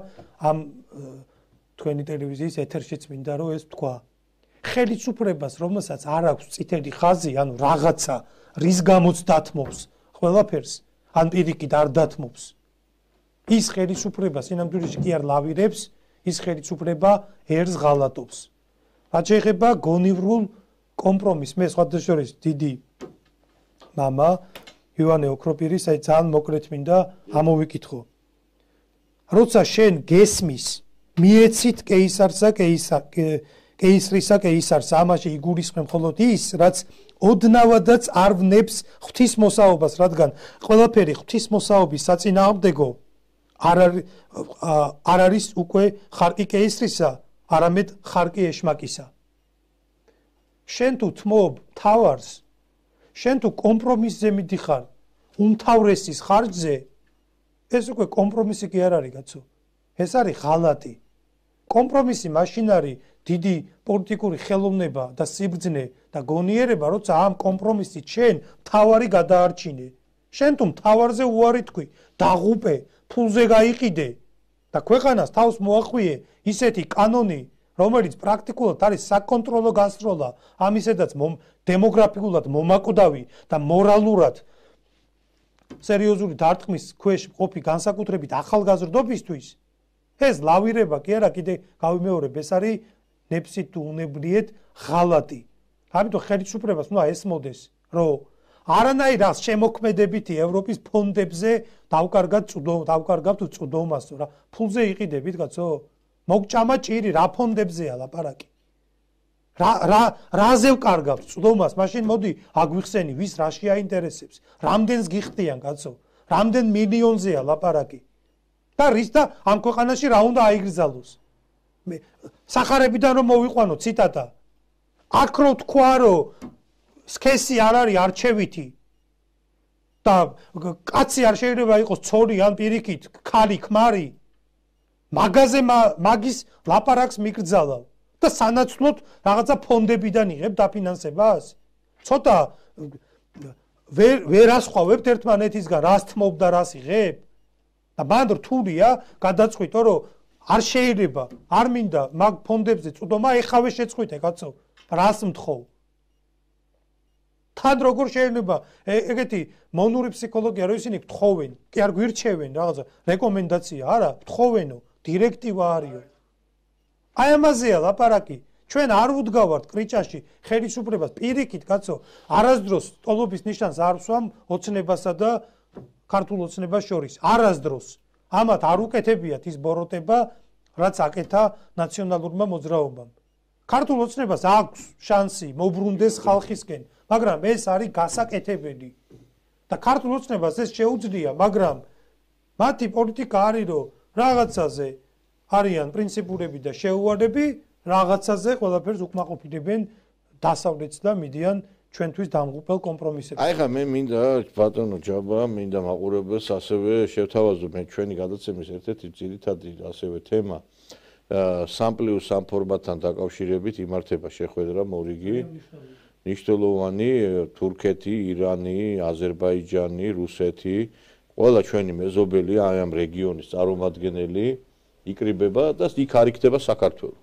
ამ თქვენი ტელევიზიის ეთერშიც მინდა რომ ეს თქვა. ხელისუფლებას, რომელსაც არ აქვს წითელი ხაზი, ანუ რაღაცა, რის გამოც დათმობს ყველაფერს, ან პირიქით არ დათმობს. ის ხელისუფლება სინამდვილეში კი არ ლავირებს, ის ხელისუფლება ერს ღალატობს. რაც შეეხება გონივრულ კომპრომისს, მე სხვათა შორის დიდი მამა ივანე ოქროპირის აი ძალიან მოკლედ მინდა ამოვიკითხო. როცა შენ გესმის, მიეცით კეისარსა კეისა კეისრისა კეისარს, ამაში იგულისხმებ მხოლოდ ის, რაც ოდნავადაც არ ვნებს ღვთისმოსაობას, რადგან ყველაფერი ღვთისმოსაობის საწინააღმდეგო არ არის არ არის უკვე ხარკი კეისრისა, არამედ ხარკი ეშმაკისა. შენ თუ თმობ თავარს, შენ თუ კომპრომისზე მიდიხარ უმთავრესის ხარჯზე, ეს უკვე კომპრომისი კი არ არის, კაცო. ეს არის ღალატი. კომპრომისი მაშინ არის დიდი პოლიტიკური ხელოვნება და სიბრძნე და გონიერება, როცა ამ კომპრომისით შენ თავარი გადაარჩინე. შენ თუ თავარზე უარი თქვი, დაღუპე, ფულზე გაიყიდე და ქვეყანას თავს მოახვიე ისეთი კანონი, რომელიც პრაქტიკულად არის საკონტროლო გასროლა, ამისედაც დემოგრაფიულად მომაკვდავი და მორალურად სერიოზული დარტყმის ქვეშ ყოფი განსაკუთრებით ახალგაზრდობისთვის, ეს ლავირება კი არა, კიდე გავიმეორებ, ეს არის ნებსით თუ უნებლიეთ ღალატი. ამიტომ ხელისუფლებას უნდა ესმოდეს, რომ არანაირად შემოქმედებითი ევროპის ფონდებზე დავკარგავთ დავკარგავთ წვდომას, რა ფულზე იყიდებით, კაცო? მოგჭამა ჭირი, რა ფონდებზეა ლაპარაკი? რა რა რაზე ვკარგავთ წვდომას? მაშინ მოდი აგვიხსენი, ვის რა შეაინტერესებს? რამდენს გიხდიან, კაცო? რამდენ მილიონზეა ლაპარაკი? და რის და ამ ქვეყანაში რა უნდა აიგრძალოს? მე სახარებიდან რომ მოვიყვანო ციტატა. აქ რო თქვა, რომ სქესი არ არის არჩევითი და კაცი არ შეიძლება იყოს ცოლი ან პირიქით, ქალი, ქმარი. მაგაზე მაგის ლაპარაკს მიკრძალავ და სანაცვლოდ რაღაცა ფონდებიდან იღებ დაფინანსებას. ცოტა ვერ ვერ ასხვავებთ ერთმანეთისგან, რას თმობ და რას იღებ? და მან რთულია გადაწყვიტო, რომ არ შეიძლება, არ მინდა მაგ ფონდებზე წვდომა, ეხავე შეწყვიტე, კაცო. რას მთხოვ? თან როგორ შეიძლება ეგეთი მონური ფსიქოლოგია, რომ ისინი გთხოვენ, კი არ გვირჩევენ რაღაცა რეკომენდაცია, არა, გთხოვენო, დირექტივა არისო. აი ამაზეა ლაპარაკი. ჩვენ არ ვუდგავართ კრიჭაში ხელისუფლებას პირიქით, კაცო, არასდროს ტოლობის ნიშანს არ ვსვამ ოცნებასა და ქართულ ოცნებას შორის. არასდროს. ამათ არ უკეთებიათ ის ბოროტება, რაც აკეთა ნაციონალურმა მოძრაობამ. ქართულ ოცნებას აქვს შანსი მოbrunდეს ხალხისკენ, მაგრამ ეს არის გასაკეთებელი. და ქართულ ოცნებას ეს შეუძლია, მაგრამ მათი პოლიტიკა არის, რომ რაღაცაზე არიან პრინციპულები და შეუვალები, რაღაცაზე ყველაფერს უკმაყოფილებენ დასავლეთს და მიდიან ჩვენთვის დამღუპელ კომპრომისებს. აი ხა მე მინდა ბატონო ჯაბა, მინდა მაყურებელს ასევე შევთავაზო მე ჩვენი გადაცემის ერთ-ერთი ძირითადი ასევე თემა სამ პლუს სამ ფორმატთან დაკავშირებით იმართება შეხვედრა მორიგი. ნიშნულოვანი თურქეთი, ირანი, აზერბაიჯანი, რუსეთი, ყველა ჩვენი მეზობელი აი ამ რეგიონის წარმომადგენელი იკრიბება და იქ არ იქნება საქართველო.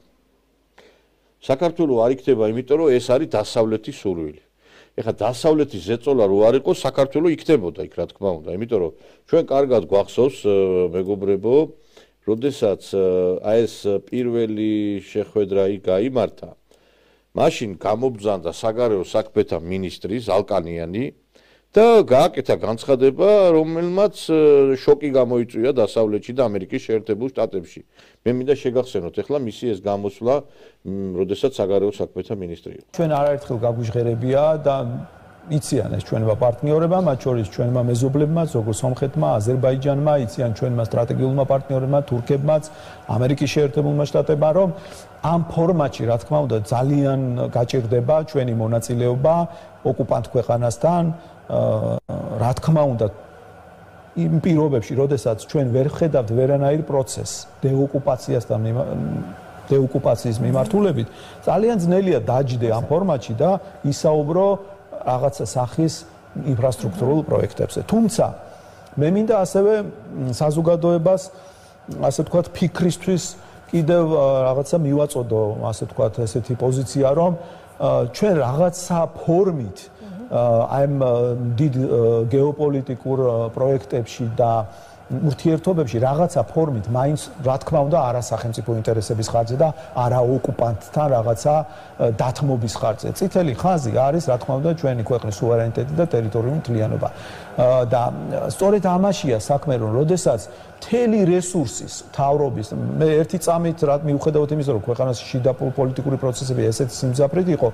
საქართველო არ იქნება, იმიტომ რომ ეს არის დასავლეთის სურვილი. ეხლა დასავლეთის ზეწოლა რო არ იყოს, საქართველო იქნებოდა იქ, რა თქმა უნდა, იმიტომ რომ ჩვენ კარგად გვახსოვს მეგობრებო, როდესაც აი ეს პირველი შეხვედრა იქ გაიმართა, მაშინ გამობრძანდა საგარეო საქმეთა მინისტრი ზალკანიანი და გააკეთა განცხადება, რომელმაც შოკი გამოიწვია დასავლეთში და ამერიკის შეერთებულ შტატებში. მე მინდა შეგახსენოთ ახლა მისი ეს გამოსვლა, როდესაც საგარეო საქმეთა მინისტრი იყო. ჩვენ არაერთხელ გაგვიჟღერებია და იციან ეს ჩვენმა პარტნიორებმა, მათ შორის ჩვენმა მეზობლებმაც, როგორც სომხეთმა, აზერბაიჯანმა, იციან ჩვენმა სტრატეგიულმა პარტნიორებმა, თურქებმაც, ამერიკის შეერთებულმა შტატებმა, რომ ამ ფორმატში, რა თქმა უნდა, ძალიან გაჭირდება ჩვენი მონაწილეობა ოკუპანტ ქვეყანასთან, რა თქმა უნდა, იმ პირობებში, როდესაც ჩვენ ვერ ხედავთ ვერანაირ პროცესს დეოკუპაციასთან დეოკუპაციის მიმართულებით, ძალიან ძნელია დაჯდე ამ ფორმატში და ისაუბრო რაღაცა სახის ინფრასტრუქტურულ პროექტებზე. თუმცა მე მინდა ასევე საზოგადოებას, ასე ვთქვათ, ფიქრისთვის კიდევ რაღაცა მივაწოდო, ასე ვთქვათ, ესეთი პოზიცია, რომ ჩვენ რაღაცა ფორმით აი ამ დიდ გეოპოლიტიკურ პროექტებში და ურთიერთობებში რაღაცა ფორმით მაინც რა თქმა უნდა არა სახელმწიფო ინტერესების ხარჯზე და არა ოკუპანტთან რაღაცა დათმობის ხარჯზე. წითელი ხაზი არის რა თქმა უნდა ჩვენი ქვეყნის სუვერენიტეტი და ტერიტორიული მთლიანობა. და სწორედ ამაშია საქმე, რომ როდესაც მთელი რესურსის თავრობის მე ერთი წამით რა მიუხედავად იმისა, რომ ქვეყანაში შიდა პოლიტიკური პროცესები ესეთი სიმძაფრით იყო,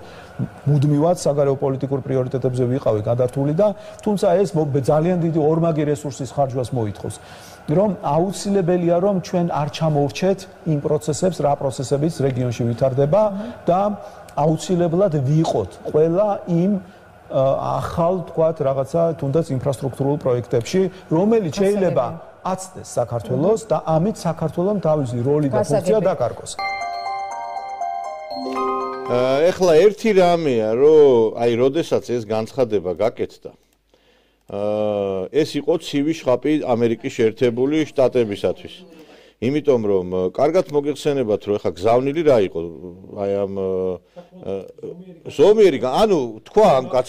მუდმივად საგარეო პოლიტიკურ პრიორიტეტებზე ვიყავი გადართული და თუმცა ეს ძალიან დიდი ორმაგი რესურსის ხარჯვას მოითხოვს. რომ აუცილებელია რომ ჩვენ არ ჩამოვრჩეთ იმ პროცესებს, რა პროცესებიც რეგიონში ვითარდება და აუცილებლად ვიყოთ ყველა იმ ახალ თქვათ რაღაცა თუნდაც ინფრასტრუქტურულ პროექტებში, რომელიც შეიძლება აცდეს საქართველოს და ამით საქართველოს თავისი როლი და ფუნქცია დაკარგოს. ეხლა ერთი რამეა, რომ აი როდესაც ეს განცხადება გაკეთდა, ეს იყო ცივი შხაპი ამერიკის შეერთებული შტატებისათვის. იმიტომ რომ კარგად მოგეხსენებათ რომ ეხა გზავნილი რა იყო აი ამ ზომიერი ანუ თქვა ამ კაც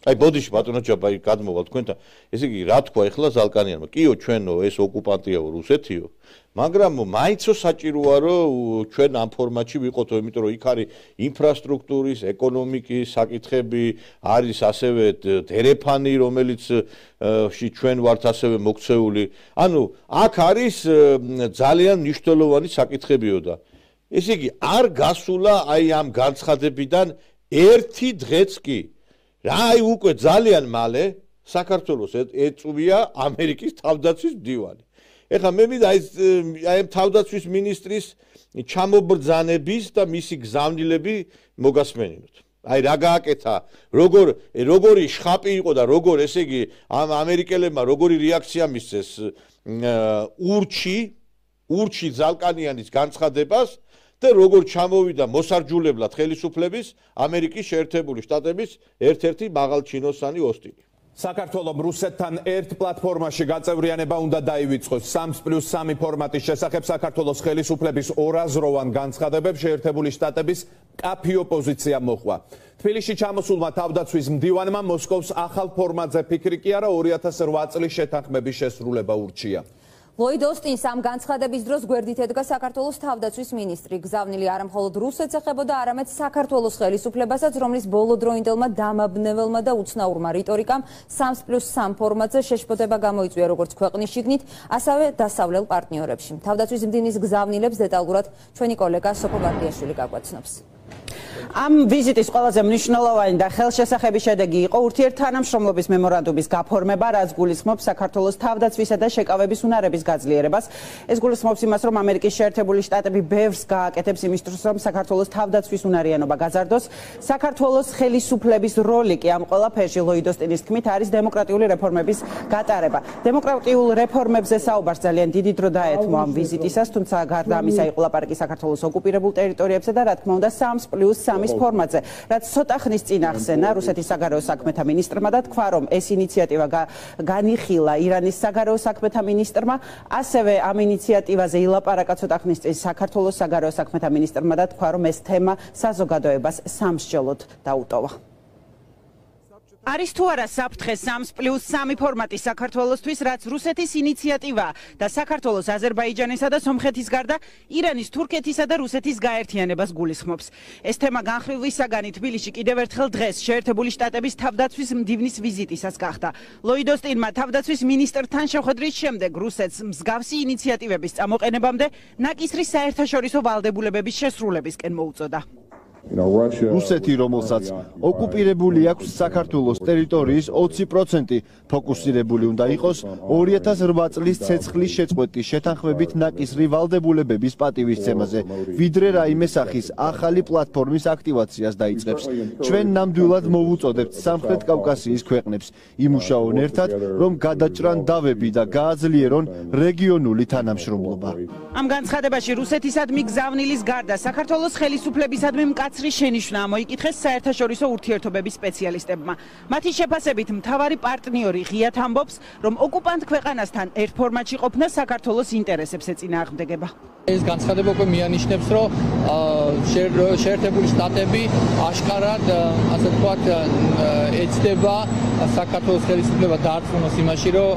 აი ბოდიში ბატონო ჯაბა აი გადმოვალ თქვენთან ესე იგი რა თქვა ეხლა ზალკანიანმა კიო ჩვენო ეს ოკუპანტიაო რუსეთიო მაგრამ მაიცო საჭიროა რომ ჩვენ ამ ფორმატში ვიყოთო იმიტომ რომ იქ არის ინფრასტრუქტურის ეკონომიკის საკითხები არის ასევე დერეფანი რომელიც ჩვენ ვართ ასევე მოქცეული ანუ აქ არის ძალიან მნიშვნელოვანი საკითხებიო და ესე იგი არ გასულა აი ამ განცხადებიდან ერთი დღეც კი რა აი უკვე ძალიან მალე საქართველოს ეწვია ამერიკის თავდაცვის მდივანი ეხლა მე მინდა აი აი თავდაცვის ministris ჩამობრძანების და მისი გზავნილები მოგასმენინოთ აი რა გააკეთა როგორ როგორი შხაპი იყო და როგორ ესე იგი ამ ამერიკელებმა როგორი რეაქცია მისცეს ურჩი ურჩი ზალკანიანის განცხადებას და როგორ ჩამოვიდა მოსარჯულებლად ხელისუფლების ამერიკის შეერთებული შტატების ერთ-ერთი მაღალჩინოსანი ოსტინი საქართველოს რუსეთთან ერთ პლატფორმაში გაწევრიანება უნდა დაივიწყოს სამს პლუს სამი ფორმატის შესახებ საქართველოს ხელისუფლების ორაზროვან განცხადებებს შეერთებული შტატების კაფი ოპოზიცია მოხვა. თბილისში ჩამოსულმა თავდაცვის მდივანმა მოსკოვს ახალ ფორმატზე ფიქრი კი არა ორი ათას რვა წლის შეთანხმების შესრულება ურჩია. ლოიდ ოსტინს ამ განცხადების დროს გვერდით ედგა საქართველოს თავდაცვის მინისტრი. გზავნილი არა მხოლოდ რუსეთს ეხებოდა, არამედ საქართველოს ხელისუფლებასაც, რომლის ბოლოდროინდელმა დამაბნეველმა და უცნაურმა რიტორიკამ სამს პლუს სამ ფორმატზე შეშფოთება გამოიწვია როგორც ქვეყნის შიგნით, ასევე დასავლელ პარტნიორებში. თავდაცვის მდივნის გზავნილებს დეტალურად ჩვენი კოლეგა სოფო ბარდიაშვილი გაგვაცნობს. ამ ვიზიტის ყველაზე მნიშვნელოვანი და ხელშესახები შედეგი იყო ურთიერთთანამშრომლობის მემორანდუმის გაფორმება, რაც გულისხმობს საქართველოს თავდაცვისა და შეკავების უნარების გაძლიერებას. ეს გულისხმობს იმას, რომ ამერიკის შეერთებული შტატები ბევრს გააკეთებს იმისთვის, რომ საქართველოს თავდაცვის უნარიანობა გაზარდოს. საქართველოს ხელისუფლების როლი კი ამ ყველაფერში ლოიდ ოსტინის თქმით არის დემოკრატიული რეფორმების გატარება. დემოკრატიულ რეფორმებზე საუბარს ძალიან დიდი დრო დაეთმო ამ ვიზიტისას, თუმცა გარდა ამისა იყო ლაპარაკი საქართველოს ოკუპირებულ ტერიტორიებზე და რა თქმა უნდა სამს პლუს სამის ფორმატზე, რაც ცოტა ხნის წინ ახსენა რუსეთის საგარეო საქმეთა მინისტრმა და თქვა, რომ ეს ინიციატივა განიხილა ირანის საგარეო საქმეთა მინისტრმა, ასევე ამ ინიციატივაზე ილაპარაკა ცოტა ხნის წინ საქართველოს საგარეო საქმეთა მინისტრმა და თქვა, რომ ეს თემა საზოგადოებას სამსჯელოდ დაუტოვა. არის თუ არა საფრთხე სამს პლუს სამი ფორმატი საქართველოსთვის, რაც რუსეთის ინიციატივაა და საქართველოს აზერბაიჯანისა და სომხეთის გარდა ირანის, თურქეთისა და რუსეთის გაერთიანებას გულისხმობს. ეს თემა განხილვის საგანი თბილისში კიდევ ერთხელ დღეს შეერთებული შტატების თავდაცვის მდივნის ვიზიტისას გახდა. ლოიდ ოსტინმა თავდაცვის მინისტრთან შეხვედრის შემდეგ რუსეთს მსგავსი ინიციატივების წამოყენებამდე ნაკისრის საერთაშორისო ვალდებულებების შესრულებისკენ მოუწოდა. რუსეთი, რომელსაც ოკუპირებული აქვს საქართველოს ტერიტორიის ოცი პროცენტი, ფოკუსირებული უნდა იყოს ორი ათას რვა წლის ცეცხლის შეწყვეტის შეთანხმებით ნაკისრი ვალდებულებების პატივისცემაზე, ვიდრე რაიმე სახის ახალი პლატფორმის აქტივაციას დაიწყებს. ჩვენ ნამდვილად მოვუწოდებთ სამხრეთ კავკასიის ქვეყნებს, იმუშაონ ერთად, რომ გადაჭრან დავები და გააძლიერონ რეგიონული თანამშრომლობა. ამ განცხადებაში რუსეთისადმი გზავნილის გარდა საქართველოს ხელისუფლებისადმი მკაცრი შენიშვნაა მოიკითხეს საერთაშორისო ურთიერთობების სპეციალისტებმა. მათი შეფასებით მთავარი პარტნიორი ღიად ამბობს, რომ ოკუპანტ ქვეყანასთან ერთ ფორმატში ყოფნა საქართველოს ინტერესებს ეწინააღმდეგება. ეს განცხადება უკვე მიანიშნებს, რომ შეერთებული შტატები აშკარად, ასე ვთქვათ, ეცდება საქართველოს ხელისუფლება დაარწმუნოს იმაში, რომ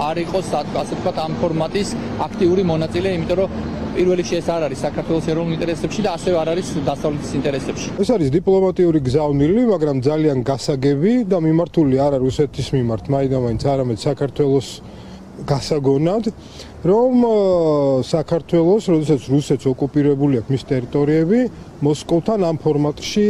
არ იყოს, ასე ვთქვათ, ამ ფორმატის აქტიური მონაწილე, იმიტომ რომ პირველ რიგში ეს არ არის საქართველოს ეროვნულ ინტერესებში და ასევე არ არის დასავლეთის ინტერესებში. ეს არის დიპლომატიური გზავნილი, მაგრამ ძალიან გასაგები და მიმართული არა რუსეთის მიმართ, მაინც არამედ საქართველოს გასაგონად, რომ საქართველოს, როდესაც რუსეთს ოკუპირებული აქვს მის ტერიტორიები, მოსკოვთან ამ ფორმატში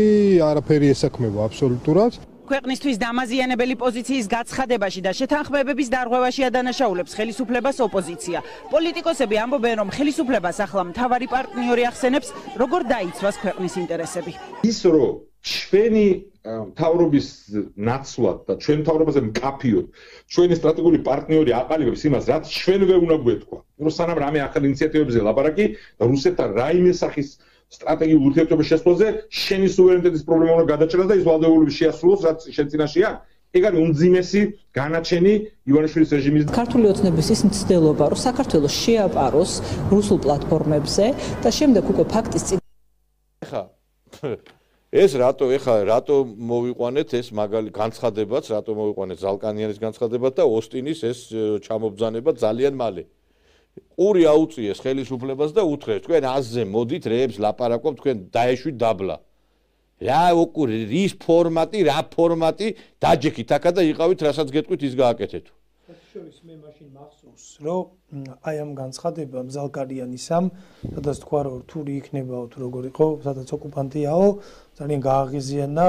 არაფერი ესაქმება აბსოლუტურად. ქვეყნისთვის დამაზიანებელი პოზიციის გაცხადებაში და შეთანხმებების დარღვევაში ადანაშაულებს ხელისუფლებას ოპოზიცია. პოლიტიკოსები ამბობენ, რომ ხელისუფლებას ახლა მთავარი პარტნიორი ახსენებს, როგორ დაიცვას ქვეყნის ინტერესები. ის რომ ჩვენი მთავრობის ნაცვლად და ჩვენ მთავრობაზე მკაფიოდ ჩვენი სტრატეგიული პარტნიორი აყალიბებს იმას, რაც ჩვენვე უნდა გვეთქვა. რომ სანამ რამე ახალ ინიციატივებზე ლაპარაკი, რუსეთთან რაიმე სახის სტრატეგიულ ურთიერთობის შესვლაზე შენი სუვერენიტეტის პრობლემა უნდა გადაჭრას და ის ვალდებულების შეასრულოს, რაც შენ წინაშეა. ეგ არის უმძიმესი განაჩენი ივანიშვილის რეჟიმის. ქართული ოცნების ის მცდელობა, რომ საქართველოს შეაპაროს რუსულ პლატფორმებზე და შემდეგ უკვე ფაქტის წინ ხა ეს რატო ეხა რატო მოვიყვანეთ ეს მაგალი განცხადებაც, რატო მოვიყვანეთ ზალკანიანის განცხადებაც და ოსტინის ეს ჩამობძანება ძალიან მალე. ყური აუწიეს ხელისუფლებას და უთხრეს, თქვენ აზზე მოდით რეებს ლაპარაკობ, თქვენ დაეშვით დაბლა. რა უკური რის ფორმატი, რა ფორმატი დაჯექით აქა და იყავით, რასაც გეტყვით, ის გააკეთეთ. შორის მე მაშინ მახსოვს, რომ აი ამ განცხადება ზალკანიანისამ, სადაც თქვა, რომ რთული იქნებაო თუ როგორ იყო, სადაც ოკუპანტიაო, ძალიან გააღიზიანა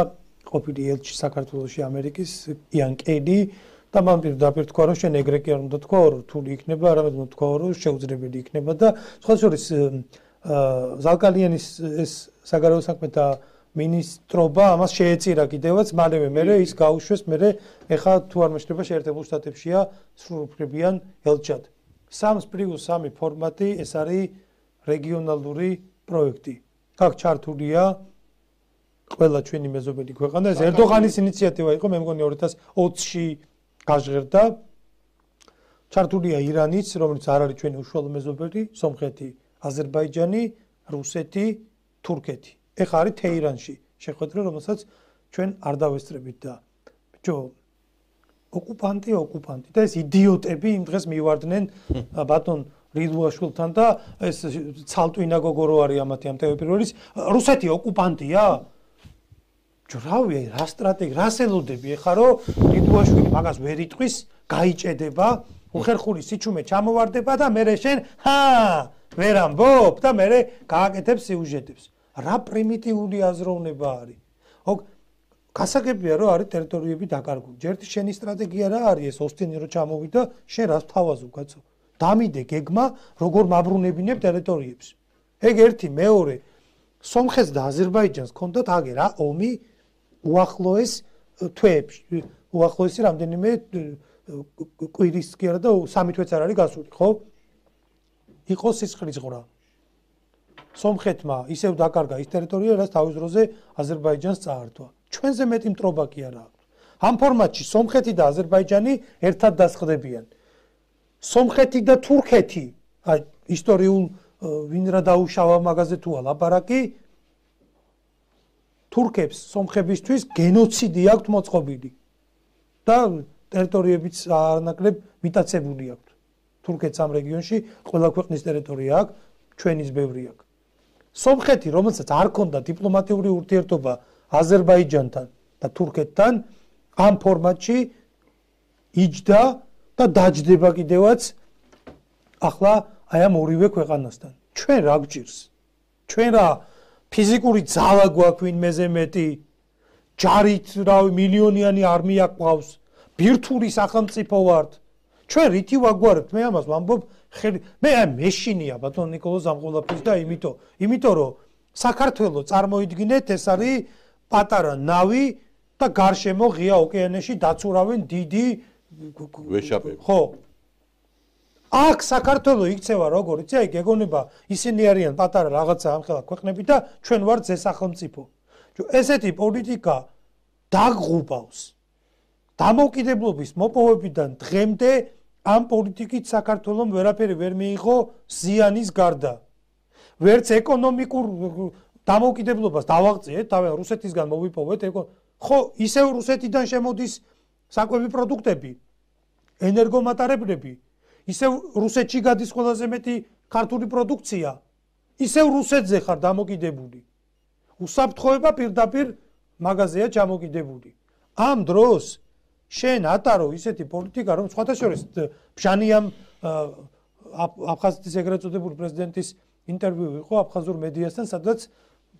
ყოფილი ელჩი საქართველოში ამერიკის იან კედი და მან პირდაპირ თქვა, რომ შენ ეგრე კი არ უნდა თქვა, რომ რთული იქნება, არამედ უნდა თქვა, რომ შეუძლებელი იქნება და სხვა შორის ზალკანიანის ეს საგარეო საქმეთა მინისტრობა ამას შეეწირა კიდევაც, მალევე მერე ის გაუშვეს, მერე ეხა თუ არ მეშლება შეერთებულ შტატებშია სრულუფლებიან ელჩად. სამს პლუს სამი ფორმატი ეს არის რეგიონალური პროექტი. აქ ჩართულია ყველა ჩვენი მეზობელი ქვეყანა, ეს ერდოღანის ინიციატივა იყო, მე მგონი ორი ათას ოცში გაჟღერდა. ჩართულია ირანიც, რომელიც არ არის ჩვენი უშუალო მეზობელი, სომხეთი, აზერბაიჯანი, რუსეთი, თურქეთი. ეხა არის თეირანში შეხვედრა, რომელსაც ჩვენ არ დავესწრებით და ბიჭო ოკუპანტი ოკუპანტი და ეს იდიოტები იმ დღეს მივარდნენ ბატონ რიდუაშვილთან და ეს ცალტვინა გოგო რო არის ამათი ამ ტელეპიროლის რუსეთი ოკუპანტია? ბიჭო რავი რა სტრატეგი რას ელოდები ეხა რომ რიდუაშვილი მაგას ვერ იტყვის, გაიჭედება, უხერხული სიჩუმე ჩამოვარდება და მერე შენ ჰა ვერ ამბობ და მერე გააკეთებს სიუჟეტებს. რა პრიმიტიული აზროვნება არის. ო გასაგებია რომ არის ტერიტორიები დაკარგული. ჯერ შენი სტრატეგია რა არის ეს ოსტინი რო ჩამოვიდა, შენ რას თავაზობ კაცო? დამიდე გეგმა როგორ მაბრუნებინებ ტერიტორიებს. ეგ ერთი, მეორე სომხეთს და აზერბაიჯანს ჰქონდათ აგერ რა ომი უახლოეს თვეებში. უახლოესი რამდენიმე კვირის კი არა და სამი თვეც არ არის გასული, ხო? იყო სისხლის ღრა. სომხეთმა ისევ დაკარგა ის ტერიტორია, რაც თავის დროზე აზერბაიჯანს წაართვა. ჩვენზე მეტი მტრობა კი არა აქვს. ამ ფორმატში სომხეთი და აზერბაიჯანი ერთად დასხდებიან. სომხეთი და თურქეთი, აი ისტორიულ ვინ რა დაუშავა მაგაზე თუა ლაპარაკი, თურქებს სომხებისთვის გენოციდი აქვთ მოწყობილი და ტერიტორიებიც არანაკლებ მიტაცებული აქვთ. თურქეთს ამ რეგიონში ყველა ქვეყნის ტერიტორია აქვს, ჩვენის ბევრი აქვს. სომხეთი, რომელსაც არ ქონდა დიპლომატიური ურთიერთობა აზერბაიჯანთან და თურქეთთან, ამ ფორმატში იჯდა და დაჯდება კიდევაც ახლა აი ამ ორივე ქვეყანასთან. ჩვენ რა გვჭირს? ჩვენ რა ფიზიკური ძალა გვაქვს ვინმეზე მეტი, ჯარით რავი მილიონიანი არმია გვყავს, ბირთვული სახელმწიფო ვართ. ჩვენ რითი ვაგვარებთ? მე ამას ვამბობ ხელი მე აი მეშინია ბატონ ნიკოლოზ ამყოლაფის და იმიტომ იმიტომ რომ საქართველოს წარმოიდგინეთ ეს არის პატარა ნავი და გარშემო ღია ოკეანეში დაცურავენ დიდი ვეშაპები. ხო აქ საქართველოს იქცევა როგორ იცი აი გეგონება ისინი არიან პატარა რაღაცა ამხელა ქვეყნები და ჩვენ ვართ ზესახელმწიფო. ესეთი პოლიტიკა დაგღუბავს დამოუკიდებლობის მოპოვებიდან დღემდე ამ პოლიტიკით საქართველოს ვერაფერი ვერ მიიღო ზიანის გარდა. ვერც ეკონომიკურ დამოუკიდებლობას დავაღწიეთ, თავი რუსეთისგან მოვიპოვეთ, ხო, ისევ რუსეთიდან შემოდის საკვები პროდუქტები, ენერგომატარებლები, ისევ რუსეთში გადის ყველაზე მეტი ქართული პროდუქცია, ისევ რუსეთზე ხარ დამოკიდებული. უსაფრთხოება პირდაპირ მაღაზია ჩამოკიდებული. ამ დროს შენ ატარო ისეთი პოლიტიკა, რომ სხვათა შორის ბჟანიამ აფხაზეთის ეგრეთ წოდებული პრეზიდენტის ინტერვიუ იყო აფხაზურ მედიასთან, სადაც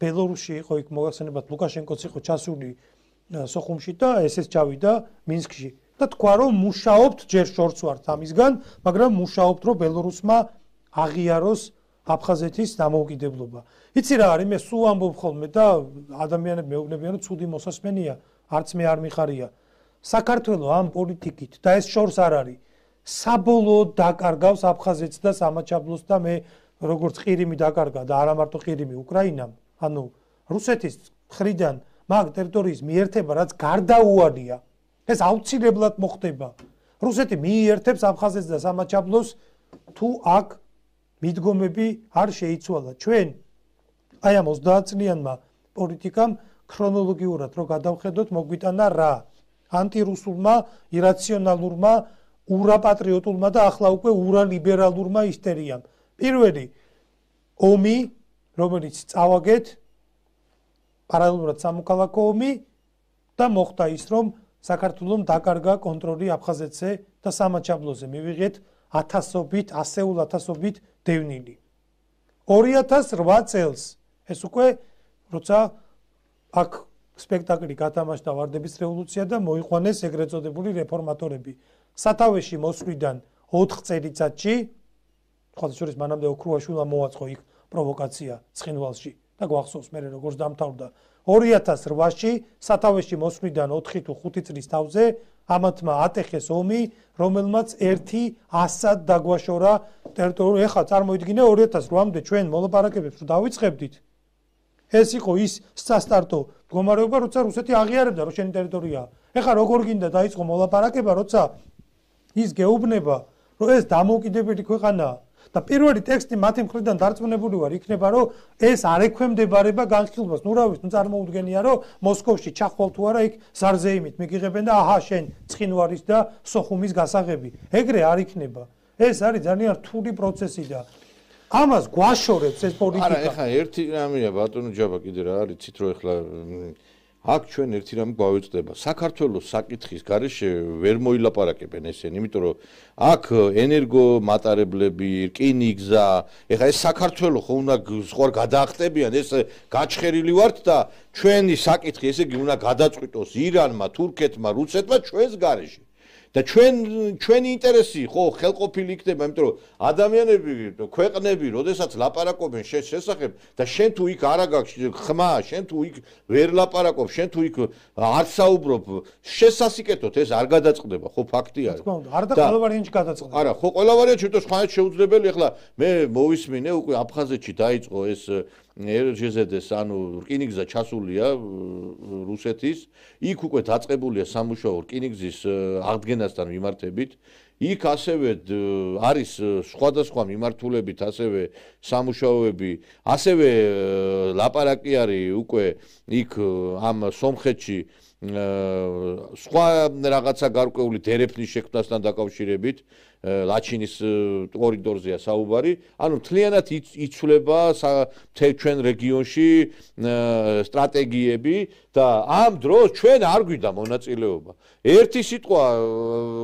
ბელორუსში იყო იქ მოგახსენებათ ლუკაშენკოც იყო ჩასული სოხუმში და ესეც ჩავიდა მინსკში. და თქვა რომ მუშაობთ, ჯერ შორს ვართ ამისგან, მაგრამ მუშაობთ რომ ბელორუსმა აღიაროს აფხაზეთის დამოუკიდებლობა. იცი რა არის, მე სულ ამბობ ხოლმე და ადამიანები მეუბნებიან რომ ცუდი მოსასმენია, არც მე არ მიხარია. საქართველოს ამ პოლიტიკით და ეს შორს არ არის. საბოლოოდ დაკარგავს აფხაზეთს და სამაჩაბლოს და მე როგორც ყირიმი დაკარგა და არა მარტო ყირიმი უკრაინამ, ანუ რუსეთის მხრიდან მაგ ტერიტორიის მიერთება, რაც გარდაუვალია. ეს აუცილებლად მოხდება. რუსეთი მიერთებს აფხაზეთს და სამაჩაბლოს თუ აქ მიდგომები არ შეიცვალა. ჩვენ აი ამ ოცდაათ წლიანმა პოლიტიკამ ქრონოლოგიურად რო გადავხედოთ, მოგვიტანა რა? ანტირუსულმა, ირაციონალურმა, ურაპატრიოტულმა და ახლა უკვე ურალიბერალურმა ისტერიამ. პირველი ომი, რომელიც წავაგეთ, პარალელურად სამოქალაქო ომი და მოხდა ის, რომ საქართველოს დაკარგა კონტროლი აფხაზეთზე და სამაჩაბლოზე. მივიღეთ ათასობით, ასეულ ათასობით დევნილი. ორი ათას რვა წელს ეს უკვე როცა აქ სპექტაკლი გათამაშდა ვარდების რევოლუცია და მოიყვანეს ეგრეთ წოდებული რეფორმატორები. სათავეში მოსვლიდან ოთხ წელიწადში, ხოთა შორის მანამდე ოქრუაშვილმა მოაწყო იქ პროვოკაცია ცხინვალში და გვახსოვს მე როგორც დამთავრდა. ორი ათას რვაში სათავეში მოსვლიდან ოთხი თუ ხუთი წლის თავზე ამათმა ატეხეს ომი, რომელმაც ერთი ასად დაგვაშორა ტერიტორია. ეხლა წარმოიდგინე ორი ათას რვამდე ჩვენ მოლაპარაკებებს რომ დავიწყებდით. ეს იყო ის სასტარტო მდგომარეობა, როცა რუსეთი აღიარებდა რომ შენი ტერიტორიაა. ეხლა როგორ გინდა დაიწყო მოლაპარაკება, როცა ის გეუბნება, რომ ეს დამოუკიდებელი ქვეყანაა და პირველი ტექსტი მათი მხრიდან დარწმუნებული ვარ იქნება, რომ ეს არ ექვემდებარება განხილვას. ნუ რა ვიცი, ნუ წარმოუდგენია, რომ მოსკოვში ჩახვალ თუ არა იქ ზარზეიმით მიგიღებენ და აჰა შენ ცხინვალის და სოხუმის გასაღები. ეგრე არ იქნება. ეს არის ძალიან რთული პროცესი და ამას გვაშორებს ეს პოლიტიკა. არა, ეხლა ერთი რამეა ბატონო ჯაბა კიდე რა არის, ცით რომ ეხლა აქ ჩვენ ერთი რამე გვავიწყდება. საქართველოს საკითხის გარეშე ვერ მოილაპარაკებენ ესენი, იმიტომ რომ აქ ენერგო მატარებლები, რკინიგზა, ეხლა ეს საქართველოს ხო უნდა სხვა გადაახტებიან, ეს გაჩხერილი ვართ და ჩვენი საკითხი ესე იგი უნდა გადაწყვიტოს ირანმა, თურქეთმა, რუსეთმა ჩვენს გარეშე. და ჩვენ ჩვენი ინტერესი ხო ხელყოფილი იქნება, იმიტომ რომ ადამიანები, ქვეყნები, როდესაც ლაპარაკობენ შენ შესახებ და შენ თუ იქ არა გაქვს ხმა, შენ თუ იქ ვერ ლაპარაკობ, შენ თუ იქ არ საუბრობ, შესასიკეთოთ ეს არ გადაწყდება, ხო ფაქტი არის. თქო უნდა, არ და ყველა ვარიანტში გადაწყდება. არა, ხო ყველა ვარიანტში თვითონ სხვანაირად შეუძლებელი. ეხლა მე მოვისმინე უკვე აფხაზეთში დაიწყო ეს ერჟეზედეს, ანუ რკინიგზა ჩასულია რუსეთის, იქ უკვე დაწყებულია სამუშაო რკინიგზის აღდგენასთან მიმართებით. იქ ასევე არის სხვადასხვა მიმართულებით ასევე სამუშაოები, ასევე ლაპარაკი არის უკვე იქ ამ სომხეთში სხვა რაღაცა გარკვეული დერეფნის შექმნასთან დაკავშირებით. ლაჩინის კორიდორზეა საუბარი, ანუ მთლიანად იცვლება ჩვენ რეგიონში სტრატეგიები და ამ დროს ჩვენ არ გვიდა მონაწილეობა. ერთი სიტყვა,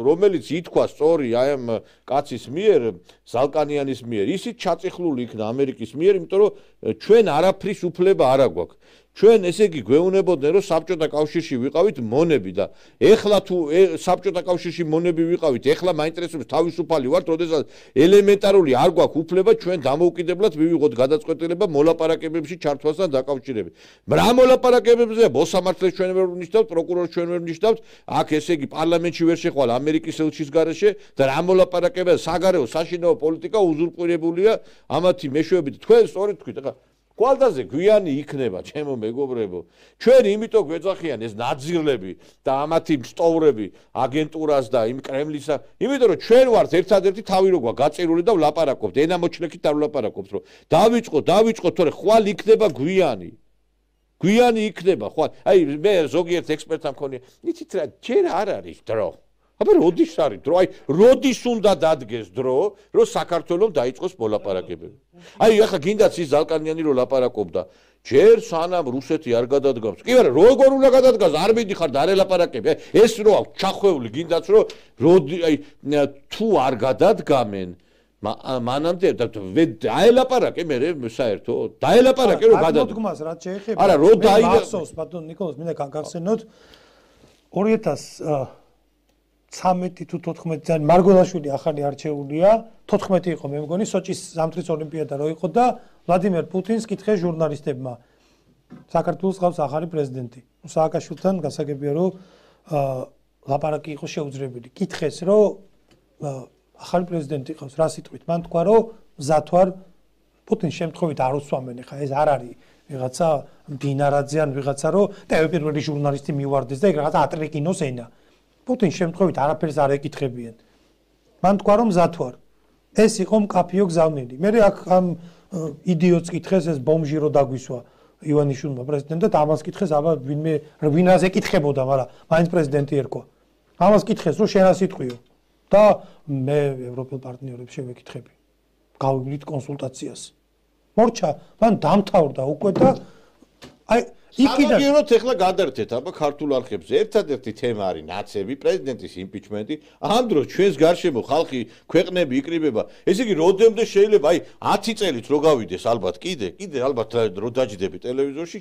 რომელიც ითქვა სწორი აი ამ კაცის მიერ, ზალკანიანის მიერ, ისიც ჩაწიხლული იქნა ამერიკის მიერ, იმიტომ რომ ჩვენ არაფრის უფლება არ აგვაქვს. ჩვენ ესე იგი გვეუბნებოდნენ რომ საბჭოთა კავშირში ვიყავით მონები და ეხლა თუ საბჭოთა კავშირში მონები ვიყავით, ეხლა მაინტერესებს თავისუფალი ვართ, როდესაც ელემენტარული არ გვაქვს უფლება ჩვენ დამოუკიდებლად მივიღოთ გადაწყვეტილება მოლაპარაკებებში ჩართვასთან დაკავშირებით. რა მოლაპარაკებებზეა? მოსამართლეს ჩვენ ვერ ვნიშნავთ, პროკურორს ჩვენ ვერ ვნიშნავთ, აქ ესე იგი პარლამენტში ვერ შეხვალ ამერიკის ელჩის გარეშე და რა მოლაპარაკებაა? საგარეო საშინაო პოლიტიკა უზურპირებულია ამათი მეშვეობით. თქვენ სწორედ თქვით, ახლა კვალდაზე გვიანი იქნება, ჩემო მეგობრებო. ჩვენ იმიტომ გვეძახიან ეს ნაძირლები და ამათი მსტოვრები აგენტურას და იმ კრემლისა, იმიტომ რომ ჩვენ ვართ ერთადერთი თავი როგვა გაწირული და ვლაპარაკობთ, ენამოჩლექით არ ვლაპარაკობთ, რომ დავიწყო, დავიწყო, თორე ხვალ იქნება გვიანი. გვიანი იქნება, ხვალ. აი მე ზოგიერთ ექსპერტთან მქონია, იცით რა, ჯერ არ არის დრო. აბა როდის არის დრო? აი როდის უნდა დადგეს დრო, რომ საქართველოს დაიწყოს მოლაპარაკებები. აი ახლა გინდაც ის ზალკანიანი რო ლაპარაკობდა, ჯერ სანამ რუსეთი არ გადადგამს. კი არა, როგორ უნდა გადადგას? არ მიდიხარ და არ ელაპარაკები. ეს რო აქვს ჩახვეული, გინდაც რომ როდი აი თუ არ გადადგამენ, მანამდე დაელაპარაკე მე საერთოდ დაელაპარაკე რომ გადადა მოდგმას რაც შეეხება არა რო დაიდა მახსოვს ბატონ ნიკოლოზ მინდა გაგახსენოთ ორი ათას ცხრამეტი თუ თოთხმეტი წელი მარგველაშვილი ახალი არჩეულია თოთხმეტი იყო მე მგონი სოჭის ზამთრის ოლიმპიადა რო იყო და ვლადიმერ პუტინს კითხეს ჟურნალისტებმა საქართველოს ყავს ახალი პრეზიდენტი სააკაშვილთან გასაგებია რომ ლაპარაკი იყო შეუძლებელი კითხეს რომ ახალი პრეზიდენტი ყავს რა სიტყვით მან თქვა რომ მზად ვარ პუტინს შემთხვევით არ უსვამენ ხა ეს არ არის ვიღაცა დინარაძე ან ვიღაცა რომ და პირველი ჟურნალისტი მივარდეს და ეგ რაღაცა ატრეკინოს ენა პუტინს შემთხვევით არაფერს არ ეკითხებიან მან თქვა რომ მზად ვარ ეს იყო მკაფიო გზავნილი მე აქ ამ იდიოტს კითხეს ეს ბომჟი რო დაგვისვა ივანიშვილმა პრეზიდენტად ამას კითხეს აბა ვინმე ვინას ეკითხებოდა მაგრამ მაინც პრეზიდენტი ერქვა ამას კითხეს რომ შენ რა სიტყვიო და მე ევროპელ პარტნიორებს შევეკითხები. გავივლით კონსულტაციას. მორჩა, მან დამთავრდა უკვე და აი იქიდან სამაგიეროდ ეხლა გადაერთეთ აბა ქართულ არხებზე. ერთადერთი თემა არის ნაცები, პრეზიდენტის იმპიჩმენტი. ამ დროს ჩვენს გარშემო ხალხი, ქვეყნები იკრიბება. ესე იგი, როდემდე შეიძლება აი ათი წელით რო გავიდეს ალბათ კიდე, კიდე ალბათ რო დაჯდები ტელევიზორში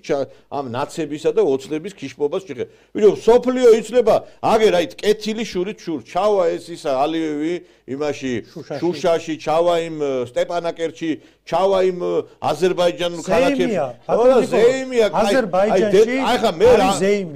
ამ ნაცებისა და ოცნების ქიშპობას შეხე. ვიდრე სოფლიო იცლება, აგერ აი კეთილი შურით შურ, ჩავა ეს ისა ალიევი იმაში შუშაში, ჩავა იმ სტეპანაკერტში, ჩავა იმ აზერბაიჯანულ ქალაქებში. ო ზეიმია, აზერბაიჯანში აი ხა მე რა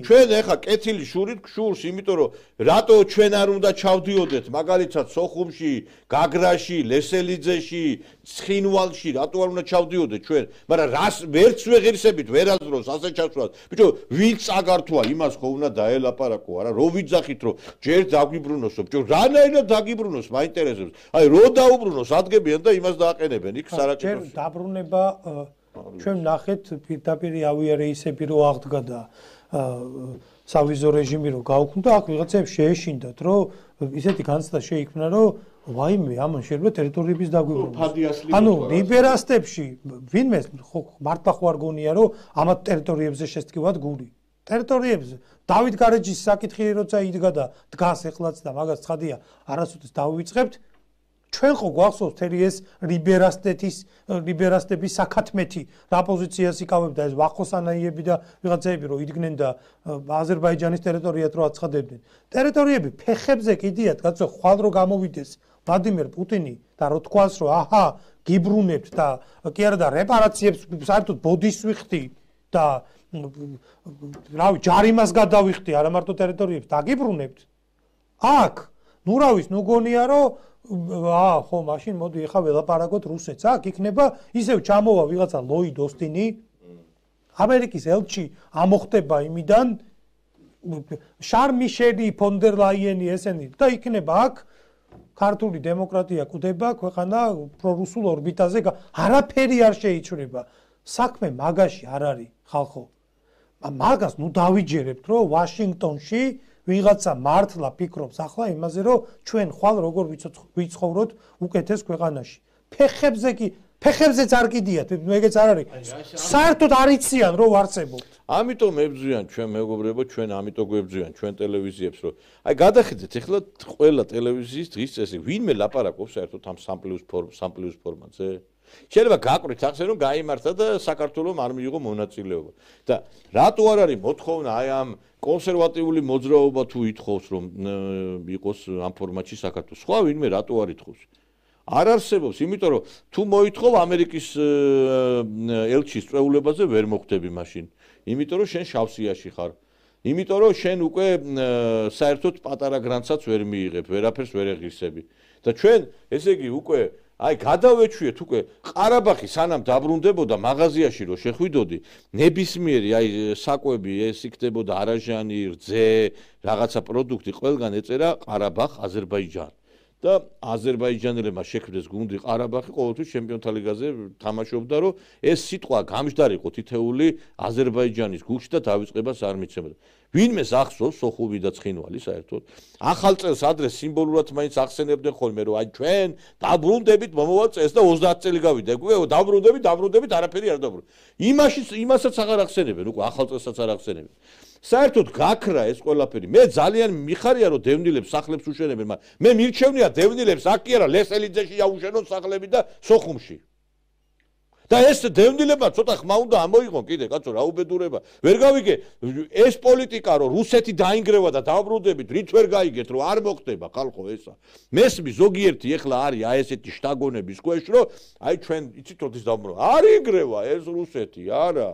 ჩვენ ეხა კეთილი შურით შურს იმიტომ რომ რატო ჩვენ არ უნდა ჩავდიოდეთ მაგალითად სოხუმში, გაგრაში, ლესელიძეში, ცხინვალში რატო არ უნდა ჩავდიოდეთ ჩვენ მაგრამ რას ვერც ვეღირსებით ვერაზროს ასე ჩასვლას ბიჭო ვინც აგართვა იმას ხო უნდა დაელაპარაკო არა რო ვიძახით რომ ჯერ დაგვიბრუნოსო ბიჭო რანაირად დაგიბრუნოს მაინტერესებს აი რო დაუბრუნოს ადგებიან და იმას დააყენებენ იქ სარაკეტოში ჯერ დაბრუნება ჩვენ ნახეთ პირდაპირ ავიარეისები რო აღდგა და სავიზო რეჟიმი რო გაუქმდა აქ ვიღაცებს შეეშინდათ რომ ისეთი განცდა შეიქმნა რომ ვაიმე ამან შეიძლება ტერიტორიების დაგვიბრუნოს ანუ ლიბერასტებში ვინმე ხო მართლა ხო არ გონია რომ ამათ ტერიტორიებზე შესტკივათ გული ტერიტორიებზე დავით გარეჯის საკითხი როცა იდგა და დგას ეხლაც და მაგას ცხადია არასოდეს დავივიწყებთ ჩვენ ხო გვახსოვს თერი ეს ლიბერასტეთის ლიბერასტების საკათმეთი რა პოზიციას იკავებდა ეს ვახოსანაიები და ვიღაცები რომ იდგნენ და აზერბაიჯანის ტერიტორიად რო აცხადებდნენ ტერიტორიები ფეხებზე კიდიათ კაცო ხვალ რო გამოვიდეს ვლადიმერ პუტინი და რო თქვას რომ აჰა გიბრუნებთ და კი არა და რეპარაციებს საერთოდ ბოდის ვიხდი და რავი ჯარიმას გადავიხდი არა მარტო ტერიტორიებს დაგიბრუნებთ აქ ნუ რა ვის ნუ გონია რომ აა ხო მაშინ მოდი ეხა ველაპარაკოთ რუსეთს აქ იქნება ისევ ჩამოვა ვიღაცა ლოიდ ოსტინი ამერიკის ელჩი ამოხდება იმიდან შარმიშელი ფონდერ ლაიენი ესენი და იქნება აქ ქართული დემოკრატია კვდება ქვეყანა პრორუსულ ორბიტაზე არაფერი არ შეიჩრება საქმე მაგაში არ არის ხალხო მაგას ნუ დავიჯერებთ რომ ვაშინგტონში ვიღაცა მართლა ფიქრობს ახლა იმაზე რომ ჩვენ ხვალ როგორ ვიცხოვროთ უკეთეს ქვეყანაში ფეხებზე კი ფეხებზეც არ კიდიათ მეგეც არ არის საერთოდ არ იციან რომ ვარწებობთ ამიტომ ებძვიან ჩვენ მეგობრებო ჩვენ ამიტომ გვებძვიან ჩვენ ტელევიზიებს რომ აი გადახედეთ ეხლა ყველა ტელევიზიის დღის წესი ვინმე ლაპარაკობს საერთოდ ამ სამ პლუს სამ პლუს ფორმატზე შეიძლება გაყვრით ახსენ რომ გაიმართა და საქართველოს არ მიიღო მონაწილეობა და რატო არ არის მოთხოვნა აი ამ კონსერვატიული მოძრაობა თუ ითხოვს რომ იყოს ამ ფორმატში საქართველოს სხვა ვინმე რატო არ ითხოვს არ არსებობს იმიტომ რომ თუ მოითხოვ ამერიკის ელჩის წვეულებაზე ვერ მოხვდები მაშინ იმიტომ რომ შენ შავსიაში ხარ იმიტომ რომ შენ უკვე საერთოდ პატარა გრანცაც ვერ მიიღებ ვერაფერს ვერ ეღირსები და ჩვენ ესე იგი უკვე აი გადავეჩვიეთ უკვე ყარაბაღი სანამ დაბრუნდებოდა მაღაზიაში რო შეხვიდოდი ნებისმიერი აი საკვები ეს იქნებოდა არაჟანი რძე რაღაცა პროდუქტი ყველგან ეწერა ყარაბაღ აზერბაიჯანი და აზერბაიჯანელებმა შექმნეს გუნდი ყარაბაღი ყოველთვის ჩემპიონთა ლიგაზე თამაშობდა რომ ეს სიტყვა გამჯდარიყო თითეული აზერბაიჯანის გულში და დავიწყებას არ მიცემოდა ვინმეს ახსოვს სოხუმი და ცხინვალი საერთოდ ახალ წელს ადრე სიმბოლურად მაინც ახსენებდნენ ხოლმე რომ აი ჩვენ დაბრუნდებით მომავალ წელს და ოცდაათი წელი გავიდა უკვე დაბრუნდებით დაბრუნდებით არაფერი არ დაბრუნდა იმაში იმასაც აღარ ახსენებენ უკვე ახალ წელსაც არ ახსენებენ საერთოდ გაქრა ეს ყველაფერი მე ძალიან მიხარია რომ დევნილებს სახლებს უშენებენ მაგრამ მე მირჩევნია დევნილებს აქ კი არა ლესელიძეში აუშენონ სახლები და სოხუმში და ეს დევნილებმა ცოტა ხმა უნდა ამოიღონ კიდე კაცო რა უბედურება ვერ გავიგე ეს პოლიტიკა რომ რუსეთი დაინგრევა და დაბრუნდებით რით ვერ გაიგეთ რომ არ მოხდება ხალხო ესა მესმის ზოგიერთი ეხლა არის აი ესეთი შტაგონების ქვეშ რომ აი ჩვენ იცით როდის დაბრუნდა არ ინგრევა ეს რუსეთი არა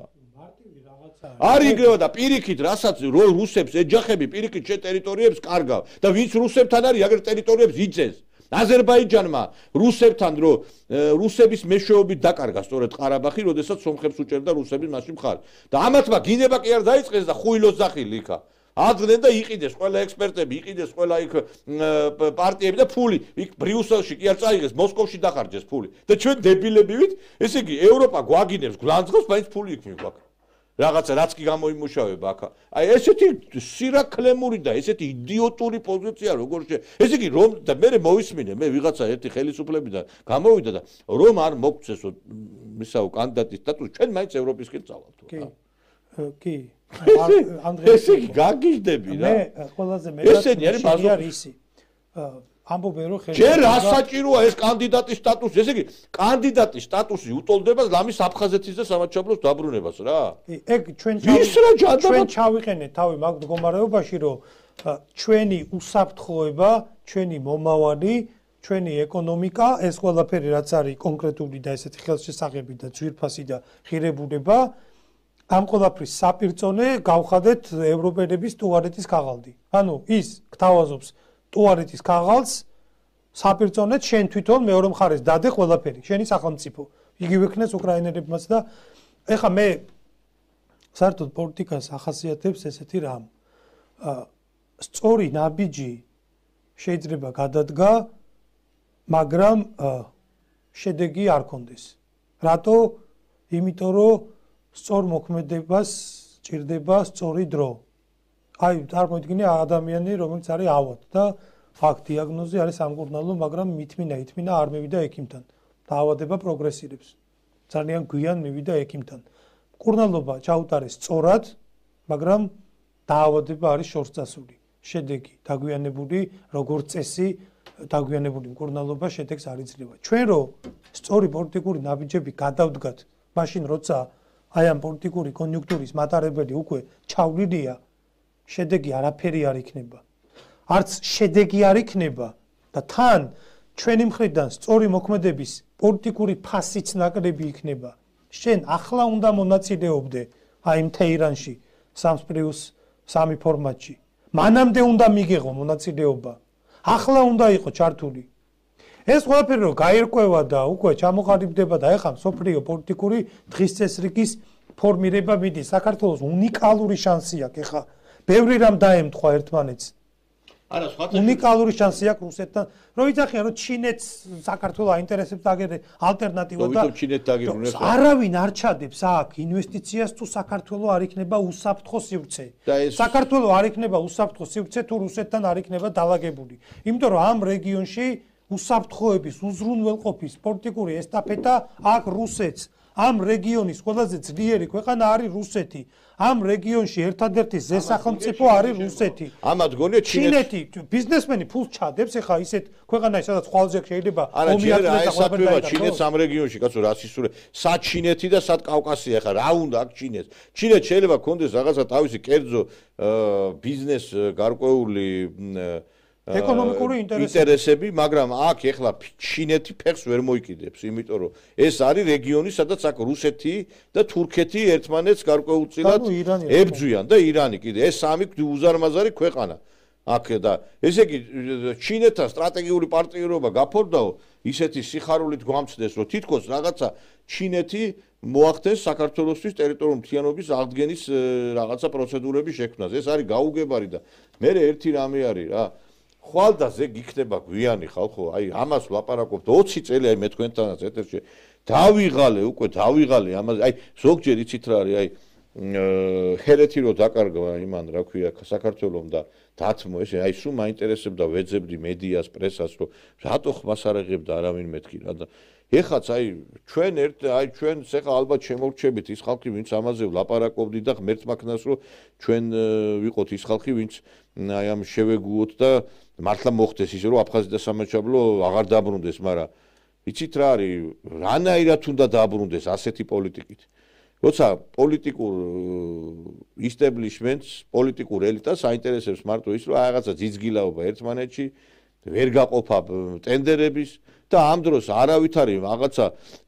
არ ინგრევა და პირიქით რასაც რუსებს ეჯახები პირიქით შე ტერიტორიებს კარგავ და ვინც რუსებთან არის აგერ ტერიტორიებს იწეს აზერბაიჯანმა რუსებთან რო რუსების მეშვეობით დაკარგა სწორედ ყარაბაღი, როდესაც სომხებს უჭერდა რუსების მასში მხარ. და ამათმა გინება კი არ დაიწყეს და ხუილოს ძახილი იქა. ადგენენ და იყიდეს ყველა ექსპერტები, იყიდეს ყველა იქ პარტიები და ფული იქ ბრიუსელში კი არ წაიღეს, მოსკოვში დახარჯეს ფული. და ჩვენ დებილები ვით, ესე იგი ევროპა გვაგინებს, გლანძღავს, მაინც ფული იქ მიგვაქვს. რაღაცა რაც კი გამოიმუშავება აქ. აი ესეთი სირაკლემური და ესეთი იდიოტური პოზიცია როგორ შე. ესე იგი რომ და მე მოვისმინე, მე ვიღაცა ერთი ხელისუფლებიდან გამოვიდა და რომ არ მოგწესო მისაო კანდიდატის სტატუსი, ჩვენ მაინც ევროპისკენ წავალთ. კი. კი. ანდრე ესე იგი გაგიჟდები რა. მე ყველაზე მეტად ესენი არის ისი. ამბობენ რომ ხელისუფლება ჯერ ასაჭიროა ეს კანდიდატის სტატუსი, ესე იგი კანდიდატის სტატუსი უტოლდება ლამის აფხაზეთის და სამაჩაბლოს დაბრუნებას რა. კი, ეგ ჩვენ ჩვენ ჩავიყენეთ თავი მაგ მდგომარეობაში რომ ჩვენი უსაფრთხოება, ჩვენი მომავალი, ჩვენი ეკონომიკა, ეს ყველაფერი რაც არის კონკრეტული და ესეთი ხელშესაღები და ძვირფასი და ღირებულება ამ ყველაფრის საპირწონე გავხადეთ ევროპელების ტუალეტის ქაღალდი. ანუ ის გთავაზობს ტუალეტის ქაღალდს საპირწონეთ შენ თვითონ მეორე მხარეს დადე ყველაფერი შენი სახელმწიფო იგივე ქნეს უკრაინელებმაც და ეხა მე საერთოდ პოლიტიკას ახასიათებს ესეთი რამ სწორი ნაბიჯი შეიძლება გადადგა მაგრამ შედეგი არ კონდეს რატო იმიტომ რომ სწორ მოქმედებას ჭირდება სწორი დრო აი წარმოიდგინე ადამიანი რომელიც არის ავად და აქ დიაგნოზი არის სამკურნალო მაგრამ მithmina ithmina არ მივიდა ექიმთან დაავადება პროგრესირებს ძალიან გვიან მივიდა ექიმთან მკურნალობა ჩაუტარეს სწორად მაგრამ დაავადება არის შორსწასული შედეგი დაგვიანებული როგორც წესი დაგვიანებული მკურნალობა შედეგს არ იძლევა ჩვენ რო სწორი პოლიტიკური ნაბიჯები გადავდგათ მაშინ როცა აი ამ პოლიტიკური კონიუნქტურის მატარებელი უკვე ჩავლილია შედეგი არაფერი არ იქნება. არც შედეგი არ იქნება და თან ჩვენი მხრიდან სწორი მოქმედების პოლიტიკური ფასიც ნაკლები იქნება. შენ ახლა უნდა მონაწილეობდე აი იმ თეირანში სამს პლუს სამი ფორმატში. მანამდე უნდა მიგეღო მონაწილეობა. ახლა უნდა იყო ჩართული. ეს ყველაფერი რომ გაირკვევა და უკვე ჩამოყალიბდება და ეხლა სოფლიო პოლიტიკური დღის წესრიგის ფორმირება მიდის. საქართველოს უნიკალური შანსი აქვს ეხლა ბევრი რამ დაემთხვა ერთმანეთს. არა, სხვათა უნიკალური შანსი აქვს რუსეთთან. რომ იცახიან რომ ჩინეთს საქართველოს აინტერესებს აგერე ალტერნატივა და ჩინეთს დაგიბრუნებს. არავინ არ ჩადებს აქ ინვესტიციას თუ საქართველოს არ იქნება უსაფრთხო სივრცე. საქართველოს არ იქნება უსაფრთხო სივრცე თუ რუსეთთან არ იქნება დაალაგებული. იმიტომ რომ ამ რეგიონში უსაფრთხოების უზრუნველყოფის პოლიტიკური ესტაფეტა აქ რუსეთს ამ რეგიონის ყველაზე ძლიერი ქვეყანა არის რუსეთი. ამ რეგიონში ერთადერთი ზესახელმწიფო არის რუსეთი. ამათ გონია ჩინეთი ბიზნესმენი ფულს ჩადებს ეხა ისეთ ქვეყანაში სადაც ხვალზე შეიძლება ომიატლება და ყველაფერი ჩინეთს ამ რეგიონში კაცო რა სისურე სად ჩინეთი და სად კავკასია ეხა რა უნდა აქ ჩინეთს. ჩინეთს შეიძლება კონდეს რაღაცა თავისი კერძო ბიზნეს გარკვეული ეკონომიკური ინტერესები, მაგრამ აქ ეხლა ჩინეთი ფეხს ვერ მოიკიდებს, იმიტომ რომ ეს არის რეგიონი, სადაც აქ რუსეთი და თურქეთი ერთმანეთს გარკვეულწილად ებრძვიან და ირანი კიდე. ეს სამი უზარმაზარი ქვეყანა. აქ და ესე იგი ჩინეთთან სტრატეგიული პარტნიორობა გაფორდაო, ისეთი სიხარულით გვამცდეს, რომ თითქოს რაღაცა ჩინეთი მოახდენს საქართველოსთვის ტერიტორიული მთლიანობის აღდგენის რაღაცა პროცედურების შექმნას. ეს არის გაუგებარი და მე ერთი რამე არის რა ხვალდაზე გიქნება გვიანი ხალხო, აი ამას ვლაპარაკობთ ოცი წელი, აი მე თქვენთანაც ეთერში დავიღალე უკვე დავიღალე ამაზე, აი ზოგჯერ იცით რა არის, აი ჰერეთი რო დაკარგვა იმან რა ქვია საქართველოს და დათმო ესე აი სულ მაინტერესებდა ვეძებდი მედიას პრესას რომ რატო ხმას არ ეღებდა არავინ მეთქი რა და ეხაც აი ჩვენ ერთ აი ჩვენ ეხა ალბათ შემოვრჩებით ის ხალხი ვინც ამაზე ვლაპარაკობდი და ღმერთ მაქნას რომ ჩვენ ვიყოთ ის ხალხი ვინც აი ამ შევეგუოთ და მართლა მოხდეს ისე რომ აფხაზი და სამაჩაბლო აღარ დაბრუნდეს მაგრამ იცით რა არის რანაირად უნდა დაბრუნდეს ასეთი პოლიტიკით როცა პოლიტიკურ ისტებლიშმენტს პოლიტიკურ ელიტას აინტერესებს მარტო ის რომ რაღაცა ძიძგილაობა ერთმანეთში ვერ გაყოფა ტენდერების და ამ დროს არავითარი რაღაცა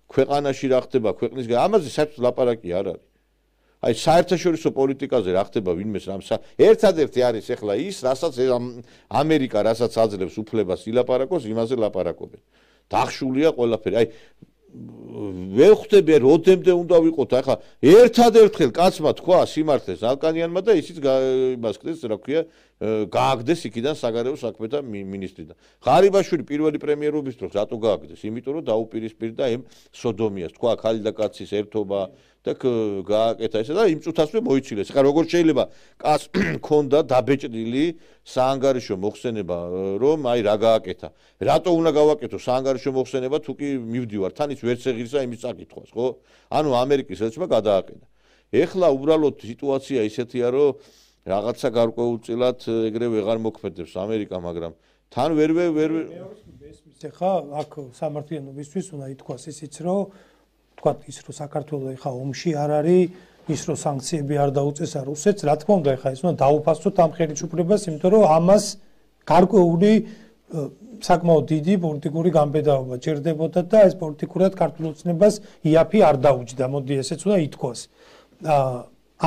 ქვეყანაში რა ხდება ქვეყნის ამაზე საერთოდ ლაპარაკი არ არის აი საერთაშორისო პოლიტიკაზე რა ხდება ვინმეს რამ ერთადერთი არის ახლა ის რასაც ამერიკა რასაც აძლევს უფლებას ილაპარაკოს იმაზე ლაპარაკობენ დახშულია ყველაფერი აი ვერ ხვდები როდემდე უნდა ვიყოთ ახლა ერთადერთხელ კაცმა თქვა სიმართლეს ალკანიანმა და ისიც იმას ხდეს რა ქვია გააგდეს იქიდან საგარეო საქმეთა მინისტრიდან ღარიბაშვილი პირველი პრემიერობის დროს რატო გააგდეს იმიტომ რომ დაუპირისპირდა იმ სოდომიას თქვა ხალი და კაცის ერთობა და გააკეთა ესე და იმ წუთასვე მოიცილეს ხა როგორ შეიძლება კაც ქონდა დაბეჭდილი საანგარიშო მოხსენება რომ აი რა გააკეთა რატო უნდა გავაკეთო საანგარიშო მოხსენება თუ კი მივდივარ თან ის ვერც ეღირსა იმის წაკითხვას ხო ანუ ამერიკის ელჩმა გადააყენა ეხლა უბრალოდ სიტუაცია ისეთია რომ რაღაცა გარკვეულწილად ეგრე ვეღარ მოქმედებს ამერიკა მაგრამ თან ვერ ვერ მესმის ხა აქ სამართლიანობისთვის უნდა ითქვას ისიც რომ თქვათ ის რომ საქართველოს ხა ომში არ არის ის რომ სანქციები არ დაუწესა რუსეთს რა თქმა უნდა ხა ის უნდა დაუფასოთ ამ ხელისუფლებას იმიტომ რომ ამას გარკვეული საკმაოდ დიდი პოლიტიკური გამბედაობა ჭირდებოდა და ეს პოლიტიკურად ქართულ ოცნებას იაფი არ დაუჯდა მოდი ესეც უნდა ითქვას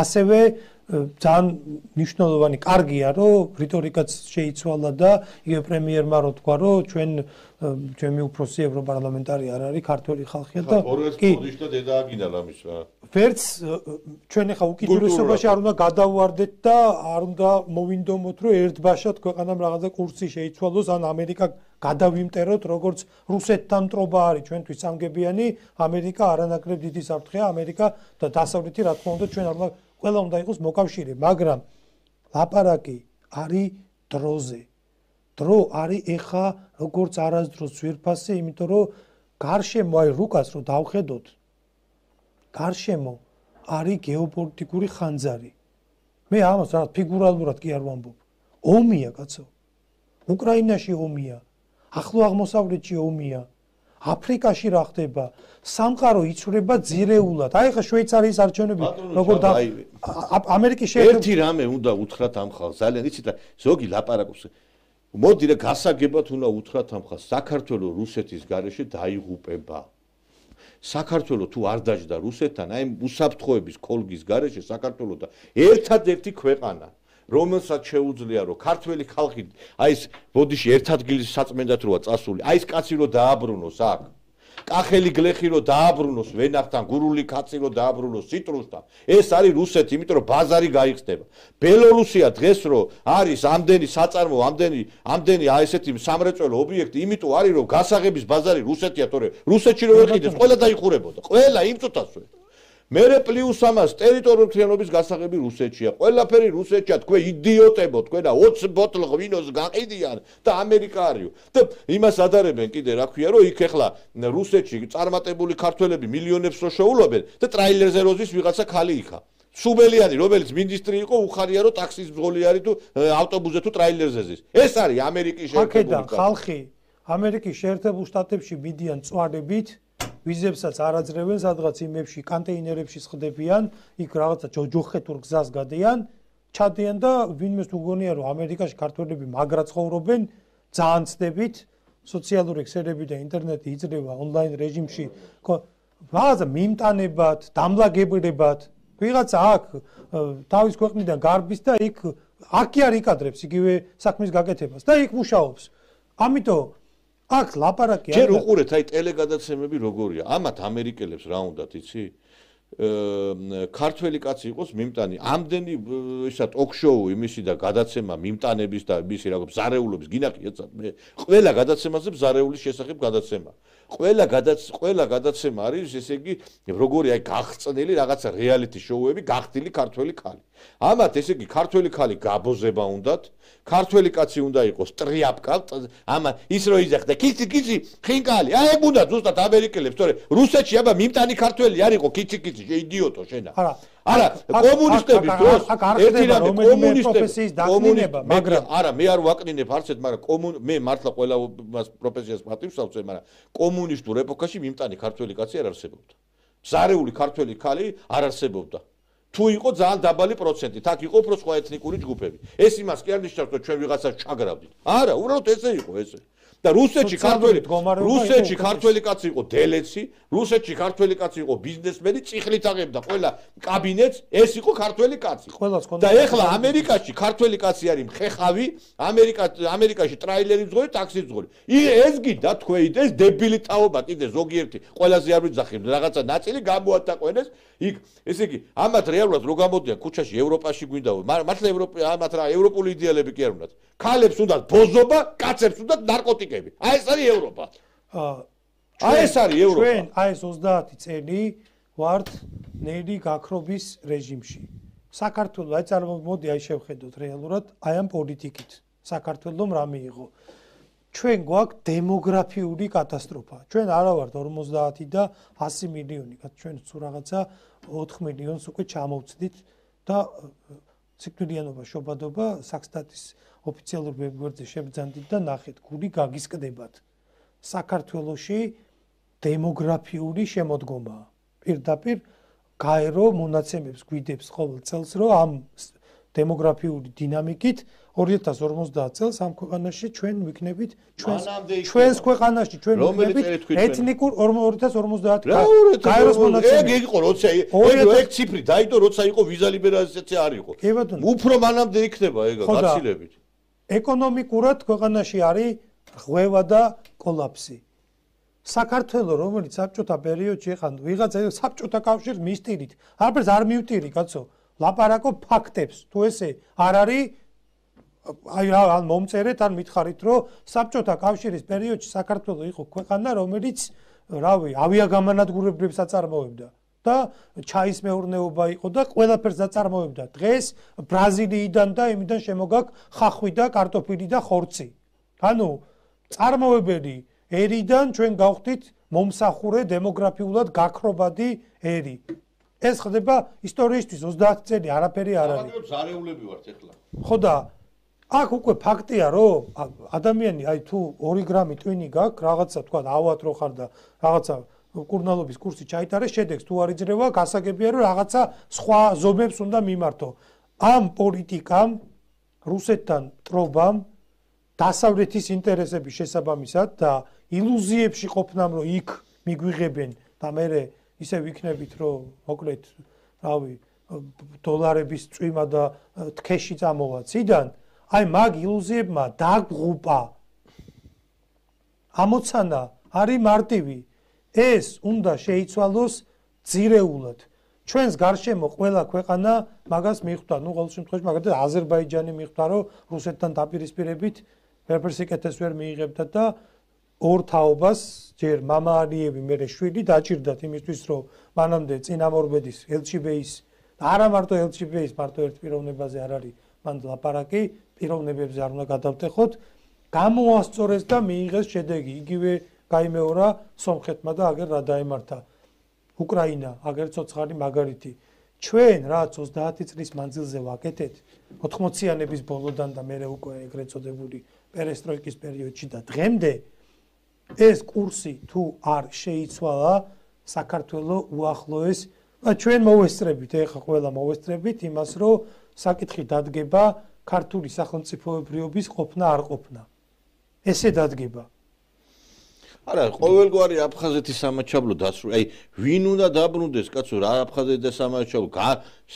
ასევე ძალიან მნიშვნელოვანი კარგია რომ რიტორიკაც შეიცვალა და იგივე პრემიერმა რო თქვა რომ ჩვენ ჩემი უფროსი ევროპარლამენტარი არ არის ქართველი ხალხია და კი პოდიშტა დედა აგინდა ამის რა ვერც ჩვენ ახლა უკიდურესობაში არ უნდა გადავარდეთ და არ უნდა მოვინდომოთ რომ ერთბაშად ქვეყანამ რაღაცა კურსი შეიცვალოს ან ამერიკა გადავიმტეროთ როგორც რუსეთთან მტრობა არის ჩვენთვის სამგებიანი ამერიკა არანაკლებ დიდი საფრთხეა ამერიკა და დასავლეთი რა თქმა უნდა ჩვენ არ უნდა ყველა უნდა იყოს მოკავშირე მაგრამ ლაპარაკი არის დროზე დრო არის ეხა როგორც არასდროს ძვირფასზე იმიტომ რომ გარშემო აი რუკას რო დავხედოთ გარშემო არის გეოპოლიტიკური ხანძარი მე ამას რა ფიგურალურად კი არ ვამბობ ომია კაცო უკრაინაში ომია ახლო აღმოსავლეთში ომია აფრიკაში რა ხდება სამყარო იცვლება ძირეულად აი ხა შვეიცარიის არჩევნები როგორ და ამერიკის შეერთებული ერთი რამე უნდა უთხრათ ამ ხალხს ძალიან იცით ზოგი ლაპარაკობს მოდი რა გასაგებად უნდა უთხრათ ამ ხალხს საქართველოს რუსეთის გარეშე დაიღუპება საქართველოს თუ არ დაждდა რუსეთთან აი უსაფრთხოების კოლგის გარეშე საქართველოს და ერთადერთი ქვეყანა რომელსაც შეუძლია რომ ქართველი ხალხი აი ეს ბოდიში ერთ ადგილს საწმენდად როა წასული აი ეს კაცი რო დააბრუნოს აქ კახელი გლეხი რო დააბრუნოს ვენახთან გურული კაცი რო დააბრუნოს ციტრუსთან ეს არის რუსეთი იმიტომ რომ ბაზარი გაიხსნება ბელორუსია დღეს რო არის ამდენი საწარმო ამდენი ამდენი აი ესეთი სამრეწველო ობიექტი იმიტომ არის რომ გასაღების ბაზარი რუსეთია თორე რუსეთში რო ვერყიდეს ყველა დაიხურებოდა ყველა იმ წუთასვე მერე პლუს ამას ტერიტორიული მთლიანობის გასაღები რუსეთშია. ყველაფერი რუსეთშია. თქვენ იდიოტებო, თქვენა ოცი ბოთლ ღვინოს გაყიდიან და ამერიკა არისო. და იმას ადარებენ კიდე რა ქვია, რომ იქ ახლა რუსეთში წარმატებული ქართველები მილიონებს რო შეულობენ და ტრაილერზე როზის ვიღაცა ხალი იქა. სუბელიანი, რომელიც მინისტრი იყო, უხარია რომ ტაქსის მძღოლი არის თუ ავტობუსზე თუ ტრაილერზე ზის. ეს არის ამერიკის შეერთებული ხალხი. ამერიკის შეერთებულ შტატებში მიდიან წვარებით ვიზებსაც არ აძლევენ, სადღაც იმებში კანტეინერებში სხდებიან, იქ რაღაცა ჯოჯოხეთურ გზას გადიან, ჩადიან და ვინმეს თუ გონია რომ ამერიკაში ქართველები მაგრა ცხოვრობენ, ძალიან ცდებით, სოციალური ქსელები და ინტერნეტი იძლევა ონლაინ რეჟიმში, რაღაცა მიმტანებად, დამლაგებლებად, ვიღაცა აქ თავის ქვეყნიდან გარბის და იქ აქი არ იკადრებს იგივე საქმის გაკეთებას და იქ მუშაობს. ამიტომ აქ ლაპარაკი არის. ჯერ უყურეთ, აი ტელეგადაცემები როგორია. ამათ ამერიკელებს რა უნდათ, იცი? ქართველი კაცი იყოს მიმტანი. ამდენი ისა ტოქ-შოუ იმისი და გადაცემა მიმტანების და მისი რაღაც ზარეულობის გინახიათ მე. ყველა გადაცემაზე ზარეულის შესახებ გადაცემა. ყველა გადაც ყველა გადაცემა არის ესე იგი როგორი აი გახწნილი რაღაცა რეალიტი შოუები გახდილი ქართველი ქალი. ამათ ესე იგი ქართველი ქალი გაბოზება უნდათ, ქართველი კაცი უნდა იყოს ტრიაპკა, ამა ის რო იძახდა კიცი კიცი ხინკალი. აი ეგ უნდა ზუსტად ამერიკელებს, თორე რუსეთში აბა მიმტანი ქართველი არ იყო კიცი კიცი, შეიდიოტო შენა. არა არა კომუნისტების დროს ერთი რამე კომუნისტების კომუნისტება მაგრამ არა მე არ ვაკნინებ არცეთ მაგრამ კომუნ მე მართლა ყველა პროფესიას პატივსავწე მაგრამ კომუნისტურ ეპოქაში მიმტანი ქართველი კაცი არ არსებობდა ზარეული ქართველი ქალი არ არსებობდა თუ იყო ძალიან დაბალი პროცენტით აქ იყო უფრო სხვა ეთნიკური ჯგუფები ეს იმას კი არ ნიშნავს რომ ჩვენ ვიღაცას ჩაგრავდით არა უბრალოდ ესე იყო ესე და რუსეთში ქართველი რუსეთში ქართველი კაცი იყო დელეცი, რუსეთში ქართველი კაცი იყო ბიზნესმენი, წიხლით აღებდა ყველა კაბინეტს, ეს იყო ქართველი კაცი. და ეხლა ამერიკაში ქართველი კაცი არის მხეხავი, ამერიკა ამერიკაში ტრაილერი მძღოლი, ტაქსი მძღოლი. ეს გინდა თქვენ ეს დებილი თაობა კიდე ზოგიერთი ყველაზე არ ვიძახი რაღაცა ნაწილი გამოატაყვენეს იქ ესე იგი ამათ რეალურად რო გამოდიან ქუჩაში ევროპაში გვინდა მართლა ევროპა ამათ რა ევროპული იდეალები კი არ უნდათ. ქალებს უნდათ ბოზობა, კაცებს უნდათ ნარკოტიკები. აი ეს არის ევროპა. აი ეს არის ევროპა. ჩვენ აი ეს ოცდაათი წელი ვართ ნელი გაქრობის რეჟიმში. საქართველოს აი წარმომოდი აი შევხედოთ რეალურად აი ამ პოლიტიკით. საქართველოს რა მიიღო? ჩვენ გვაქვს დემოგრაფიული კატასტროფა. ჩვენ არა ვართ ორმოცდაათი და ასი მილიონი, ჩვენ თუ რაღაცა ოთხ მილიონს უკვე ჩამოვცდით და ციკლიანობა შობადობა საქსტატის ოფიციალურ ვებგვერდზე შებძანდით და ნახეთ, გული გაგისკდებათ. საქართველოში დემოგრაფიული შემოდგომაა. პირდაპირ გაერო მონაცემებს გვიდებს ყოველ წელს, რომ ამ დემოგრაფიული დინამიკით ორი ათას ორმოცდაათ წელს ამ ქვეყანაში ჩვენ ვიქნებით ჩვენს ჩვენს ქვეყანაში ჩვენ ვიქნებით ეთნიკურ ორი ათას ორმოცდაათ გაეროს მონაცემები. ეგ იყო როცა ეგ ეგ ციფრი დაიდო როცა იყო ვიზა ლიბერალიზაცია არ იყო. უფრო მანამდე იქნება ეგ გაცილებით. ეკონომიკურად ქვეყანაში არის ღვევა და კოლაფსი. საქართველოს რომელიც საბჭოთა პერიოდში ხან ვიღაცა საბჭოთა კავშირის მისტირით არაფერს არ მივტირი კაცო ლაპარაკო ფაქტებს თუ ესე არ არის აი ან მომწერეთ ან მითხარით რომ საბჭოთა კავშირის პერიოდში საქართველოს იყო ქვეყანა რომელიც რავი ავიაგამანადგურებლებს აწარმოებდა და ჩაის მეურნეობა იყო და ყველაფერს აწარმოებდა დღეს ბრაზილიიდან და იმიდან შემოგაქვს ხახვი და კარტოფილი და ხორცი ანუ წარმოებელი ერიდან ჩვენ გავხდით მომსახურე დემოგრაფიულად გაქრობადი ერი ეს ხდება ისტორიისთვის ოცდაათი წელი არაფერი არ არის. ზარეულები ვართ ეხლა. ხო და აქ უკვე ფაქტია რომ ადამიანი აი თუ ორი გრამი ტვინი გაქვს რაღაცა თქვა ავად რო ხარ და რაღაცა კურნალობის კურსი ჩაიტარეს შედეგს თუ არ იძრევა გასაგებია რომ რაღაცა სხვა ზომებს უნდა მიმართო. ამ პოლიტიკამ რუსეთთან ტრობამ დასავლეთის ინტერესების შესაბამისად და ილუზიებში ყოფნამ რომ იქ მიგვიღებენ და მე ისე ვიქნებით რომ მოკლედ რავი დოლარების წვიმა და თქეში წამოვა ციდან აი მაგ ილუზიებმა დაგღუპა ამოცანა არის მარტივი ეს უნდა შეიცვალოს ძირეულად ჩვენს გარშემო ყველა ქვეყანა მაგას მიხვდა ნუ ყოველ შემთხვევაში მაგალითად აზერბაიჯანი მიხვდა რომ რუსეთთან დაპირისპირებით ვერაფერს იკეთეს ვერ მიიღებდა და ორ თაობას ჯერ მამა ალიევი მერე შვილი დაჭირდათ იმისთვის რომ მანამდე წინამორბედის ელჩიბეის და არა მარტო ელჩიბეის მარტო ერთ პიროვნებაზე არ არის მან ლაპარაკი პიროვნებებზე არ უნდა გადავტეხოთ გამოასწორეს და მიიღეს შედეგი იგივე გაიმეორა სომხეთმა და აგერ რა დაემართა უკრაინა აგერ ცოცხალი მაგალითი ჩვენ რაც ოცდაათი წლის მანძილზე ვაკეთეთ ოთხმოციანების ბოლოდან და მერე უკვე ეგრეთ წოდებული პერესტროიკის პერიოდში და დღემდე ეს კურსი თუ არ შეიცვალა საქართველოს უახლოეს ჩვენ მოვესწრებით ეხა ყველა მოვესწრებით იმას რომ საკითხი დადგება ქართული სახელმწიფოებრიობის ყოფნა არ ყოფნა ესე დადგება არა ყოველგვარი აფხაზეთის სამაჩაბლო დასრული აი ვინ უნდა დაბრუნდეს კაცო რა აფხაზეთის სამაჩაბლო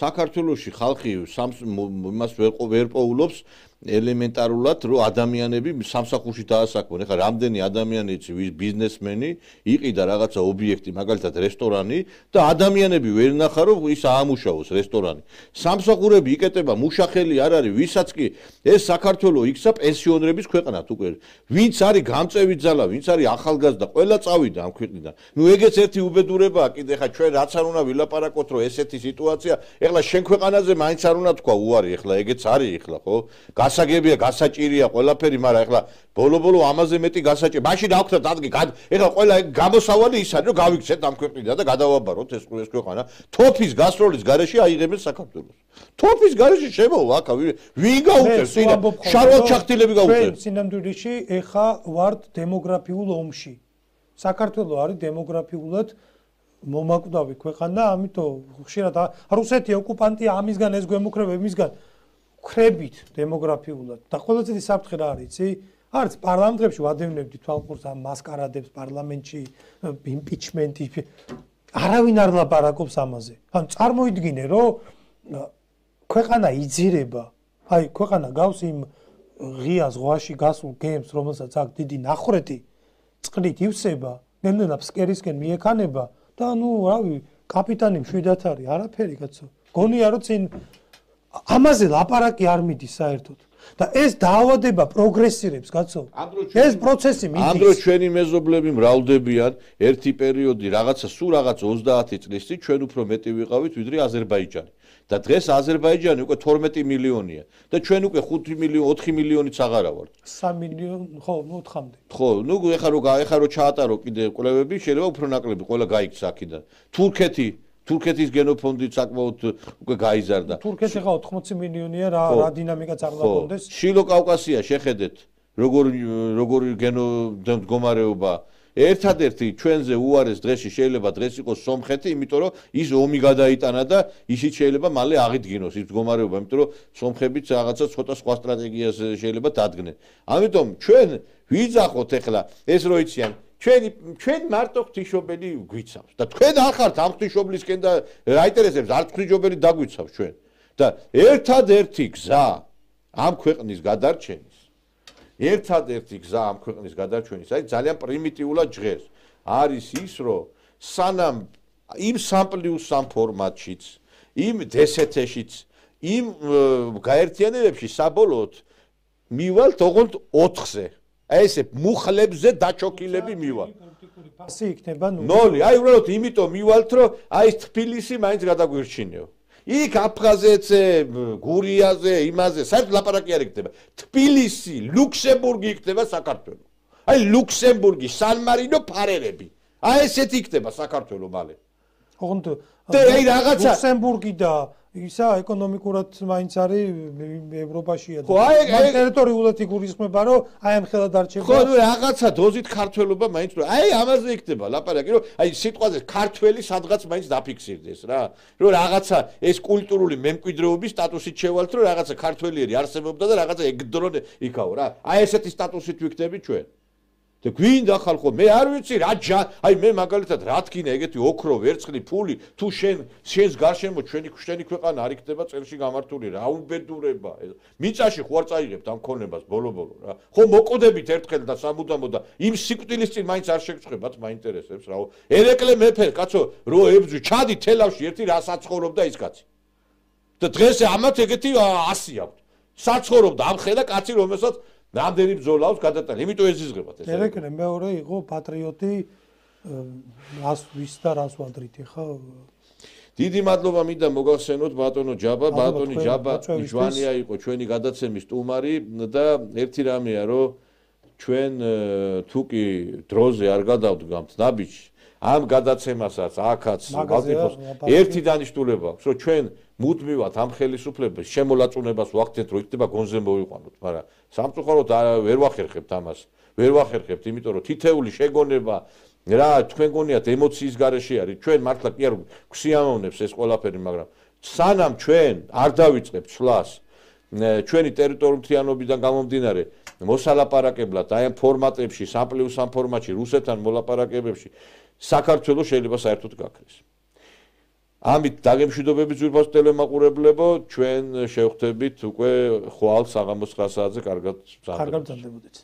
საქართველოში ხალხი იმას ვერ პოულობს ელემენტარულად რომ ადამიანები სამსახურში დაასაქმონ. ეხლა რამდენი ადამიანი იცი ვის ბიზნესმენი იყიდა რაღაცა ობიექტი, მაგალითად რესტორანი და ადამიანები ვერ ნახა რომ ის აამუშავოს რესტორანი. სამსახურები იკეტება, მუშახელი არ არის, ვისაც კი ეს საქართველოს იქცა პენსიონერების ქვეყნად უკვე. ვინც არის გამწევი ძალა, ვინც არის ახალგაზრდა, ყველა წავიდა ამ ქვეყნიდან. ნუ ეგეც ერთი უბედურებაა კიდე ხა ჩვენ რაც არ უნდა ვილაპარაკოთ რომ ესეთი სიტუაცია, ეხლა შენ ქვეყანაზე მაინც არ უნდა თქვა უარი, ეხლა ეგეც არის ეხლა ხო? გასაგებია, გასაჭირია ყველაფერი, მაგრამ ეხლა ბოლო-ბოლო ამაზე მეტი გასაჭირია. მაშინ აქვთ ადგი, ეხლა ყველა ეგ გამოსავალი ის არის, რომ გავიქცეთ ამ ქვეყნიდან და გადავაბაროთ ეს ეს ქვეყანა. თოფის გასროლის გარეშე აიღებენ საქართველოს. თოფის გარეშე შემოვა აქ, ვინ გაუწევს? შარვალ ჩახტილები გაუწევს. ჩვენ სინამდვილეში ეხა ვართ დემოგრაფიულ ომში. საქართველოს არის დემოგრაფიულად მომაკვდავი ქვეყანა, ამიტომ ხშირად რუსეთი ოკუპანტია ამისგან ეს გვემუქრება იმისგან ხრებით დემოგრაფიულად და ყველაზე საფრთხე რა არის, იცი? არც პარლამენტებში ვადევნებდი თვალყურს ამ მასკარადებს პარლამენტში, იმპიჩმენტი. არავინ არ ლაპარაკობს ამაზე. ან წარმოიდგინე, რომ ქვეყანა იძირება, აი ქვეყანა გავს იმ ღია ზღვაში გასულ გემს, რომელსაც აქვს დიდი ნახრეთი, წყლით ივსება, ნელ-ნელა ფსკერისკენ მიექანება და ნუ რავი, კაპიტანი მშვიდად არის, არაფერი კაცო. გონია რომ წინ ამაზე ლაპარაკი არ მიდის საერთოდ. და ეს დაავადება პროგრესირებს, კაცო. ეს პროცესი მიდის. ამ დროს ჩვენი მეზობლები მრავლდებიან, ერთი პერიოდი რაღაცა სულ რაღაც ოცდაათი წლის წინ ჩვენ უფრო მეტი ვიყავით ვიდრე აზერბაიჯანი. და დღეს აზერბაიჯანი უკვე თორმეტი მილიონია და ჩვენ უკვე ხუთი მილიონი, ოთხი მილიონიც აღარა ვართ. სამი მილიონი, ხო, ნუ ოთხამდე. ხო, ნუ ეხა რო ეხა რო ჩაატარო კიდე კვლევები, შეიძლება უფრო ნაკლები ყველა გაიქცა აქედან. თურქეთი თურქეთის გენოფონდი საკმაოდ უკვე გაიზარდა. თურქეთი ხა ოთხმოცი მილიონია, რა რა დინამიკა წარმოადგენს? შილო კავკასია შეხედეთ, როგორ როგორ გენო მდგომარეობა. ერთადერთი ჩვენზე უარეს დღეში შეიძლება დღეს იყოს სომხეთი, იმიტომ რომ ის ომი გადაიტანა და ისიც შეიძლება მალე აღიდგინოს ის მდგომარეობა, იმიტომ რომ სომხებიც რაღაცა ცოტა სხვა სტრატეგიას შეიძლება დადგნენ. ამიტომ ჩვენ ვიძახოთ ეხლა ეს რო იციან ჩვენ ჩვენ მარტო ღვთისმშობელი გვიცავს და თქვენ არ ხართ ამ ღვთისმშობლისკენ და რაინტერესებს არ ღვთისმშობელი დაგვიცავს ჩვენ და ერთადერთი გზა ამ ქვეყნის გადარჩენის ერთადერთი გზა ამ ქვეყნის გადარჩენის აი ძალიან პრიმიტიულად ჟღერს არის ის რომ სანამ იმ სამ პლუს სამ ფორმატშიც იმ დსთ-შიც იმ გაერთიანებებში საბოლოოდ მივალთ ოღონდ ოთხზე აი ესე მუხლებზე დაჩოქილები მივალ. ფასი იქნება ნული. ნული. აი უბრალოდ იმიტომ მივალთ, რომ აი თბილისი მაინც გადაგვირჩინეო. იქ აფხაზეთზე, გურიაზე, იმაზე, საერთოდ ლაპარაკი არ იქნება. თბილისი, ლუქსემბურგი იქნება საქართველო. აი ლუქსემბურგი, სან-მარინო ფარერები. აი ესეთი იქნება საქართველო მალე. ოღონდ აი რაღაცა ლუქსემბურგი და ისა ეკონომიკურად მაინც არის ევროპაშია და მაგ ტერიტორიულად იგულისხმება რომ აი ამ ხელად არჩება ხო ნუ რაღაცა დოზით ქართველობა მაინც რომ აი ამაზე იქნება ლაპარაკი რომ აი სიტყვაზე ქართველი სადღაც მაინც დაფიქსირდეს რა რომ რაღაცა ეს კულტურული მემკვიდრეობის სტატუსით შევალთ რომ რაღაცა ქართველიერი არსებობდა და რაღაცა ეგდრონ იქაო რა აი ესეთი სტატუსით ვიქნები ჩვენ და გვინდა ხალხო მე არ ვიცი რა აი მე მაგალითად რა თქინა ეგეთი ოქრო ვერცხლი ფული თუ შენ შენს გარშემო ჩვენი ჩვენი ქვეყანა არ იქნება წელში გამართული რა უბედურება მიწაში ხო არ წაიღებთ ამ ქონებას ბოლო-ბოლო რა ხო მოკვდებით ერთხელ და სამუდამო და იმ სიკვდილის წინ მაინც არ შეგწხვებათ მაინტერესებს რაო ერეკლე მეფე კაცო რო ებძვი ჩადი თელავში ერთი რა საცხოვრობდა ის კაცი და დღეს ამათ ეგეთი ასი აქვს საცხოვრობდა ამ ხედა კაცი რომელსაც რამდენი ბრძოლავს გადატანა, იმიტომ ეზიზღებათ ეს. ერეკლე მეორე იყო პატრიოტი, რას ვის და რას ვადრით ხა? დიდი მადლობა მინდა მოგახსენოთ ბატონო ჯაბა, ბატონი ჯაბა ჯვანია იყო ჩვენი გადაცემის სტუმარი და ერთი რამეა რომ ჩვენ თუ კი დროზე არ გადავდგამთ ნაბიჯს, ამ გადაცემასაც აქაც ბალტიფოს ერთი დანიშნულება აქვს, რომ ჩვენ მუდმივად ამ ხელისუფლების შემოლაწუნებას ვახდენთ, რომ იქნება გონზე მოვიყვანოთ, მაგრამ სამწუხაროდ ვერ ვახერხებთ ამას. ვერ ვახერხებთ, იმიტომ რომ თითეული შეგონება რა თქვენ გონიათ ემოციის გარეშე არის. ჩვენ მართლა კი არ გვსიამოვნებს ეს ყველაფერი, მაგრამ სანამ ჩვენ არ დავიწყებთ ცვლას ჩვენი ტერიტორიულთიანობიდან გამომდინარე მოსალაპარაკებლად აი ამ ფორმატებში, სამ პლუს სამ ფორმატში, რუსეთთან მოლაპარაკებებში საქართველოს შეიძლება საერთოდ გაქრეს. ამით დაგემშვიდობებით ძვირფას ტელემაყურებლებო, ჩვენ შევხვდებით უკვე ხვალ საღამოს ცხრა საათზე კარგად კარგად მგზავრდებით.